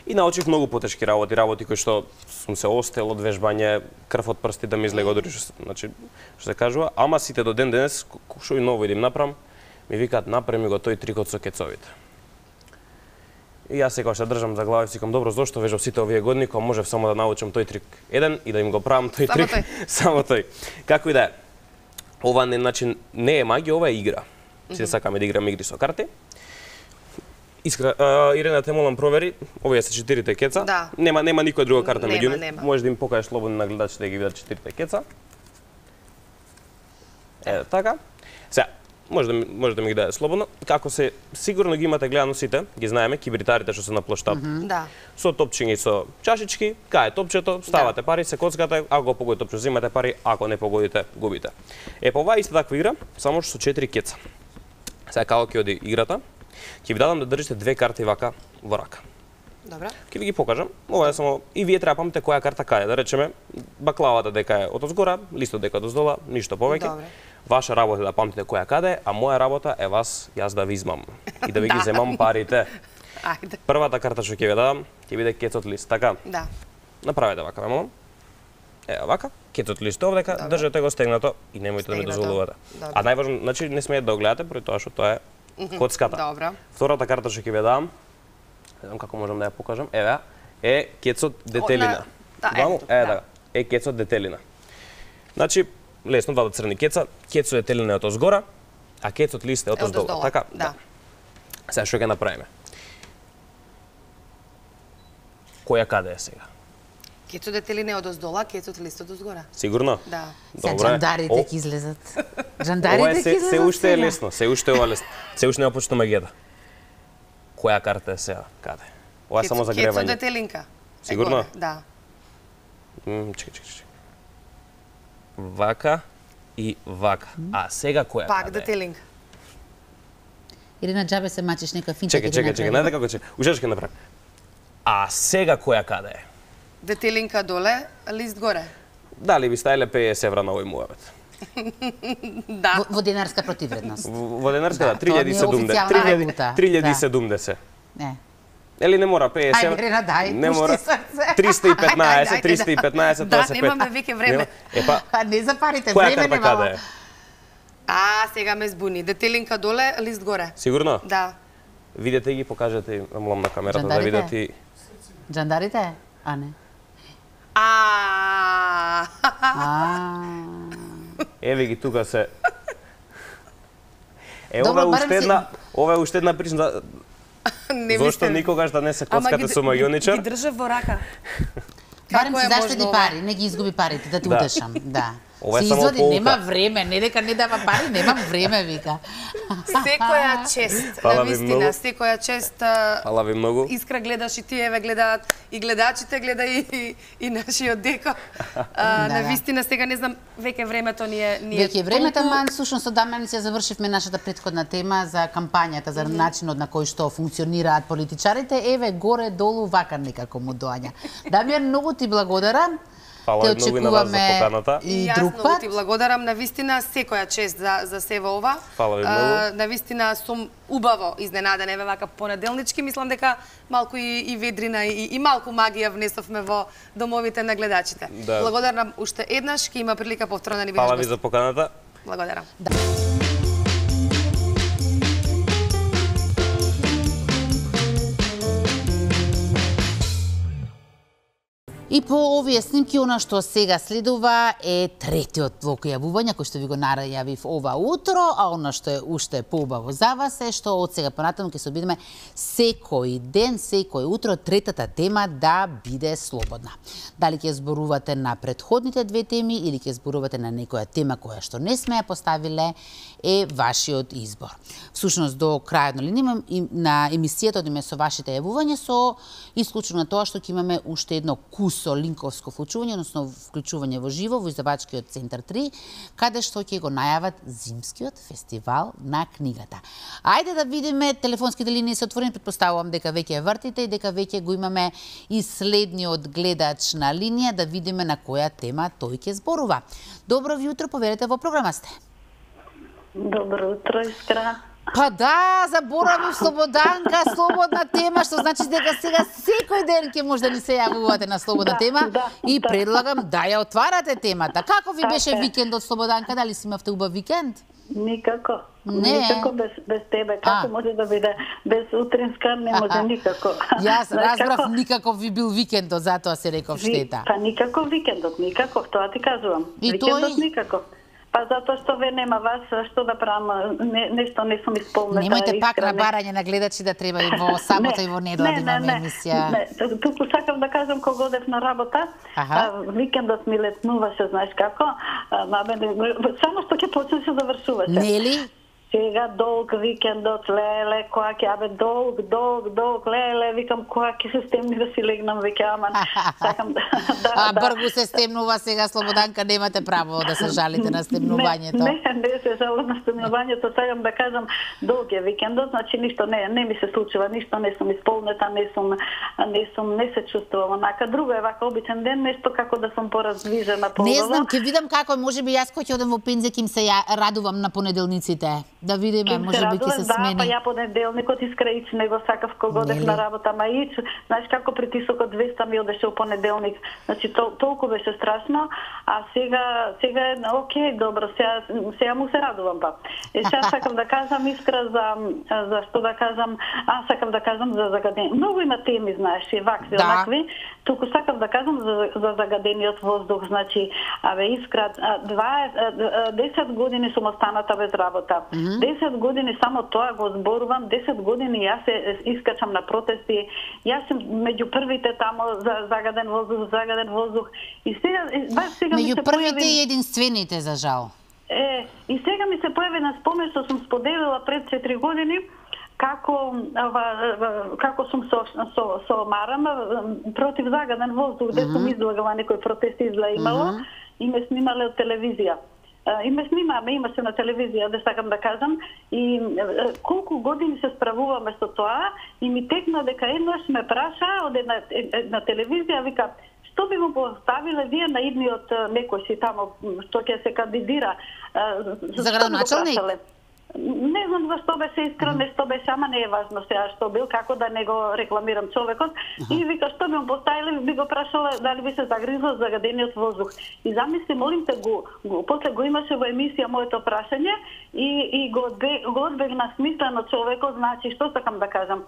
И научив многу потешки работи кои што сум се остел од вежбање, крв од прсти да ми излега одри, значи што се кажува, ама сите до ден денес што и ново идем направам, ми викаат направи го тој трикот со кецовите. И јас секогаш се држам за глава и си викам добро, зошто вежбав сите овие години кога можев само да научам тој трик еден и да им го правам тој трик само тој. Како и да е. Ова не е магија, ова е игра. Сите сакаме да играме игри со карти. Ирена, те молам провери, овие се 4 кеца. Да. Нема никоја друга карта меѓу нив. Нема. Можеш да им покажеш слободно на гледачите да ги видат 4 кеца. Така. Сега, може да ми ги даде слободно. Како се сигурно ги имате гледано сите, ги знаеме, кибритарите што се на плоштад. Да. Со топчиња и со чашички, кај е топчето, ставате пари, се коцкате, ако го погодите топче, земате пари, ако не погодите, губите. Па ова е иста таква игра, само што со 4 кеца. Сега како ќе оди играта? Ќе ви дадам да држите 2 карти вака во рака. Добра. Ќе ви ги покажам. Ова е само и вие треба памтите која карта каде, да речеме баклавата дека е од озгора, листот дека доздола, ништо повеќе. Добре. Ваша работа е да памтите која каде, а моја работа е јас да ви измам и да ви ги земам парите. Ајде. Првата карта што ќе ви дадам, ќе биде кецот лист, така? Да. Направете вака, ме молам. Вака, кецот лист овдека, држете го стегнато и немојте да ми дозволувате. А најважно, значи не смеете да го гледате, поради тоа што тоа е коцката. Добра. Втората карта што ќе ви дадам, не знам како можам да ја покажам, еве, е кецот детелина. Е кецот детелина. Значи, лесно, двата црни кеца, кецот детелина е од озгора, а кецот лист е од оздолу. Така? Да. Сега што ќе направиме? Која каде е сега? Кецот детелина е од оздола, кецот лист од озгора. Сигурно? Да. Добре. Жандарите ќе излезат. Жандарите ќе излезат. Се уште е лесно, се уште е ова лесно. Се уште не почна магијата. Која карта е сега? Каде? Ова е само за гревање. Кецо детелинка. Сигурно? Да. Чекај. Вака и вака. А сега која Пак каде? детелинка. Или на джабе се мачиш нека финче. Чекај, најде како че. Уште ќе направам. А сега која каде е? Детелинка доле, лист горе. Дали би ставиле 50 евра на овој муавет? Да. Во денарска противредност. Во денарска, да, 3070. Не. Или не мора 50 евра? Ајде, Рена, дај, не пушти мора. срце. 315, Да, тоа се 5. немаме веќе време. Епа, не за парите, која време карта немало. каде е? Сега ме збуни. Детелинка доле, лист горе. Сигурно? Да. Видете ги, покажете и молам на камерата да видат и... Джандарите? А не. Еве ги тука се. Ова е уште една причина. Зошто никогаш да не се коцкате со магионичар? Ги држав во рака. Барем си заштеди пари, не ги изгуби парите, да те утешам. Да. Ова е се само изводи, полка. нема време, не дека не дава пари, немам време, вика. Секоја чест, Фала ви навистина, многу. секоја чест. Фала ви многу. Искра гледаш и тие ве гледаат, и гледачите гледа и нашиот деко. Навистина сега не знам, веќе времето ни е Веќе времето, ман, сушно со Дамјан се завршивме нашата претходна тема за кампањата, за начинот на кој што функционираат политичарите. Еве горе долу вака некако му доаѓа. Дамјан, многу ти благодарам. Фала многу и на вас за поканата. И јас друг многу пат. ти благодарам, навистина секоја чест за сево ова. Фала ви многу. Навистина сум убаво изненадена, еве вака понеделнички, мислам дека малку и ведрина и малку магија внесовме во домовите на гледачите. Да. Благодарам уште еднаш, ќе има прилика повторно да ни бидеш Фала ви гост. за поканата. Благодарам. И по овие снимки, она што сега следува е третиот блок јавувања, кој што ви го најавив ова утро, а она што е уште поубаво за вас е што од сега понатаму ќе се обидеме секој ден, секој утро, третата тема да биде слободна. Дали ќе зборувате на претходните две теми или ќе зборувате на некоја тема која што не сме ја поставиле, е вашиот избор. Всушност, до крајот на емисијата одиме со вашите јавувања, со исклучено на тоа што ќе имаме уште едно кусо линковско вклучување, односно вклучување во живо во издавачкиот центар 3, каде што ќе го најават зимскиот фестивал на книгата. Ајде да видиме, телефонските линии се отворени, претпоставувам дека веќе ја вртите и дека веќе го имаме и следниот гледач на линија, да видиме на која тема тој ќе зборува. Добро ви утро, поверете, во програма сте. Добро утро, Искра. Па да, заборавив Слободанка, слободна тема, што значи дека сега секој ден ќе може да ни се јавувате на слободна тема и предлагам да ја отварате темата. Како ви беше викендот, Слободанка? Дали си имавте убав викенд? Никако. Не. Никако без тебе. Како може да биде без утринска, не може никако. Јас разбрав никако ви бил викендот, затоа се реков штета. Па никако викендот, никако, тоа ти кажувам. И викендот тој? никако. Па затоа што ве нема вас, што да правам, нешто не сум исполнета. Немојте пак на барање на гледачи да треба и во сабота и во недела да имаме емисија. Не, туку сакам да кажам кога одев на работа, викендот ми летнуваше, знаеш како, само што ќе почнеше да вршуваше. Нели? Сега долг викендот, леле, која ќе, долг, леле, викам која ќе се стемни да си легнам, веќе, ама сакам да... Бргу се стемнува сега, Слободанка, немате право да се жалите на стемнувањето. Не се жалам на стемнувањето, сакам да кажам, долг е викендот, значи ништо не ми се случува, ништо не сум исполнета, не се чувствувам онака. Друго е вака обичен ден, нешто како да сум пораздвижена по. Не знам, ќе видам како, можеби јас кој ќе одам во пензија, ќе им се радувам на понеделниците. Да видиме, можеби ќе се смени. Да, па ја понеделникот искраич него сакав кога одев на работа, ма ич, знаеш како притисокот 200 ми одеше во понеделник. Значи толку беше страшно, а сега е окей, добро, сега му се радувам па. И сега сакам да кажам Искра за што да кажам, сакам да кажам за загаден. Многу има теми, знаеш, и вакви, онакви. Туку сакам да кажам за загадениот воздух, значи, Искра, 10 години сум останата без работа. 10 години само тоа го зборувам, 10 години јас се искачам на протести, јас сум меѓу првите тамо за загаден воздух. И сега меѓу првите и единствените, за жал. И сега ми се појави на спомен што сум споделила пред 4 години, како сум со марама против загаден воздух, где сум излагала некој протест имало и ме снимале од телевизија. И ме имаше на телевизија, да сакам да кажам, и колку години се справуваме со тоа, и ми текна дека еднаш ме праша од една телевизија, вика, што би му поставиле вие на идниот некој си тамо, што ќе се кандидира? За градоначалник? Не знам зашто беше искрено, што беше, ама не е важно сега што бил, како да не го рекламирам човекот. И вика, што би му поставили, би го прашала дали би се загризла загадениот воздух. И замисли, молим те, после го имаше во емисија моето прашање и го одбегна смислено човекот, значи, што сакам да кажам.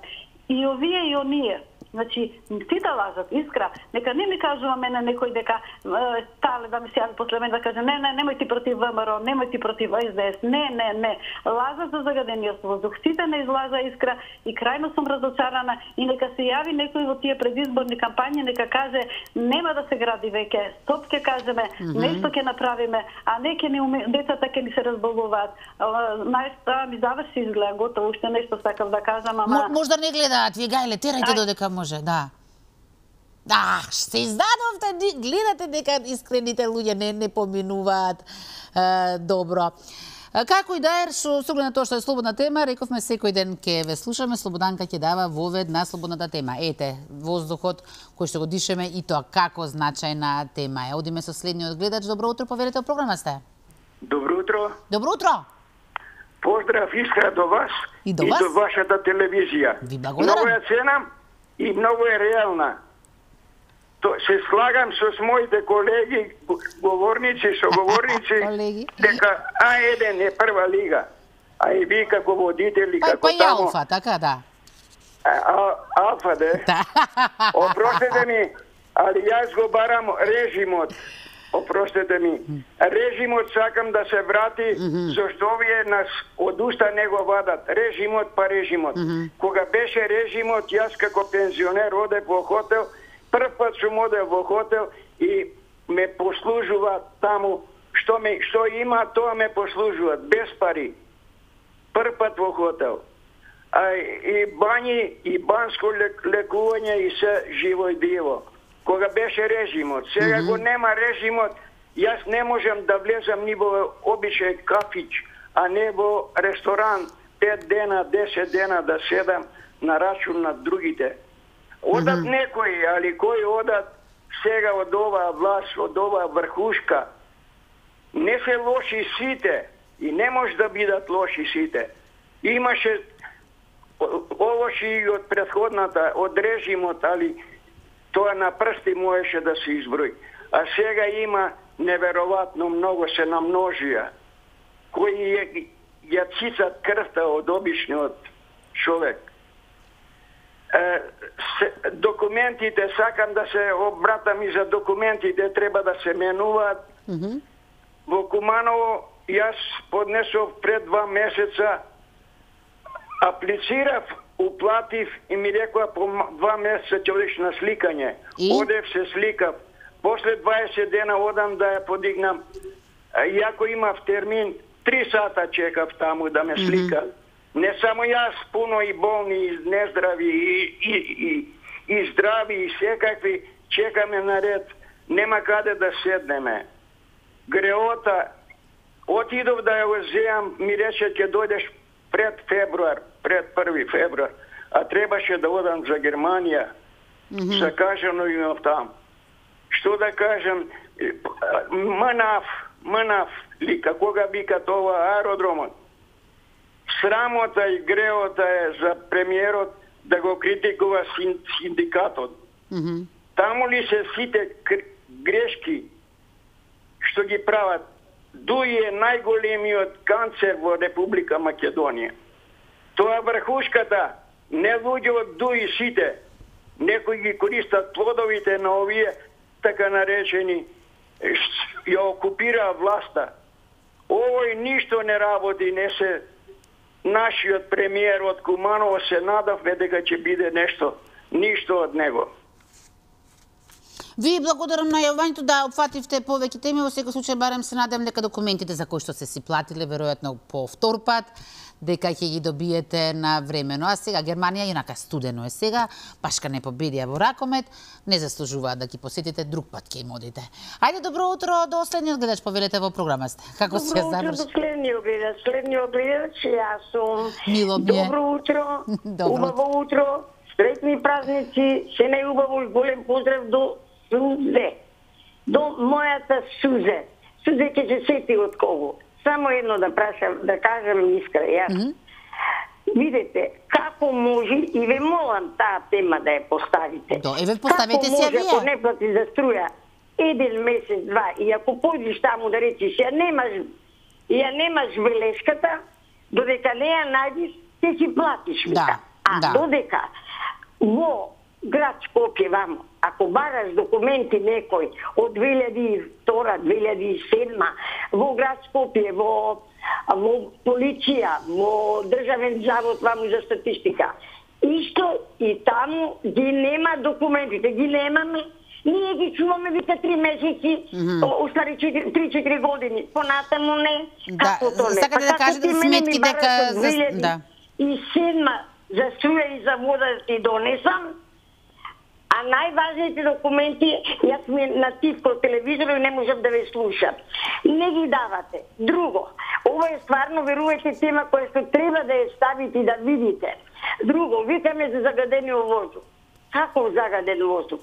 И овие и оние. Значи, сите лажат, искра. Нека не ми кажува мене некој дека тале да ми се јави после мене да каже не, немој ти против ВМРО, немој ти против СДС. Не. Лажат за загадениот воздух. Сите не излажа, искра, и крајно сум разочарана, и нека се јави некој во тие предизборни кампањи, нека каже нема да се гради веќе, стоп ќе кажеме, нешто ќе направиме, а не ќе ни децата ќе ни се разболуваат. Најста ми заврши изгледа, готово, уште нешто сакав да кажам, ама Можда не гледаат, вие гајле, терајте додека може, да. Се издадовте, гледате дека искрените луѓе не поминуваат добро. Како и да е, со оглед на тоа што е слободна тема, рековме секој ден ќе ве слушаме, Слободанка ќе дава вовед на слободната тема. Ете, воздухот кој што го дишеме и тоа како значајна тема е. Одиме со следниот гледач. Добро утро, поверете, во програма сте. Добро утро. Добро утро. Поздрав, Искра, до вас и до вашата телевизија. Ви благодарам. Много ја ценам и многу е реална. Се слагам со моите колеги, говорници, соговорници, дека А1 е прва лига. А и ви како водители, како тамо... Па и Алфа, така да. Алфа, да. Опростете ми, али јас го барам режимот. Опростете ми. Режимот сакам да се врати, зашто овие нас од уста не го вадат. Режимот па режимот. Кога беше режимот, јас како пензионер одев во хотел, прв пат сум одев во хотел и ме послужуваат таму, што има, тоа ме послужуваат, без пари. Прв пат во хотел. И бањи, и банско лекување, и се живо и диво. Кога беше режимот. Сега го нема режимот, јас не можам да влезам ни во обичај кафич, а не во ресторан 5 дена, 10 дена да седам на рачун на другите. Одат некои, али кои одат сега од оваа власт, од оваа врхушка. Не се лоши сите и не може да бидат лоши сите. Имаше лоши и од претходната, од режимот, али тоа на прсти можеше да се изброи. А сега има неверојатно многу, се намножија, кои ја цицат крвта од обичниот човек. Документите, сакам да се обратам и за документите, треба да се менуваат. Во Куманово јас поднесов пред 2 месеца, аплицирав, уплатив и ми рекоа по 2 месеца ќе одиш на сликање. Одев се сликав. После 20 дена одам да ја подигнам. Иако имав термин, 3 сата чекав таму да ме слика. Не само јас, пуно и болни, и нездрави, и здрави, и секакви, чекаме наред. Нема каде да седнеме. Греота, отидов да ја го земам, ми рече ќе дојдеш пред февруар, пред 1 февруар, а требаше да одам за Германија. Закажано имав там. Што да кажам, мнав ли, кога вика тоа аеродромот. Срамота и греота е за премиерот да го критикува синдикатот. Таму ли се сите грешки што ги прават? Дуи е најголемиот канцер во Република Македонија. Тоа врхушката, не луѓе од Дуи сите, некои ги користат плодовите на овие така наречени, ја окупира власта. Овој ништо не работи, не се нашиот премиер од Куманово се надавме дека ќе биде нешто од него. Ви благодарам на јавањето да опфативте повеќе теми, во секој случај барем се надевам дека документите за кои што се си платиле веројатно по втор пат, дека ќе ги добиете на времено. А сега Германија инака студено е сега, башка не победија во ракомет, не заслужуваат да ги посетите, друг пат ќе им одите. Ајде, добро утро до следниот гледач, повелете во програма сте. Како се заврши? Добро утро до следниот гледач, јас сум. Мило ми е. Добро утро, убаво утро, среќни празници, се најубаво и голем поздрав до Сузе, до мојата Сузе. Сузе ќе се сети од кого. Само едно да прашам, да кажам искра, јас. Видете, како може, и ве молам таа тема да ја поставите. Еве поставете си ја вие. Како може, ако не плати за струја, еден месец, два, и ако појдеш таму да речеш, ја немаш белешката, додека не ја најдеш, ќе си платиш, вика. Додека во град Скопје вамо, ако бараш документи некој од 2002-2007 во град Скопје, во полиција, во државен завод ваму за статистика, исто и таму ги нема документите, ги немаме. Ние ги чуваме вика 3 месеци, остави 3-4 години, понатаму не. Како то не? Сакате да кажете сметки дека... И седма за струја и за вода ти донесам, а најважните документи, јас ми нативко телевизор и не можам да ве слушам. Не ги давате. Друго, ова е стварно, верувате, тема која што треба да ја ставите и да видите. Друго, викаме за загадениот воздух. Како загаден воздух?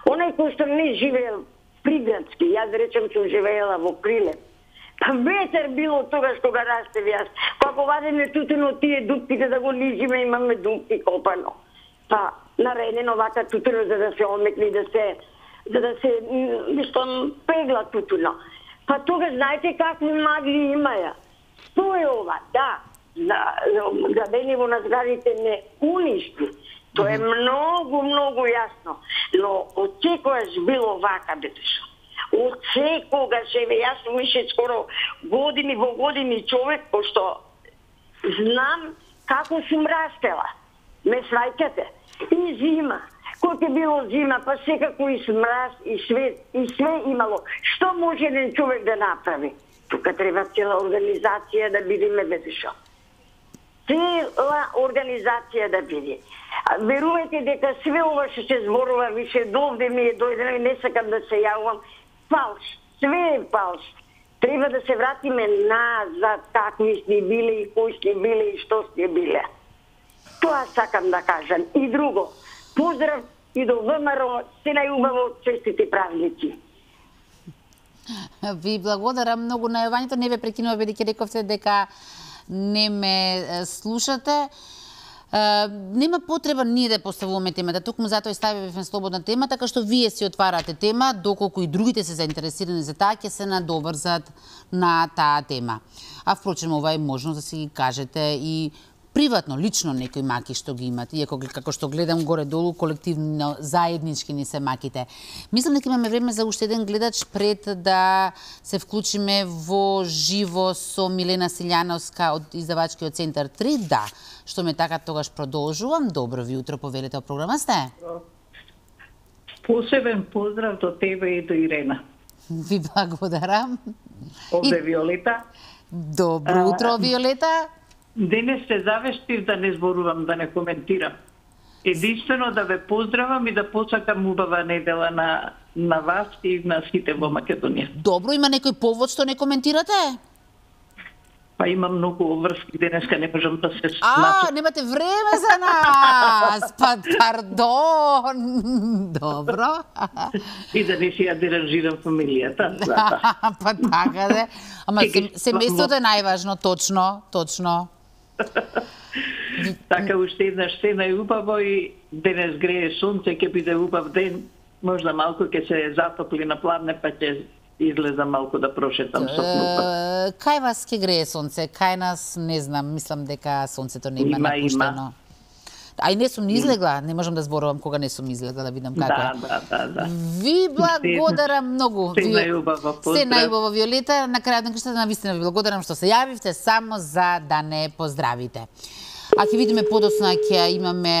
Онај кој што не живеел приградски, јас речем што живеела во Крилев. Па ветер било тогаш кога растев јас. Како вадеме тутуно тие дупките да го лижиме, имаме дупки копано. Па наредено вака тутуно за да се омекни, за да се нешто пегла тутуно. Па тогаш знаете какви магли имаја. Што е ова? Да, градениво на зградите не уништи. Тоа е многу јасно. Но од секојаш било вака, бетешо. Од секогаш, јас сум више скоро години во години човек, пошто знам како сум растела. Ме сваќате? И зима. Кој ќе било зима, па секако и смраз, и све имало. Што може еден човек да направи? Тука треба цела организација да бидеме, бетешо. Цела организација да биде. Верувате дека све ова што се зборува више довде ми е дојдено и не сакам да се јавувам. Фалш. Све е фалш. Треба да се вратиме назад какви сте биле и кои сте биле и што сте биле. Тоа сакам да кажам. И друго, поздрав и до ВМРО, се најубаво, честити празници. Ви благодарам многу на јавањето, не ве прекинува бидејќи рековте дека не ме слушате. Нема потреба ние да поставуваме темата, токму затоа и ставивме слободна тема, така што вие си отварате тема, доколку и другите се заинтересирани за таа, ќе се надоврзат на таа тема. А впрочем, ова е можност да си ги кажете и приватно, лично некои маки што ги имате, иако како што гледам горе-долу, колективно, заеднички ни се маките. Мислам дека имаме време за уште еден гледач пред да се вклучиме во живо со Милена Силјановска од издавачкиот центар 3. Да, што ме така тогаш продолжувам. Добро ви утро, повелете, програма сте. Посебен поздрав до тебе и до Ирена. Ви благодарам. Овде Виолета. Добро утро, Виолета. Денес се завештив да не зборувам, да не коментирам. Единствено да ве поздравам и да посакам убава недела на вас и на сите во Македонија. Добро, има некој повод што не коментирате? Па има многу обврски, денеска не можам да се немате време за нас! Па, пардон! Добро. И да не си ја деранжирам фамилијата. Па така де. Ама семејството е најважно, точно. Така уште еднаш се најубаво и денес грее сонце, ќе биде убав ден, можда малку ќе се затопли на пладне, па ќе излеза малку да прошетам со клупа. Кај вас ќе грее сонце? Кај нас, не знам, мислам дека сонцето не има напуштено. А и не сум ни излегла, не можам да зборувам кога не сум излегла, да видам како е. Да. Ви благодарам многу. Се најубаво, поздрав. Се најубаво, Виолета. На крајот на крштата, навистина ви благодарам што се јавивте само за да не поздравите. А ќе видиме подоцна, ќе имаме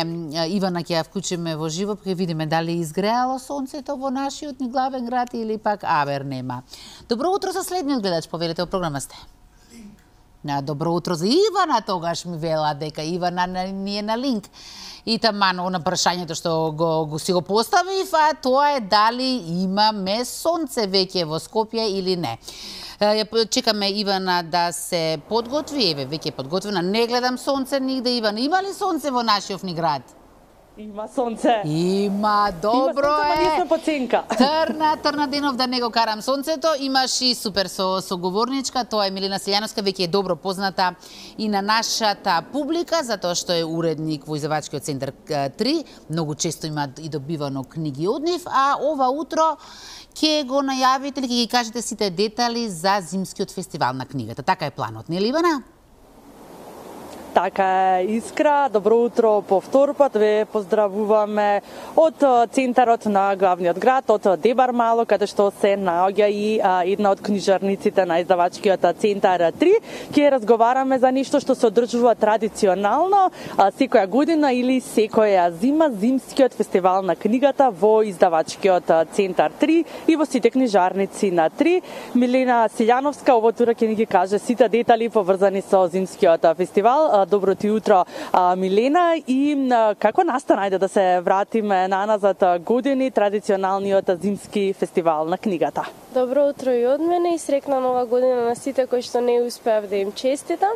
Ивана, ќе ја вклучиме во живо, ќе видиме дали изгреало сонцето во нашиот ни главен град или пак авер нема. Добро утро за следниот гледач, повелете во програма сте. Добро утро за Ивана, тогаш ми вела дека Ивана ни е на линк. И таман на прашањето што го си го поставив, а тоа е дали имаме сонце веќе во Скопје или не. Чекаме Ивана да се подготви, веќе е подготвена. Не гледам сонце нигде, Ивана. Има ли сонце во нашиот ни град? Има сонце. Има, добро е. Има сонце, поценка. Трна денов да не го карам сонцето. Имаш и супер соговорничка, тоа е Милена Силјановска, веќе е добро позната и на нашата публика, затоа што е уредник во Издавачкиот центар 3. Многу често има и добивано книги од нив, а ова утро ќе го најавите или ќе ги кажете сите детали за зимскиот фестивал на книгата. Така е планот, нели Ивана? Така е, Искра. Добро утро по втор пат. Ве поздравуваме од центарот на главниот град, од Дебар Мало, каде што се наоѓа и една од книжарниците на Издавачкиот центар 3. Ќе разговараме за нешто што се одржува традиционално секоја година или секоја зима, зимскиот фестивал на книгата во Издавачкиот центар 3 и во сите книжарници на 3. Милена Силјановска овој утро ќе ни ги каже сите детали поврзани со зимскиот фестивал. Добро ти утро, Милена, и како настана да се вратиме наназад години традиционалниот зимски фестивал на книгата? Добро утро и од мене и срекна нова година на сите кои што не успеав да им честитам.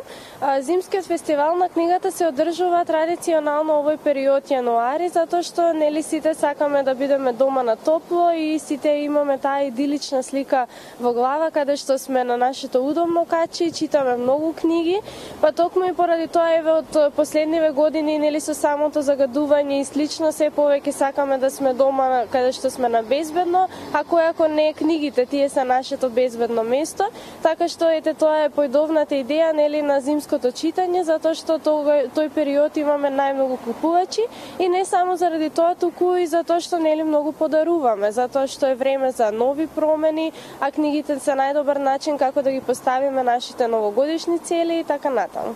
Зимскиот фестивал на книгата се одржува традиционално овој период јануари, затоа што нели сите сакаме да бидеме дома на топло и сите имаме таа идилична слика во глава каде што сме на нашето удобно качи и читаме многу книги, па токму и поради тоа еве од последниве години нели со самото загадување и слично се повеќе сакаме да сме дома каде што сме на безбедно, а кој ако не книгите тие се нашето безбедно место, така што ете тоа е појдовната идеја нели на зимското читање, затоа што тој период имаме најмногу купувачи и не само заради тоа, туку и затоа што нели многу подаруваме, затоа што е време за нови промени, а книгите се најдобар начин како да ги поставиме нашите новогодишни цели и така натаму.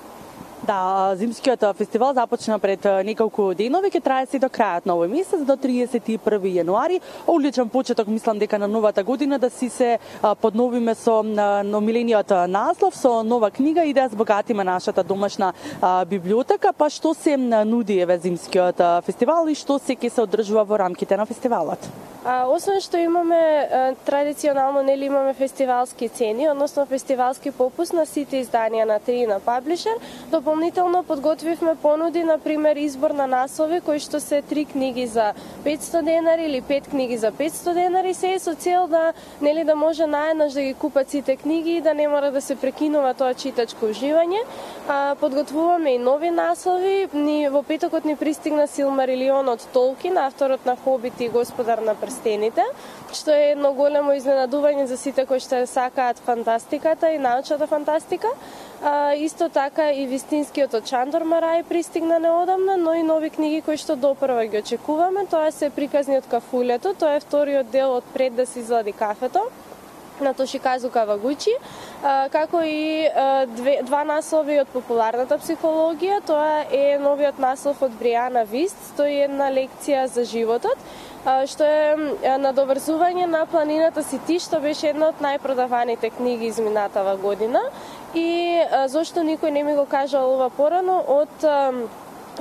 Да, зимскиот фестивал започна пред неколку денови, ќе трае се до крајот на овој месец, до 31 јануари. Одличен почеток, мислам дека на новата година да си се подновиме со номилениот наслов, со нова книга и да збогатиме нашата домашна библиотека. Па што се нуди еве зимскиот фестивал и што се ќе се одржува во рамките на фестивалот? Освен што имаме традиционално нели имаме фестивалски цени, односно фестивалски попуст на сите изданија на 3 на Паблишер, дополнително подготвивме понуди, например, избор на наслови, кои што се 3 книги за 500 денари или 5 книги за 500 денари, се со цел да нели да може наеднаш да ги купат сите книги и да не мора да се прекинува тоа читачко уживање. Подготвуваме и нови наслови. Во петокот ни пристигна Силмарилион од Толкин, авторот на Хобит и Господар на прстените, што е едно големо изненадување за сите кои што сакаат фантастиката и научната фантастика. Исто така и вистинскиот од Чандор Марај пристигна неодамна, но и нови книги кои што допрва ги очекуваме. Тоа се Приказни од кафулето, тоа е вториот дел од Пред да се излади кафето на Тошиказу Кавагучи, како и два наслови од популарната психологија. Тоа е новиот наслов од Бријана Вист, 101 лекција за животот, што е надоврзување на Планината си ти, што беше една од најпродаваните книги изминатава година. И зошто никој не ми го кажал ова порано, од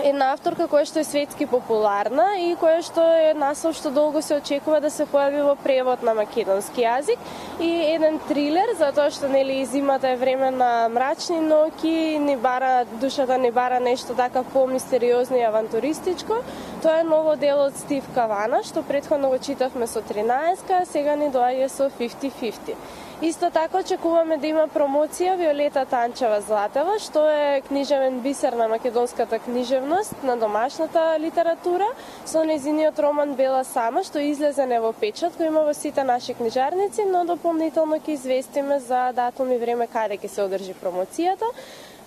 една авторка која што е светски популарна и која што е наслов што долго се очекува да се појави во превод на македонски јазик, и еден трилер, затоа што нели зимата е време на мрачни ноќи, душата не бара нешто така по-мистериозно и авантуристичко. Тоа е ново дело од Стив Кавана, што претходно го читавме со 13-ка, а сега ни доаѓа со 50-50. Исто така очекуваме да има промоција Виолета Танчева Златева, што е книжевен бисер на македонската книжевност, на домашната литература, со нејзиниот роман Бела Сама, што излезе не во печат, кој има во сите наши книжарници, но дополнително ќе известиме за датум и време каде ќе се одржи промоцијата.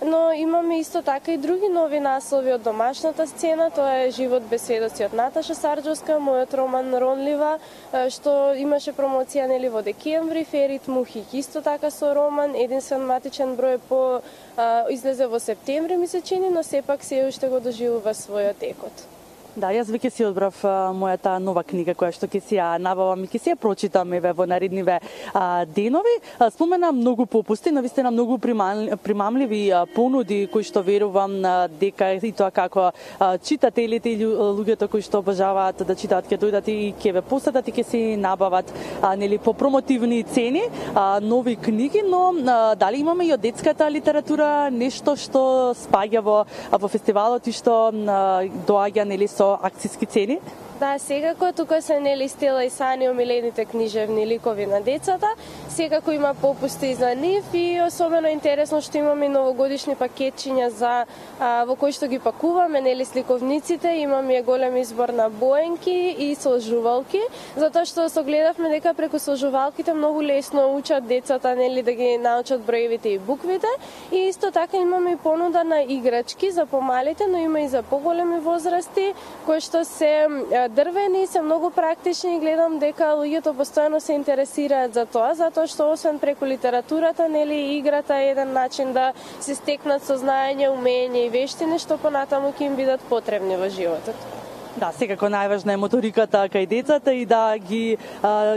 но имаме исто така и други нови наслови од домашната сцена. Тоа е Живот без сведоци од Наташа Сарџовска, мојот роман Ронлива, што имаше промоција нели во декември, Ферит Мухик исто така со роман, единствен матичен број по излезе во септември ми се чини, но сепак се уште го доживува својот екот. Да, јас веќе си одбрав мојата нова книга која што ќе си ја набавам и ќе си ја прочитам во наредниве денови. Спомена многу попусти, навистина многу примамливи понуди кои што верувам дека и тоа како читателите или луѓето кои што обожаваат да читаат ќе дојдат и ќе ве посетат и ќе си набават нели по промотивни цени нови книги, но дали имаме и од детската литература нешто што спаѓа во фестивалот и што доаѓа нели со акциски цени? Да, секако тука се нели Стела и Сани омилените книжевни ликови на децата. Секако има попусти и за нив и особено интересно што имаме новогодишни пакетчиња за во кои што ги пакуваме нели сликовниците, имаме голем избор на боенки и сложувалки, затоа што согледавме дека преку сложувалките многу лесно учат децата нели да ги научат броевите и буквите, и исто така имаме и понуда на играчки за помалите, но има и за поголеми возрасти кои што се дрвени, се многу практични и гледам дека луѓето постојано се интересираат за тоа, затоа што освен преку литературата, нели играта е еден начин да се стекнат сознаење, умење и вештини што понатаму ќе им бидат потребни во животот. Да, секако најважна е моториката кај децата и да ги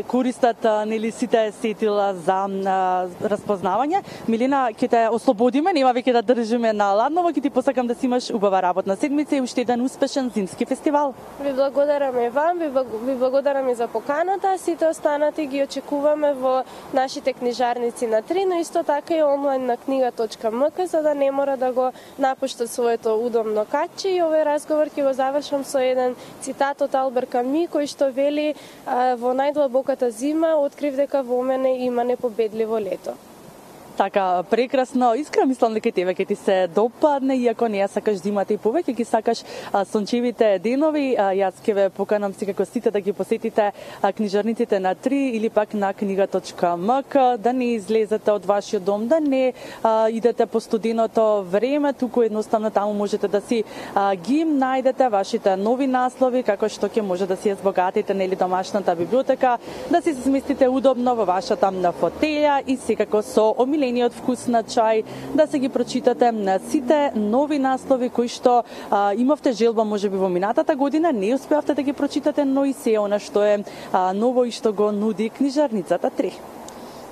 користат нели сите сетила за распознавање. Милена, ќе те ослободиме, нема веќе да држиме на ладново, ќе ти посакам да си имаш убава работна седмица и уште еден успешен зимски фестивал. Ви благодараме вам, ви благодараме за поканата, сите останати ги очекуваме во нашите книжарници на 3, но исто така и онлайн на книга.мк, за да не мора да го напуштат своето удобно каче, и овој разговор ќе го завршам со еден цитат од Албер Ками, кој што вели: во најдлабоката зима открив дека во мене има непобедливо лето. Така, прекрасно. Искрено мислам дека тебе ќе ти се допадне, иако не ја сакаш зимата и повеќе ги сакаш сончевите денови. Јас ќе ве поканам секако сите да ги посетите книжарниците на 3 или пак на книга.мк, да не излезете од вашиот дом, да не идете по студеното време, туку едноставно таму можете да си ги најдете вашите нови наслови, како што ќе може да си ја збогатите нели домашната библиотека, да си се сместите удобно во вашата фотелја и секако со омилениот вкус на чај, да се ги прочитате на сите нови наслови кои што имавте желба можеби во минатата година, не успеавте да ги прочитате, но и се она што е ново и што го нуди книжарницата 3.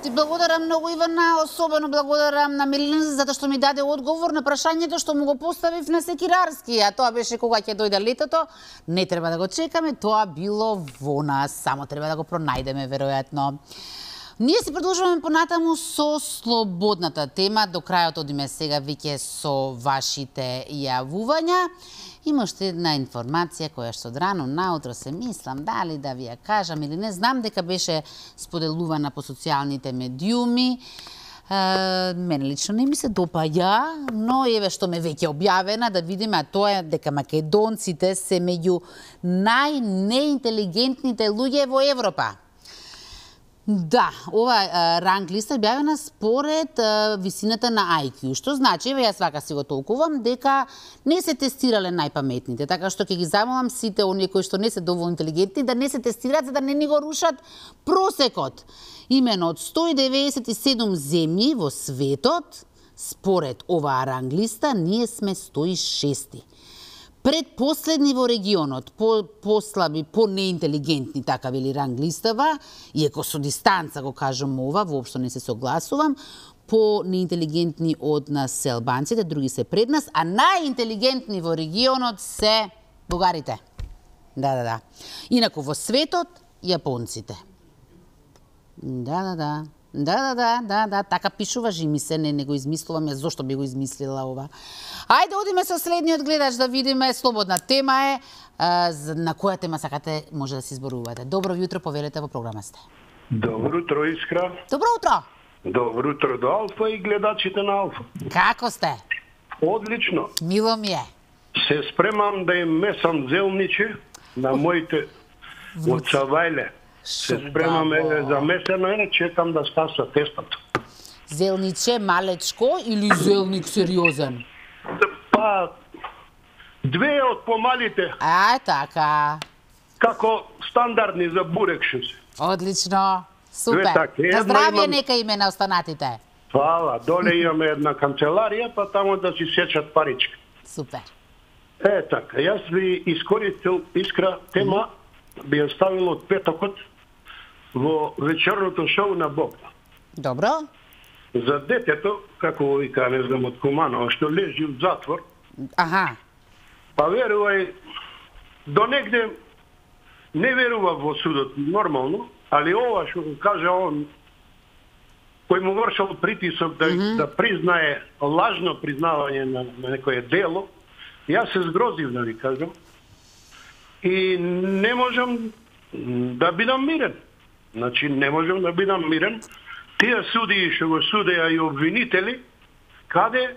Ти благодарам многу, Ивана, особено благодарам на Милена затоа што ми даде одговор на прашањето што му го поставив на Секирарски, а тоа беше кога ќе дојде летото. Не треба да го чекаме, тоа било во нас, само треба да го пронајдеме веројатно. Ние се продолжуваме понатаму со слободната тема. До крајот одиме сега веќе со вашите јавувања. Има уште една информација која што рано наутро се мислам дали да ви ја кажам или не. Знам дека беше споделувана по социјалните медиуми. Мене лично не ми се допаѓа, но еве што ме веќе објавена, да видиме, а тоа е дека македонците се меѓу најнеинтелигентните луѓе во Европа. Да, ова ранг листа е објавена според висината на IQ, што значи, еве јас вака си го толкувам, дека не се тестирале најпаметните, така што ќе ги замолам сите оние кои што не се доволно интелигентни да не се тестираат, за да не ни го рушат просекот. Имено од 197 земји во светот, според оваа ранг листа, ние сме 106. Предпоследни во регионот, послаби, по-неинтелигентни, така вели ранг листава, иако со дистанца го кажам ова, воопшто не се согласувам, по-неинтелигентни од нас се албанците, други се пред нас, а најинтелигентни во регионот се бугарите. Да. Инаку во светот, јапонците. Да, така пишува, жи ми се, не го измислувам, јас зошто би го измислила ова. Ајде, одиме со следниот гледач да видиме, слободна тема е, на која тема сакате може да се изборувате. Добро јутро, повелете, во програма сте. Добро утро, Искра. Добро утро. Добро утро до Алфа и гледачите на Алфа. Како сте? Одлично. Мило ми е. Се спремам да им месам зелниче на моите од Савајле. Се спремаме за месено, чекам да скаса тестото. Зелниче малечко или зелник сериозен? Па, две од помалите. Така. Како стандардни за бурек што се. Одлично. Супер. На здравје нека име на останатите. Фала. Доле имаме една канцеларија, па тамо да си сечат паричка. Супер. Така, јас би искористил Искра тема, би ја ставил од петокот во вечерното шоу на Бог. Добро. За детето, како вика, не знам од Куманово, што лежи в затвор. Аха. Па верувај, до негде не верува во судот нормално, али ова што го кажа он, кој му вршал притисок да признае лажно признавање на некое дело, јас се згрозив да ви кажам. И не можам да бидам мирен. Значи, не можам да бидам мирен. Тие судии што го судеа и обвинители, каде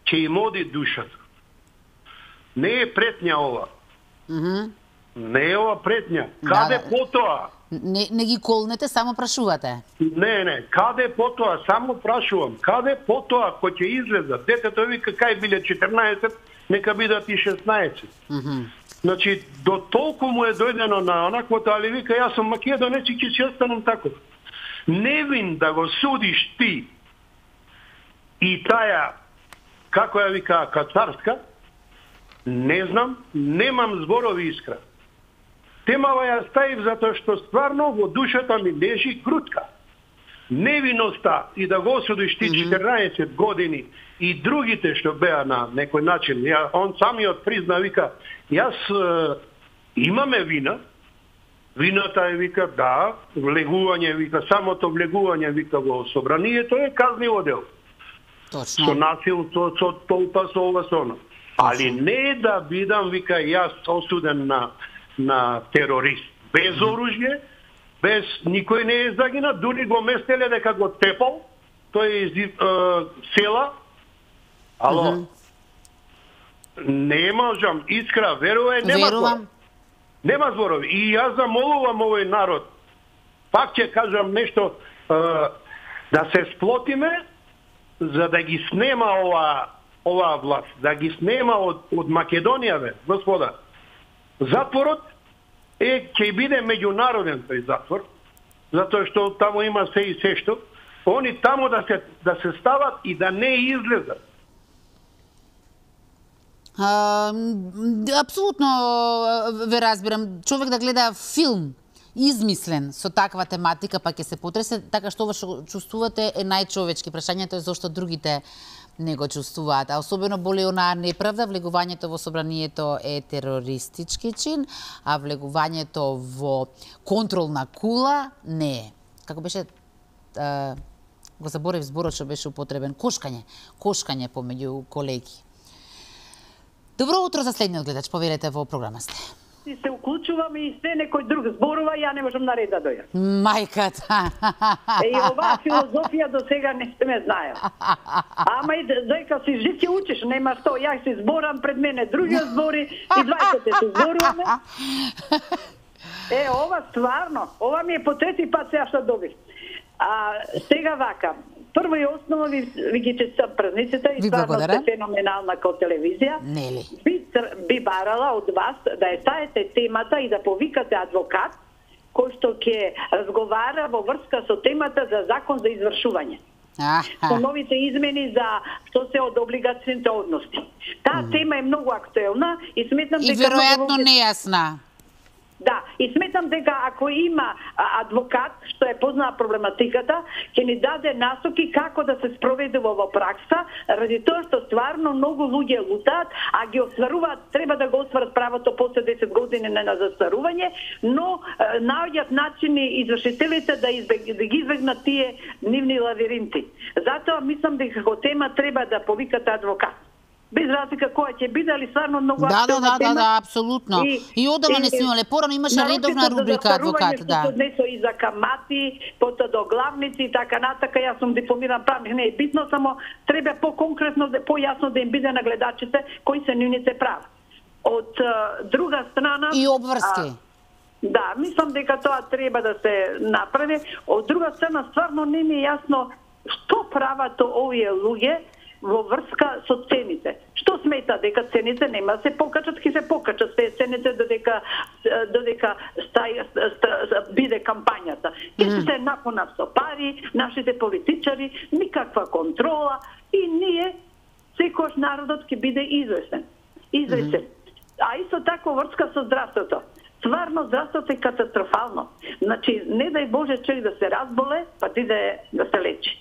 ќе им оди душата. Не е претња ова. Не е ова претња. Каде потоа? Не ги колнете, само прашувате. Не, каде потоа, само прашувам. Каде потоа кој ќе излеза? Детето вика кај биле 14, нека бидат и 16. Значи, до толку му е дојдено на онаквото, али вика, јас сум македонец и ќе си останам тако. Невин да го судиш ти и таја, како ја вика, кацарска, не знам, немам зборови, Искра. Темава ја ставив затоа што стварно во душата ми лежи крутка. Невиноста и да го осудиш ти 14 години и другите што беа на некој начин, он самиот призна, вика, јас имаме вина, вината е, вика, да, влегување, вика, самото влегување, вика, во собранието е казниво дело. Точно. Со насилство, со толпа, со ова, со оно. Али не да бидам, вика, јас осуден на терорист. Без оружје, без никој не е загинат, дури го местеле дека го тепал, тој е из села. Ало, не можам, Искра, верувај, нема зборови. Нема зборови. И јас замолувам овој народ, пак ќе кажам нешто, да се сплотиме, за да ги снема оваа власт, да ги снема од Македонија, бе, господа. Затворот ќе биде меѓународен тој затвор, затоа што таму има се и се што. Они таму да се стават и да не излезат. Апсолутно ве разбирам. Човек да гледа филм измислен со таква тематика, па ќе се потресе, така што ова што чувствувате е најчовечки. Прашањето е зошто другите не го чувствуваат. А особено боли онаа неправда, влегувањето во собранието е терористички чин, а влегувањето во контролна кула не е. Како беше, го заборев зборот што беше употребен, кошкање помеѓу колеги. Добро утро за следниот гледач, поверете во програма сте. И се уклучувам и се некој друг зборува, ја не можам на ред да дојдам. Мајката. И оваа филозофија до сега не сте ме знаел. Ама и дека си жив ќе учиш, нема што. Јас си зборам пред мене, другиот збори и двајците се зборуваме. Ова стварно, ова ми е по трети пат сега што добив. Сега вака, прво и основно ви ги честам празниците и стварно сте феноменална као телевизија. Нели? Би барала од вас да ја ставите темата и да повикате адвокат кој што ќе разговара во врска со темата за закон за извршување. Со новите измени за што се од облигационите односи. Таа тема е многу актуелна и сметам дека... И веројатно нејасна. Да, и сметам дека ако има адвокат што е познава проблематиката, ќе ни даде насоки како да се спроведе во пракса, ради тоа што стварно многу луѓе лутаат, а ги остваруваат, треба да го остварат правото после 10 години на застарување, но наоѓаат начини извршителите да ги избегнат тие нивни лавиринти. Затоа мислам дека како тема треба да повикате адвокат. Без разлика која ќе биде, али стварно многу актуелна тема. Да, апсолутно. И одамна не сме имале, порано имаше редовна рубрика адвокат, да. Што однесо и за камати, потоа до главници и така натака, јас сум дипломиран правник, не е битно, само треба по-конкретно, по-јасно да им биде на гледачите кои се нивните права. Од друга страна... И обврски. Да, мислам дека тоа треба да се направи. Од друга страна, стварно не ми е јасно што прават овие луѓе во врска со цените? Што смета дека цените нема да се покачат, ќе се покачат цените додека биде кампањата. Ќе се напонат со пари, нашите политичари, никаква контрола и ние секојаш народот ќе биде известен. А исто така врска со здравството. Стварно здравството е катастрофално. Значи, не дај Боже човек да се разболе, па ти да се лечи.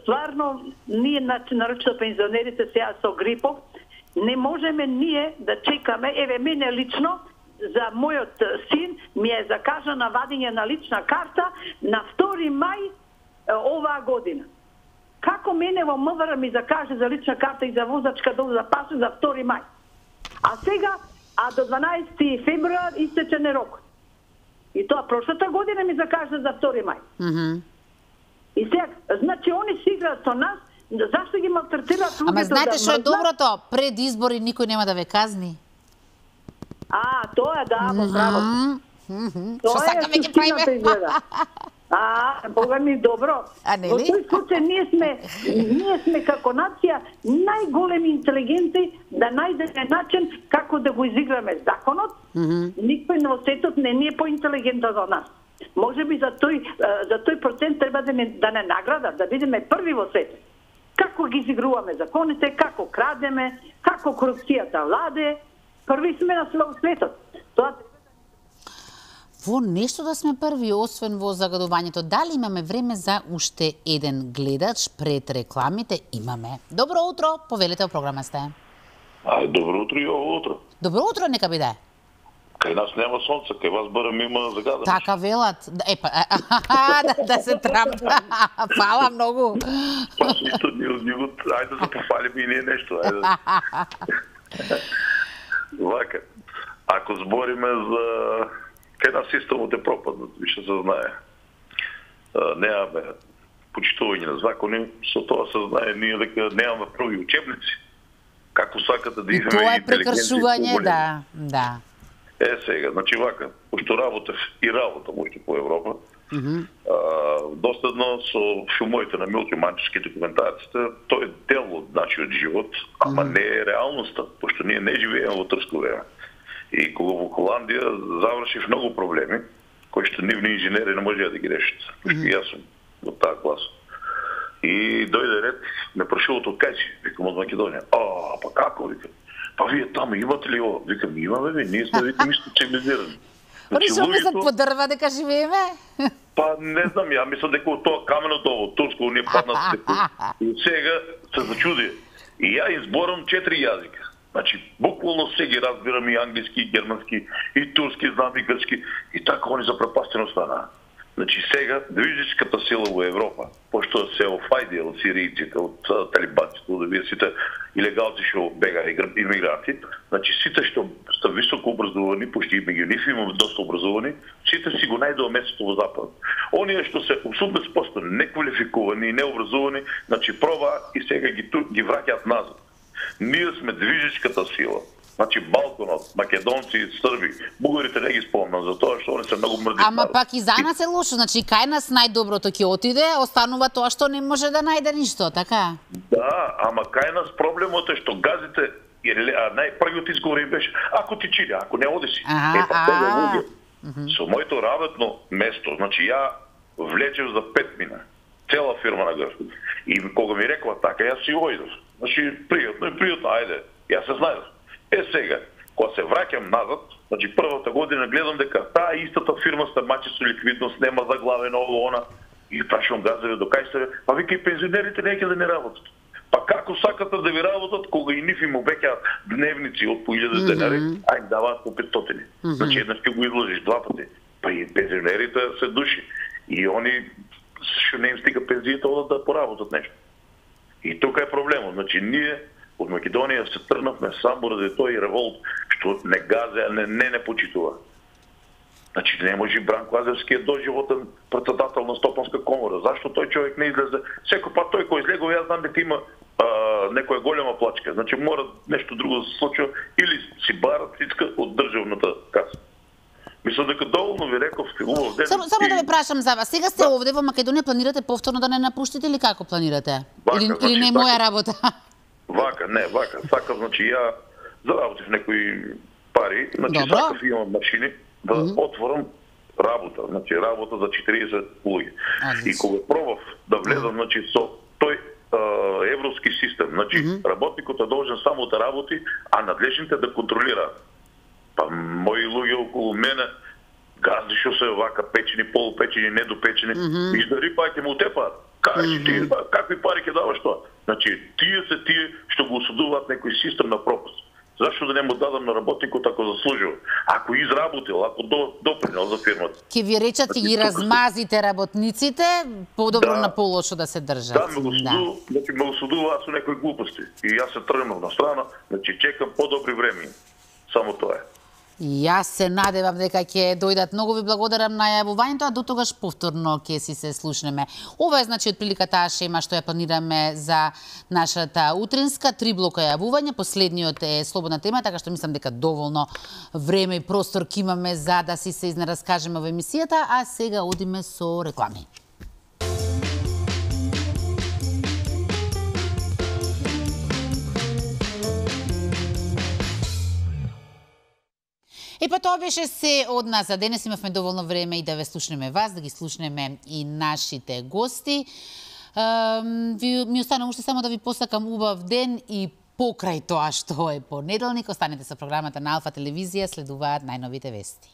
Стварно, ние, нарочно пензионерите сега со грипов, не можеме ние да чекаме, еве мене лично, за мојот син ми е закажана вадење на лична карта на 2 мај оваа година. Како мене во МВР ми закаже за лична карта и за возачка доза пасу за 2 мај? А сега, до 12 февруар истече рок. И тоа прошлата година ми закаже за 2 мај. И сега, значи, они си играат со нас, зашто ги малтретираат луѓето? Ама знаете што е доброто? Пред избори никој нема да ве казни. Тоа е, да, во право. Што сакаме ќе правиме? Бога ми добро. Во тој случај ние сме како нација најголеми интелигенти да најдеме начин како да го изиграме законот. Никој во светот не ни е поинтелигентен од нас. Може би за тој процент треба да не наградат, да бидеме први во светот. Како ги изигруваме законите, како крадеме, како корупцијата владе, први сме на светот. Тоа во нешто да сме први, освен во загадувањето. Дали имаме време за уште еден гледач пред рекламите? Имаме. Добро утро, повелете, во програма сте. Добро утро и ово утро. Добро утро, нека биде. Кај нас нема сонце, кај вас барем има загадано. Така велат. Да се трапа. Фала многу. Па ништо ни од него, ајде да се пофалиме и ние нешто, ајде. Вака, ако збориме за кај нас системот е пропаднат, више се знае. Немаме почитување на закони, со тоа се знае ние дека немаме први учебници. Како сакате да имаме тоа е прекршување, да. Сега, значи вака, пошто работев и работам уште по Европа, доследно со филмовите на Милки Манчевски документарците, тој е дел од нашиот живот, ама не е реалноста, пошто ние не живееме во трско време. И кога во Холандија завршив многу проблеми, кои што нивни инженери не можеа да ги решат, пошто јас сум од таа класа. И дојде ред, ме прашуват од кај си, викам од Македонија. Па како, викам? Па вие таму имате ли ово? Викам, имаме, ние сме, викам, исто цивилизирани. Они што мислат по дрва дека живееме? Па не знам, ја мислам дека тоа каменото ово, турско, ние паднат и сега се зачуди. И ја изборам 4 јазика. Значи, буквално се ги разбирам и англиски, и германски, и турски, знам и грчки. И така они запрепастено станаа. Значи сега, движечката сила во Европа, пошто се офајди од сиријците, од талибанците, од овие сите илегалци што бегаа имигранти, значи сите што се високо образовани, пошто и меѓу нив имаме доста образовани, сите си го најдоа местото во Запад. Оние што се 80% неквалификувани и необразовани, значи пробаа и сега ги враќаат назад. Ние сме движечката сила. Значи Балканот, македонци, срби, бугарите не ги спомнам за тоа што они се многу мрди. Ама пак и за нас е лошо, значи кај нас најдоброто ќе отиде, останува тоа што не може да најде ништо, така? Да, ама кај нас проблемот е што газите, најпрвиот изговор им беше, ако ти чири, ако не одиси. Со моето работно место, значи ја влечев за 5 мина, цела фирма на газ. И кога ми рекла така, јас си ојдов. Значи пријатно, ајде, јас се знаев. Сега, кога се враќам назад, значи првата година гледам дека таа истата фирма се мачи со ликвидност, нема заглавено ово она. И прашувам газове до кај се, па вика и пензионерите неќе да не работат. Па како сакате да ви работат кога и нив им обеќаат дневници од по 1000 денари, а им даваат по 500. Значи еднаш ќе го изложиш 2 пати. Па и пензионерите се души. И они што не им стига пензијата одат да поработат нешто. И тука е проблемот. Значи ние од Македонија се тргнавме само ради тој револт што не газе, не почитува. Значи не може Бранко Азевски е доживотен председател на Стопанска комора. Зашто тој човек не излезе? Секој пат тој кој излегува, јас знам дека има некоја голема плачка. Значи мора нешто друго да се случи или си барат цицка од државната каса. Мислам дека доволно ви рековте, убав ден. Само да ве прашам за вас. Сега сте овде во Македонија, планирате повторно да не напуштите или како планирате? Или не моја работа? Вака. Сакав, значи ја заработив некои пари, значи сакав имам машини да отворам работа, значи работа за 40 луѓе. И кога пробав да влезам, значи со тој европски систем, значи работникот е должен само да работи, а надлежните да контролираат. Па мои луѓе околу мене газди што се вака печени, полупечени, недопечени, и да рипајте му тепаат. Кажи ти, какви пари ќе даваш тоа? Значи, тие што го осудуваат некој систем на пропаст. Зашто да не му дадам на работникот ако заслужил? Ако изработил, ако допринел за фирмата. Ке ви речат и ги размазите работниците, подобро на полошо да се држат. Да, ме осудуваат со некои глупости. И јас се тргнав на страна, значи чекам подобри време. Само тоа е. Јас се надевам дека ќе дојдат. Многу ви благодарам на јавувањето, а до тогаш повторно ќе си се слушнеме. Ова е значи отприлика таа шема што ја планираме за нашата утринска 3 блока јавување. Последниот е слободна тема, така што мислам дека доволно време и простор ќе имаме за да си се изнараскажеме во емисијата, а сега одиме со реклами. Па тоа беше се од нас за денес. Имавме доволно време и да ве слушнеме вас, да ги слушнеме и нашите гости. Ми остана уште само да ви посакам убав ден и покрај тоа што е понеделник. Останете со програмата на Алфа телевизија, следуваат најновите вести.